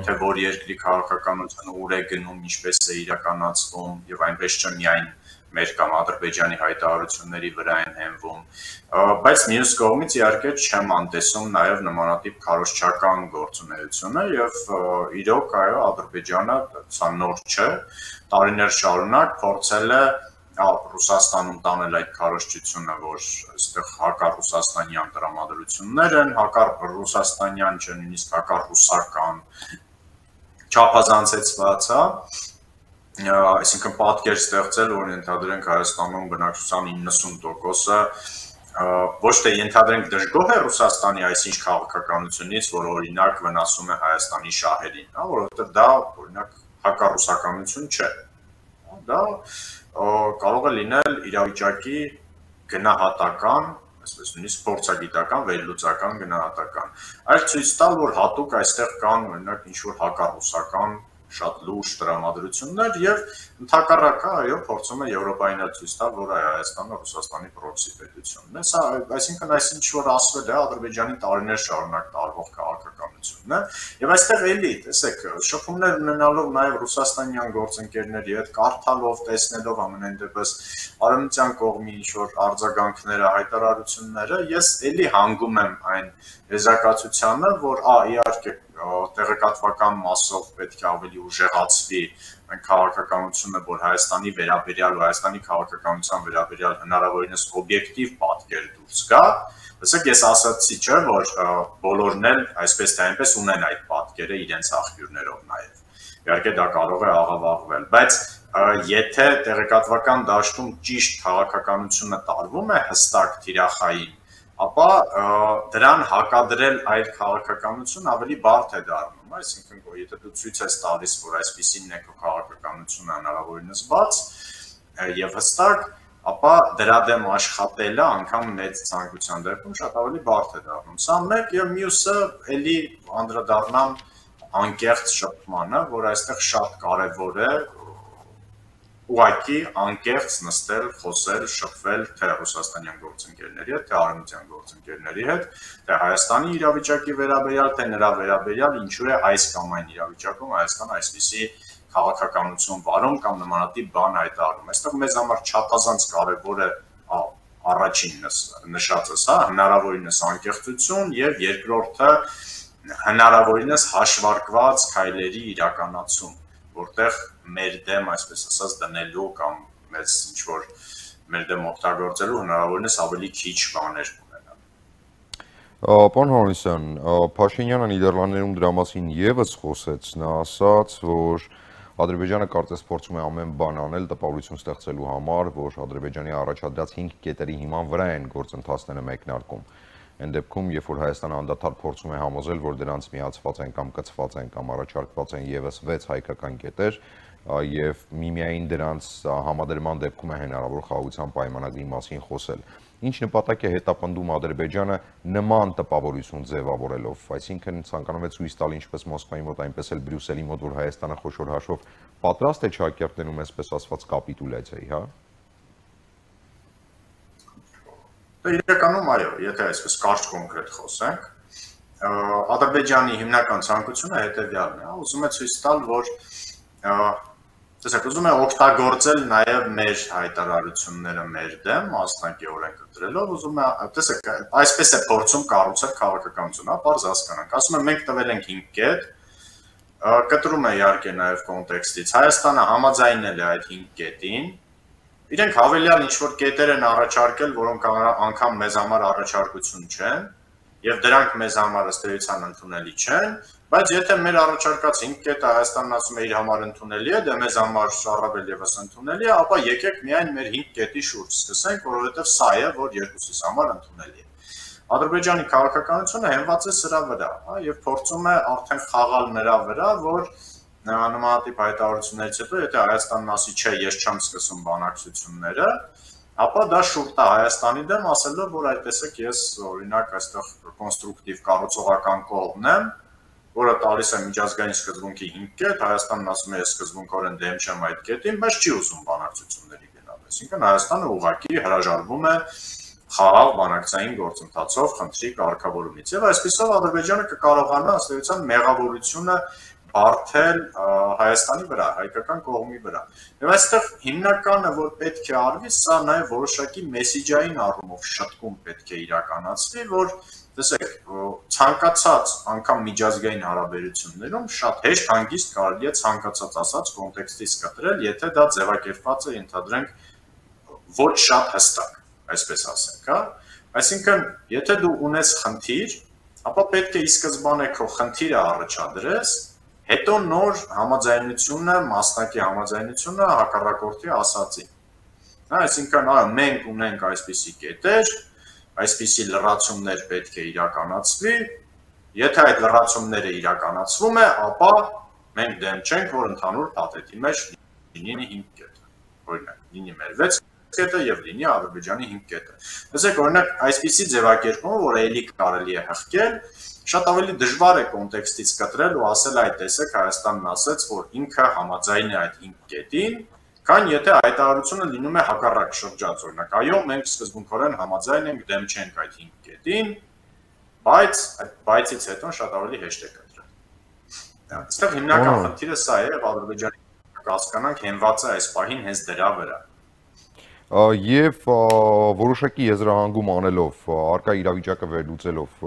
թե որ երկրի քաղաքականությունը ուր է գնում, ինչպես է իրականացվում եւ այնպես չէ միայն մեր կամ Ադրբեջանի հայտարարությունների վրա են հենվում, բայց մյուս կողմից իհարկե չեմ անտեսում նաև նմանատիպ քարոզչական գործունեությունը եւ իրոք այո Ադրբեջանը սա նոր չէ, տարիներ շարունակ փորձել է Ռուսաստանում տանել այդ քարոզչությունը, որ այստեղ հակառուսաստանյան տրամադրություններ են, հակառուսաստանյան չէ, նույնիսկ հակառուսական չափազանցեցված, այսինքն պատկեր ստեղծել, որ ենթադրենք Հայաստանում բնակչության 90%-ը ոչ թե ենթադրենք դժգոհ է Ռուսաստանի այսինչ քաղաքականությունից, որ օրինակ վնասում է Հայաստանի շահերին, որովհետև դա օրինակ հակառուսականություն չէ։ Դա կարող է լինել իրավիճակի գնահատական, այսպես նույնիսկ փորձագիտական, վերլուծական գնահատական։ Այլ ցույց տալ, որ հատուկ այստեղ կան օրինակ ինչ-որ հակառուսական շատ լուրջ տրամադրություններ եւ ընդհակառակը այո փորձում է Եվրոպային ցույց տալ, որ Հայաստանը Ռուսաստանի պրոքսի պետությունն է։ Սա այսինքն այսինչ որ ասվել է Ադրբեջանի տարիներ շարունակ տարվող քաղաքականությունն է եւ այստեղ էլի տեսեք շփումներ ունենալով նաեւ ռուսաստանյան գործընկերների հետ կարդալով, տեսնելով ամենայն դեպս արևմտյան կողմի ինչ-որ արձագանքները, հայտարարությունները, ես էլի հանգում եմ այն եզրակացությանը, որ իհարկե տեղեկատվական մասով պետք է ավելի ուժեղացվի այն քաղաքականությունը, որ Հայաստանի վերաբերյալ ու Հայաստանի քաղաքականության վերաբերյալ հնարավորինս օբյեկտիվ պատկեր դուրս գա։ Տեսեք, ես ասացի չէ, որ բոլորն էլ այսպես թե այնպես ունեն այդ պատկերը իրենց աղբյուրներով նաև։ Իհարկե դա կարող է աղավաղվել, բայց եթե տեղեկատվական դաշտում ճիշտ քաղաքականությունը տարվում է հստակ թիրախային, ապա դրան հակադրել այլ քաղաքականություն ավելի բարդ է դառնում, այսինքն եթե դու ցույց ես տալիս, որ այսպիսին է քո քաղաքականությունը հնարավորինս բաց եւ հստակ, ապա դրա դեմ աշխատելը անգամ մեծ ցանկության դեպքում շատ ավելի բարդ է դառնում։ Սա մեկ եւ մյուսը էլի անդրադառնամ անկեղծ շփմանը, որ այստեղ շատ կարեւոր է ուղղակի անկեղծ նստել, խոսել, շփվել թե ռուսաստանյան գործընկերների հետ, թե արևմտյան գործընկերների հետ, թե Հայաստանի իրավիճակի վերաբերյալ, թե նրա վերաբերյալ, ինչու է այս կամ այն իրավիճակում Հայաստանը այսպիսի քաղաքականություն վարում կամ նմանատիպ բան հայտարարում։ Այստեղ մեզ համար չափազանց կարևոր է առաջինն նշածս, հնարավորինս անկեղծություն եւ երկրորդը հնարավորինս հաշվարկված քայլերի իրականացում, որտեղ մեր դեմ, այսպես ասած, դնելու կամ մեզ ինչ-որ մեր դեմ օգտագործելու հնարավորինս ավելի քիչ բաներ ունենան։ Պարոն Հովհաննիսյան, Փաշինյանը Նիդերլանդներում դրա մասին եւս խոսեց, նա ասաց, որ Ադրբեջանը կարծես փորձում է ամեն բան անել տպավորություն ստեղծելու համար, որ Ադրբեջանի առաջադրած 5 կետերի հիման վրա են գործընթացները մեկնարկում։ Այն դեպքում, երբ որ Հայաստանը անդադար փորձում է համոզել, որ դրանց միացված են կամ կցված են կամ առաջարկված են եւս 6 հայկական կետեր, եւ միմիայն դրանց համադրման դեպքում է հնարավոր խաղաղության պայմանագրի մասին խոսել։ Ինչ նպատակ է հետապնդում Ադրբեջանը նման տպավորություն ձևավորելով, այսինքն ցանկանում է ցույց տալ ինչպես Մոսկվայի մոտ, այնպես էլ Բրյուսելի մոտ, որ Հայաստանը խոշոր հաշվով պատրաստ է ճակերտներում այսպես ասված կապիտուլյացիայի, հա։ Իրականում այո, եթե այսպես կարճ կոնկրետ խոսենք, Ադրբեջանի հիմնական ցանկությունը հետևյալն է, ուզում է ցույց տալ, որ տեսեք, ուզում է օգտագործել նաև մեր հայտարարությունները մեր դեմ, մասնակիորեն կտրելով, ուզում է, տեսեք, այսպես է փորձում կառուցել քաղաքականությունը, պարզ հասկանանք, ասում է մենք տվել ենք 5 կետ, կտրում է իհարկե նաև կոնտեքստից, Հայաստանը համաձայնել է այդ 5 կետին, իրենք հավելյալ ինչ-որ կետեր են առաջարկել, որոնք անգամ մեզ համար առաջարկություն չեն, եւ դրանք մեզ համար ըստ էության ընդունելի չեն, բայց եթե մեր առաջարկած 5 կետը Հայաստանն ասում է իր համար ընդունելի է, դե մեզ համար առավել եւս ընդունելի է, ապա եկեք միայն մեր 5 կետի շուրջ սկսենք, որովհետեւ սա է, որ երկուսիս համար ընդունելի է։ Ադրբեջանի քաղաքականությունը հենված է սրա վրա, եւ փորձում է արդեն խաղալ նրա վրա, որ նմանատիպ հայտարարություններից հետո, եթե Հայաստանն ասի չէ, ես չեմ սկսում բանակցությունները, ապա դա շուրջ է Հայաստանի դեմ, ասելով, որ այդ տեսեք ես օրինակ այստեղ կոնստրուկտիվ կառուցողական կողմն եմ, որը տալիս է միջազգային սկզբունքի 5 կետ, Հայաստանն ասում է ես սկզբունքորեն դեմ չեմ այդ կետին, բայց չի ուզում բանակցությունների գնալ, այսինքն Հայաստանը ուղղակի հրաժարվում է խաղաղ բանակցային գործընթացով խնդրի կարգավորումից, եւ այսպիսով Ադրբեջանը կկարողանա ըստ էության մեղավորությունը բարթել Հայաստանի վրա, հայկական կողմի վրա։ Եվ այստեղ հիմնականը, որ պետք է արվի, սա նաև որոշակի մեսիջային առումով շտկում պետք է իրականացվի, որ տեսեք, ցանկացած անգամ միջազգային հարաբերություններում շատ հեշտ հանգիստ կարելի է ցանկացած ասած կոնտեքստից կտրել, եթե դա ձևակերպված է, ենթադրենք, ոչ շատ հստակ, այսպես ասենք, հա։ Այսինքն, եթե դու ունես խնդիր, ապա պետք է ի սկզբանե քո խնդիրը առաջադրես, հետո նոր համաձայնությունը, մասնակի համաձայնությունը հակառակորդի ասածին։ Հա, այսինքն, մենք ունենք այսպիսի կետեր, այսպիսի լրացումներ պետք է իրականացվի, եթե այդ լրացումները իրականացվում է, ապա մենք դեմ չենք, որ ընդհանուր փաթեթի մեջ լինի 5 կետ, օրինակ, լինի մեր 6 կետը եւ լինի Ադրբեջանի 5 կետը։ Տեսեք, օրինակ, այսպիսի ձևակերպումը, որ էլի կարելի է հղկել, շատ ավելի դժվար է կոնտեքստից կտրել ու ասել այդ տեսեք Հայաստանն ասեց, որ ինքը համաձայն է այդ 5 կետին, քան եթե հայտարարությունը լինում է հակառակ շրջած, օրինակ, այո, մենք սկզբունքորեն համաձայն ենք, դեմ չենք այդ 5 կետին, բայց այդ բայցից հետո շատ ավելի հեշտ է կտրել։ Այստեղ հիմնական խնդիրը սա է, եւ Ադրբեջանի հասկանանք հենված է այս պահին հենց դրա վրա։ Եվ որոշակի եզրահանգում անելով, արկա իրավիճակը վերլուծելով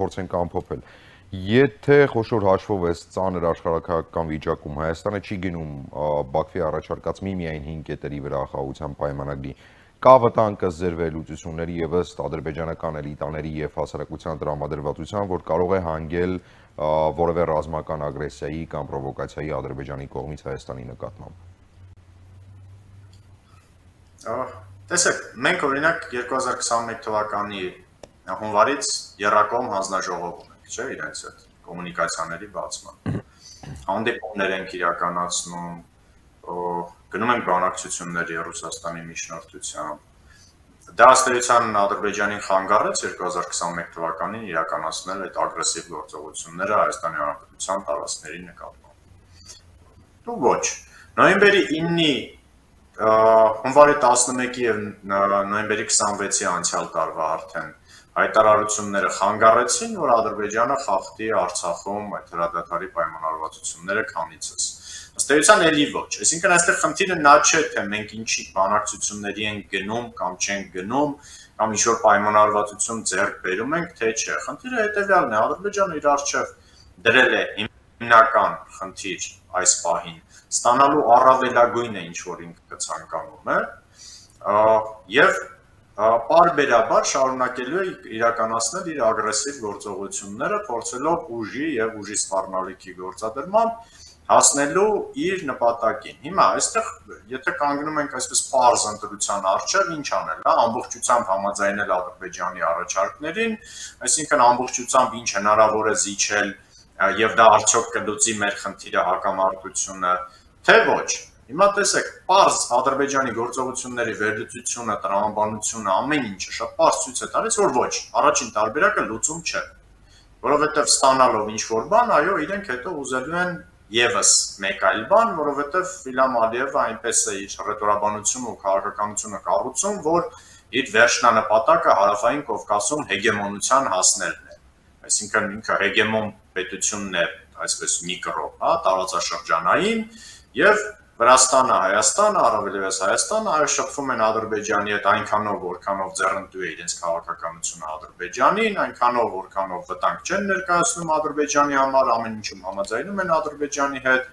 փորձենք ամփոփել։ Եթե խոշոր հաշվով է ծանր աշխարհակահաղական վիճակում Հայաստանը չի գնում Բաքվի առաջարկած միմիայն 5 կետերի վրա խաղաղության պայմանագրի, կա վտանգ ըստ ձեր վերլուծությունների եւ ըստ ադրբեջանական էլիտաների եւ հասարակության տրամադրվածության, որ կարող է հանգել որևէ ռազմական ագրեսիայի կամ պրովոկացիայի Ադրբեջանի կողմից Հայաստանի նկատմամբ։ Տեսեք, մենք օրինակ 2021 թվականի հունվարից եռակողմ հանձնաժողով ունենք, չէ, իրենց հետ կոմունիկացիաների բացման։ Հանդիպումներ ենք իրականացնում, գնում ենք բանակցությունների Ռուսաստանի միջնորդությամբ։ Դա ըստ էության Ադրբեջանին խանգարեց 2021 թվականին իրականացնել այդ ագրեսիվ գործողությունները Հայաստանի Հանրապետության տարածքների նկատմամբ։ Դու ոչ։ Նոյեմբերի 9-ի հունվարի 11-ի եւ նոյեմբերի 26-ի անցյալ տարվա արդեն հայտարարությունները խանգարեցին, որ Ադրբեջանը խախտի Արցախում այդ հրադադարի պայմանավորվածությունները քանիցս։ Ըստ էության էլի ոչ։ Այսինքն այստեղ խնդիրը նա չէ, թե մենք ինչի բանակցությունների ենք գնում կամ չենք գնում, կամ ինչ-որ պայմանավորվածություն ձեռք բերում ենք, թե չէ։ Խնդիրը հետեւյալն է, Ադրբեջանը իր առջև դրել է հիմնական խնդիր այս պահին, ստանալու առավելագույնը ինչ որ ինքը ցանկանում է, եւ պարբերաբար շարունակելու է իրականացնել իր ագրեսիվ գործողությունները, փորձելով ուժի եւ ուժի սպառնալիքի գործադրմամբ հասնելու իր նպատակին։ Հիմա այստեղ եթե կանգնում ենք այսպես պարզ ընտրության առջև, ինչ անել, հա, ամբողջությամբ համաձայնել Ադրբեջանի առաջարկներին, այսինքն ամբողջությամբ ինչ հնարավոր է զիջել եւ դա արդյոք կլուծի մեր խնդիրը հակամարտությունը, թե ոչ։ Հիմա տեսեք, պարզ Ադրբեջանի գործողությունների վերլուծությունը, տրամաբանությունը, ամեն ինչը շատ պարզ ցույց է տալիս, որ ոչ, առաջին տարբերակը լուծում չէ, որովհետեւ ստանալով ինչ որ բան, այո, իրենք հետո ուզելու են եւս մեկ այլ բան, որովհետեւ Իլհամ Ալիևը այնպես է իր ռետորաբանությունը ու քաղաքականությունը կառուցում, որ իր վերջնանպատակը հարավային Կովկասում հեգեմոնության հասնելն է։ Այսինքն ինքը հեգեմոն պետությունն է, այսպես միկրո, հա, տարածաշրջանային եւ Վրաստանը, Հայաստանը, առավելևս Հայաստանը, այո, շփվում են Ադրբեջանի հետ այնքանով, որքանով ձեռնտու է իրենց քաղաքականությունը Ադրբեջանին, այնքանով, որքանով վտանգ չեն ներկայացնում Ադրբեջանի համար, ամեն ինչում համաձայնում են Ադրբեջանի հետ,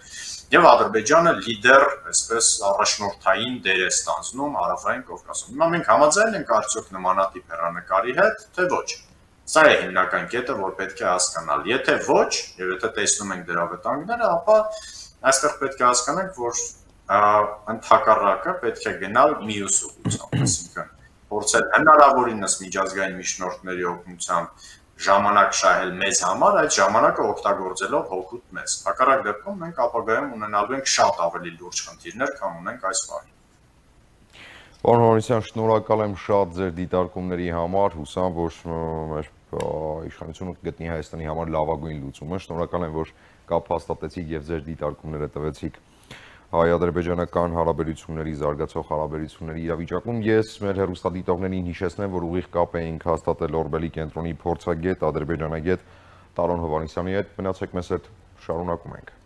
եւ Ադրբեջանը լիդեր, այսպես առաջնորդային դեր է ստանձնում Հարավային Կովկասում։ Հիմա մենք համաձայն ենք արդյոք նմանատիպ հեռանկարի հետ, թե ոչ։ Սա է հիմնական կետը, որ պետք է հասկանալ։ Եթե ոչ, եւ եթե տեսնում ենք դրա վտանգները, ապա այստեղ պետք է հասկանանք, որ ընդհակառակը պետք է գնալ մյուս ուղղությամբ, այսինքն փորձել հնարավորինս միջազգային միջնորդների օգնությամբ ժամանակ շահել մեզ համար, այդ ժամանակը օգտագործելով հօգուտ մեզ։ Հակառակ դեպքում մենք ապագայում ունենալու ենք շատ ավելի լուրջ խնդիրներ, քան ունենք այս պահին։ Պարոն Հովհաննիսյան, շնորհակալ եմ շատ ձեր դիտարկումների համար, հուսամ, որ մեր իշխանությունը կգտնի Հայաստանի համար լավագույն լուծումը։ Շնորհակալ եմ, որ կապ հաստատեցիք եւ ձեր դիտարկումները տվեցիք հայ-ադրբեջանական հարաբերությունների, զարգացող հարաբերությունների իրավիճակում։ Ես մեր հեռուստադիտողներին հիշեցնեմ, որ ուղիղ կապ էինք հաստատել Օրբելի կենտրոնի փորձագետ, ադրբեջանագետ Տարոն Հովհաննիսյանի հետ։ Մնացեք մեզ հետ, շարունակում ենք։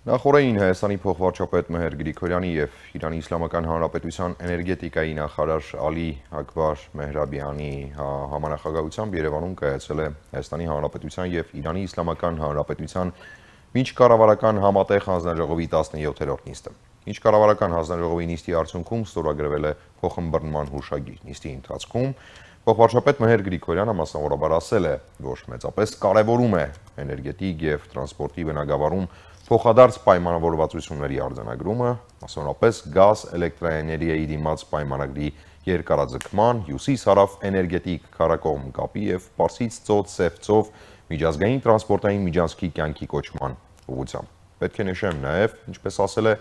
Նախորդին Հայաստանի փոխվարչապետ Մեհեր Գրիգորյանի եւ Իրանի Իսլամական Հանրապետության էներգետիկայի նախարար Ալի Աքբար Մեհրաբյանի համանախագահությամբ Երևանում կայացել է Հայաստանի Հանրապետության եւ Իրանի Իսլամական Հանրապետության միջկառավարական համատեղ հանձնաժողովի 17-րդ նիստը։ Միջկառավարական հանձնաժողովի նիստի արդյունքում ստորագրվել է փոխըմբռնման հուշագիր։ Նիստի ընթացքում փոխվարչապետ Մեհեր Գրիգորյանը մասնավորաբար ասել է, որ մեծապես կարևորում է էներգետիկ եւ տրանսպորտի բնագավառում փոխադարձ պայմանավորվածությունների արձանագրումը, մասնավորապես գազ, էլեկտրաէներգիայի դիմաց պայմանագրի երկարաձգման, հյուսիս-հարավ էներգետիկ քառակողմ կապի եւ Պարսից ծոց Սև միջազգային տրանսպորտային միջանցքի կյանքի կոչման ուղղությամբ։ Պետք է նշեմ նաեւ, ինչպես ասել է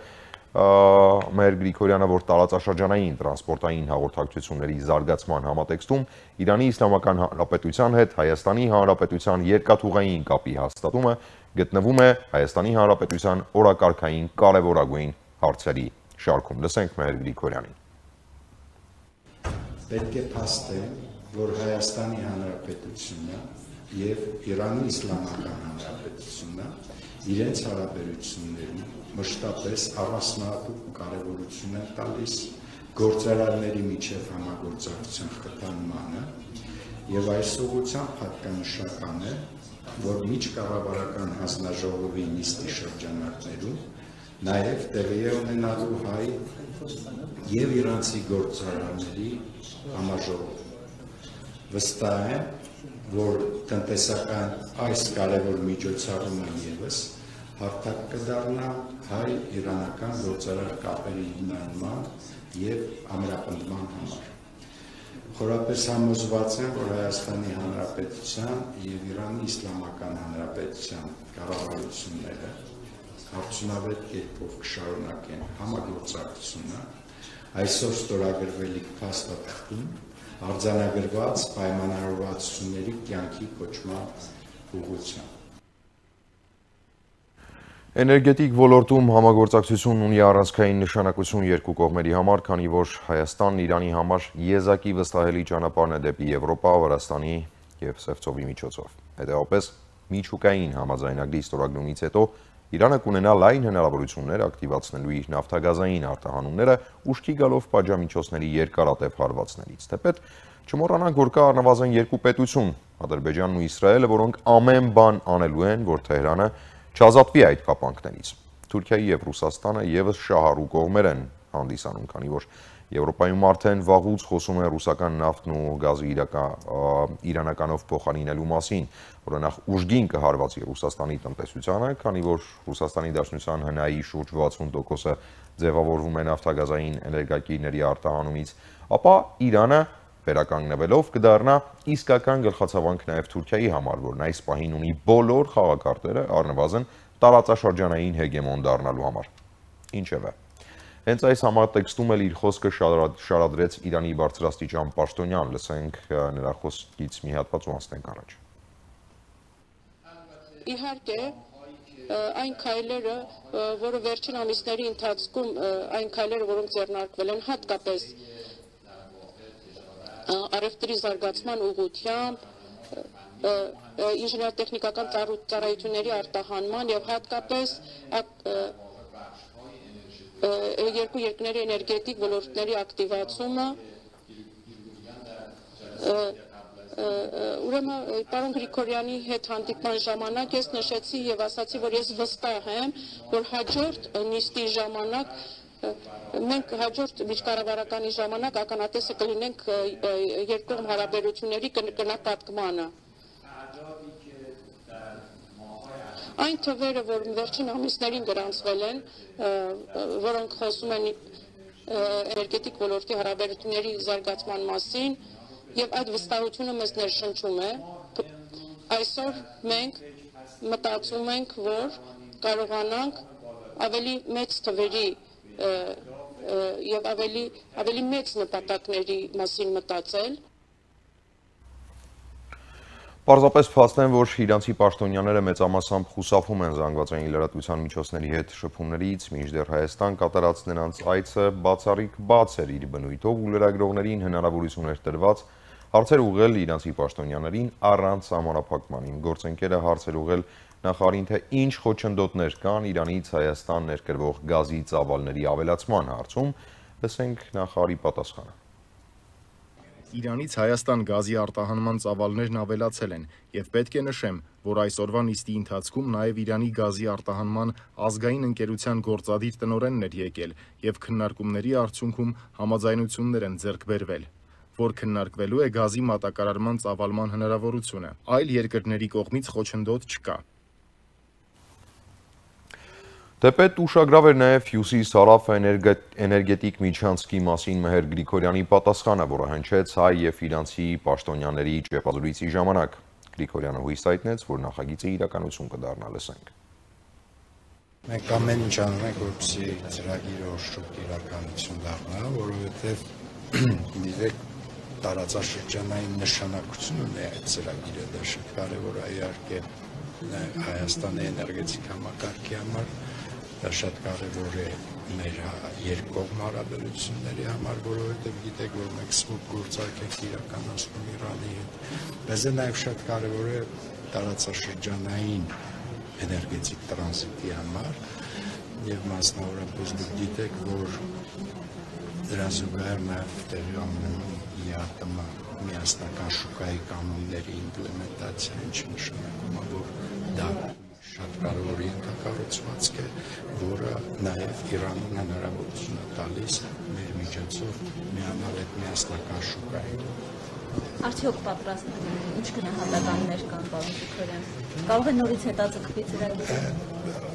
Մեհեր Գրիգորյանը, որ տարածաշրջանային տրանսպորտային հաղորդակցությունների զարգացման համատեքստում Իրանի Իսլամական Հանրապետության հետ Հայաստանի Հանրապետության երկաթուղային կապի հաստատումը գտնվում է Հայաստանի Հանրապետության օրակարգային կարևորագույն հարցերի շարքում։ Լսենք Մեհեր Գրիգորյանին։ Պետք է փաստել, որ Հայաստանի Հանրապետությունը եւ Իրանի Իսլամական Հանրապետությունը իրենց հարաբերություններին մշտապես առանձնահատուկ կարևորություն են տալիս գործարարների միջև համագործակցության խթանմանը եւ այս ուղղությամբ հատկանշական է, որ միջկառավարական հանձնաժողովի նիստի շրջանակներում նաեւ տեղի է ունենալու հայ եւ իրանցի գործարարների համաժողով։ Վստահ եմ, որ տնտեսական այս կարևոր միջոցառումը եւս հարթակ կդառնա հայ-իրանական գործարար կապերի հիմնարման եւ ամրապնդման համար։ Խորապես համոզված եմ, որ Հայաստանի Հանրապետության եւ Իրանի Իսլամական Հանրապետության կառավարությունները արդյունավետ կերպով կշարունակեն համագործակցությունը այսօր ստորագրվելիք փաստաթղթում արձանագրված պայմանավորվածությունների կյանքի կոչման ուղղությամբ։ Էներգետիկ ոլորտում համագործակցությունն ունի առանցքային նշանակություն երկու կողմերի համար, քանի որ Հայաստանն Իրանի համար եզակի վստահելի ճանապարհն է դեպի Եվրոպա, Վրաստանի եւ Սև ծովի միջոցով։ Հետեւաբար միջուկային համաձայնագրի ստորագրումից հետո Իրանը կունենա լայն հնարավորություններ ակտիվացնելու իր նավթագազային արտահանումները ուշքի գալով պատժամիջոցների երկարատև հարվածներից։ Թեպետ չմոռանանք, որ կա առնվազն երկու պետություն՝ Ադրբեջանն ու Իսրայելը, որոնք ամեն բան անելու են, որ Թեհրանը չազատվի այդ կապանքներից։ Թուրքիայի եւ Ռուսաստանը եւս շահառու կողմեր են հանդիսանում, քանի որ Եվրոպայում արդեն վաղուց խոսում են ռուսական նավթն ու գազի իրանականով փոխարինելու մասին, որը նախ ուժգին կհարվածի Ռուսաստանի տնտեսությանը, քանի որ Ռուսաստանի Դաշնության ՀՆԱ-ի շուրջ 60%-ը ձևավորվում է նավթագազային էներգակիրների արտահանումից, ապա Իրանը վերականգնվելով կդառնա իսկական գլխացավանք նաև Թուրքիայի համար, որն այս պահին ունի բոլոր խաղակարտերը առնվազն տարածաշրջանային հեգեմոն դառնալու համար։ Ինչևէ, հենց այս համատեքստում էլ իր խոսքը շարադրեց Իրանի բարձրաստիճան պաշտոնյան, լսենք նրա խոսքից մի հատված ու անցնենք առաջ։ Իհարկե, այն քայլերը, որը վերջին ամիսների ընթացքում այն քայլերը, որոնք ձեռնարկվել են հատկապես առևտրի զարգացման ուղղությամբ, ինժեներտեխնիկական ծառայությունների արտահանման եւ հատկապես երկու երկրների էներգետիկ ոլորտների ակտիվացումը, ուրեմն պարոն Գրիգորյանի հետ հանդիպման ժամանակ ես նշեցի եւ ասացի, որ ես վստահ եմ, որ հաջորդ նիստի ժամանակ մենք հաջորդ միջկառավարականի ժամանակ ականատեսը կլինենք երկկողմ հարաբերությունների կնապատկմանը։ Այն թվերը, որ վերջին ամիսներին գրանցվել են, որոնք խոսում են էներգետիկ ոլորտի հարաբերությունների զարգացման մասին, եւ այդ վստահությունը մեզ ներշնչում է, այսօր մենք մտածում ենք, որ կարողանանք ավելի մեծ թվերի եւ ավելի մեծ նպատակների մասին մտածել։ Պարզապես փաստեն, որ իրանցի պաշտոնյաները մեծամասամբ խուսափում են զանգվածային լրատվության միջոցների հետ շփումներից, մինչդեռ Հայաստան կատարած նրանց այցը բացառիկ բաց էր իր բնույթով ու լրագրողներին հնարավորություն էր տրված հարցեր ուղղել իրանցի պաշտոնյաներին առանց սահմանափակման։ Իմ գործընկերը հարցեր ուղղել նախարարին, թե ինչ խոչընդոտներ կան Իրանից Հայաստան ներկրվող գազի ծավալների ավելացման հարցում, լսենք նախարարի պատասխանը։ Իրանից Հայաստան գազի արտահանման ծավալներն ավելացել են եւ պետք է նշեմ, որ այսօրվա նիստի ընթացքում նաեւ Իրանի գազի արտահանման ազգային ընկերության գործադիր տնօրենն էր եկել եւ քննարկումների արդյունքում համաձայնություններ են ձեռք բերվել, որ քննարկվելու է գազի մատակարարման ծավալման հնարավորությունը։ Այլ երկրների կողմից խոչընդոտ չկա։ Թեպետ ուշագրավ էր նաև Հյուսիս-Հարավ էներգետիկ միջանցքի մասին Մեհեր Գրիգորյանի պատասխանը, որը հնչեց հայ եւ իրանցի պաշտոնյաների ճեպազրույցի ժամանակ։ Գրիգորյանը հույս հայտնեց, որ նախագիծը իրականություն կդառնա, լսենք։ Մենք ամեն ինչ անում ենք, որպեսզի ծրագիրը շուտ իրականություն դառնա, որովհետեւ դիտեք տարածաշրջանային նշանակություն ունի այդ ծրագիրը, դա շատ կարևոր է իհարկե Հայաստանի էներգետիկ համակարգի համար։ Դա շատ կարևոր է մեր երկկողմ հարաբերությունների համար, որովհետև գիտեք, որ մենք սմուտ գործարք ենք իրականացնում Իրանի հետ։ Բայց նաև շատ կարևոր է տարածաշրջանային էներգետիկ տրանզիտի համար եւ մասնավորապես դուք գիտեք, որ դրա զուգահեռ նաև տեղի ունենում ԵԱՏՄ միասնական շուկայի կանոնների իմպլեմենտացիա, ինչը նշանակում է, որ դա շատ կարևոր ենթակառուցվածք է, որը նաև Իրանին հնարավորություն է տալիս մեր միջոցով միանալ այդ միասնական շուկային։ Արդյոք պատրաստ ինչ գնահատականներ կան, պարոն Գրիգորյան։ Կարող է նորից հետաձգվի ծրագիրը։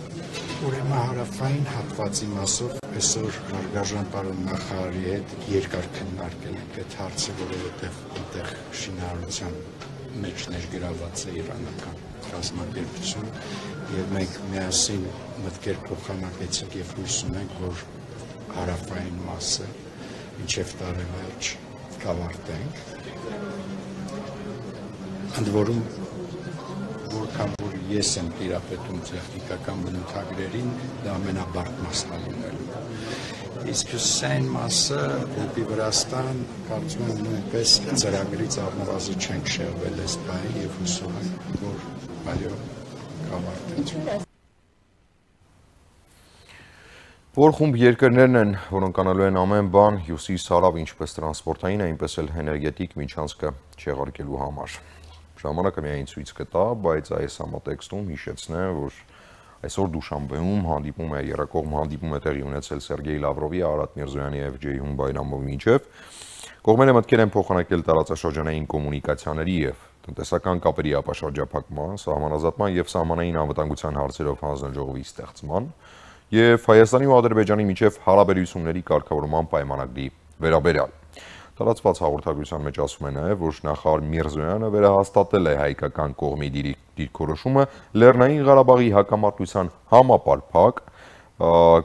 Ուրեմն հարավային հատվածի մասով այսօր հարգարժան պարոն նախարարի հետ երկար քննարկել ենք այդ հարցը, որովհետև այնտեղ շինարարության մեջ ներգրավված է իրանական կազմակերպություն եւ մենք միասին մտքեր փոխանակեցինք եւ հույս ունենք, որ հարավային մասը մինչեւ տարեվերջ կավարտենք։ Ընդ որում որքան որ ես եմ տիրապետում տեխնիկական բնութագրերին, դա ամենաբարդ մասն է լինելու։ Իսկ հյուսիսային մասը դեպի Վրաստան, կարծում եմ նույնպես ծրագրից առնվազն չենք շեղվել այս բանի եւ հուսով ենք, որ այո կավարտենք։ Որ խումբ երկրներն են, որոնք անելու են ամեն բան հյուսիս-հարավ ինչպես տրանսպորտային, այնպես էլ էներգետիկ միջանցքը չեղարկելու համար։ Ժամանակը միայն ցույց կտա, բայց այս համատեքստում հիշեցնեմ, որ այսօր Դուշանբեում հանդիպում է երակողմ հանդիպում է տեղի ունեցել Սերգեյ Լավրովի, Արարատ Միրզոյանի եւ Ջեյհուն Բայրամովի միջև։ Կողմերը մտքեր են փոխանակել տարածաշրջանային կոմունիկացիաների եւ տնտեսական կապերի ապաշրջափակման, սահմանազատման եւ սահմանային անվտանգության հարցերով հանձնաժողովի ստեղծման եւ Հայաստանի ու Ադրբեջանի միջև հարաբերությունների կարգավորման պայմանագրի վերաբերյալ։ Տարածված հաղորդագրության մեջ ասում է նաև, որ նախարար Միրզոյանը վերահաստատել է հայկական կողմի դիրքորոշումը Լեռնային Ղարաբաղի հակամարտության համապարփակ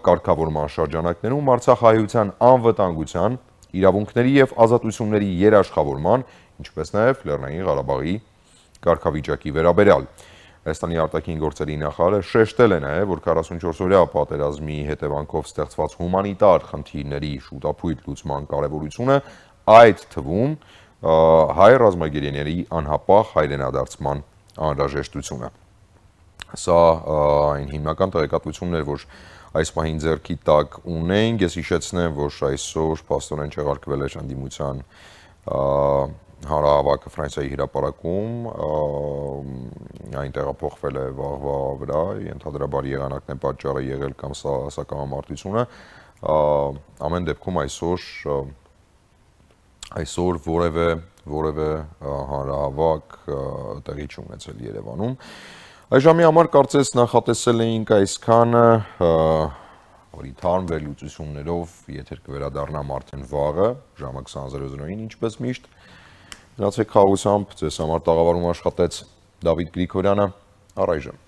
կարգավորման շրջանակներում Արցախահայության անվտանգության, իրավունքների եւ ազատությունների երաշխավորման, ինչպես նաև Լեռնային Ղարաբաղի կարգավիճակի վերաբերյալ։ Հայաստանի արտաքին գործերի նախարարը շեշտել է նաև, որ 44-օրյա պատերազմի հետևանքով ստեղծված հումանիտար խնդիրների շուտափույթ լուծման կարևորությունը, այդ թվում հայ ռազմագերիների անհապաղ հայրենադարձման անհրաժեշտությունը։ Սա այն հիմնական տեղեկատվությունն էր, որ այս պահին ձեռքի տակ ունենք, ես հիշեցնեմ, որ այսօր փաստորեն չեղարկվել է ընդդիմության հանրահավաքը Ֆրանսիայի հրապարակում, այն տեղափոխվել է վաղվա վրա, ենթադրաբար եղանակն է պատճառը եղել կամ սակամարտությունը, ամեն դեպքում այսօր որևէ հանրահավաք տեղի չունեցել Երևանում։ Այժմի համար կարծես նախատեսել էինք այսքանը, որի թարմ վերլուծություններով եթեր կվերադառնամ արդեն վաղը, ժամը 20:00-ին ինչպես միշտ։ Գնացեք խաղաղությամբ, ձեզ համար տաղավարում աշխատեց Դավիթ Գրիգորյանը, առայժմ։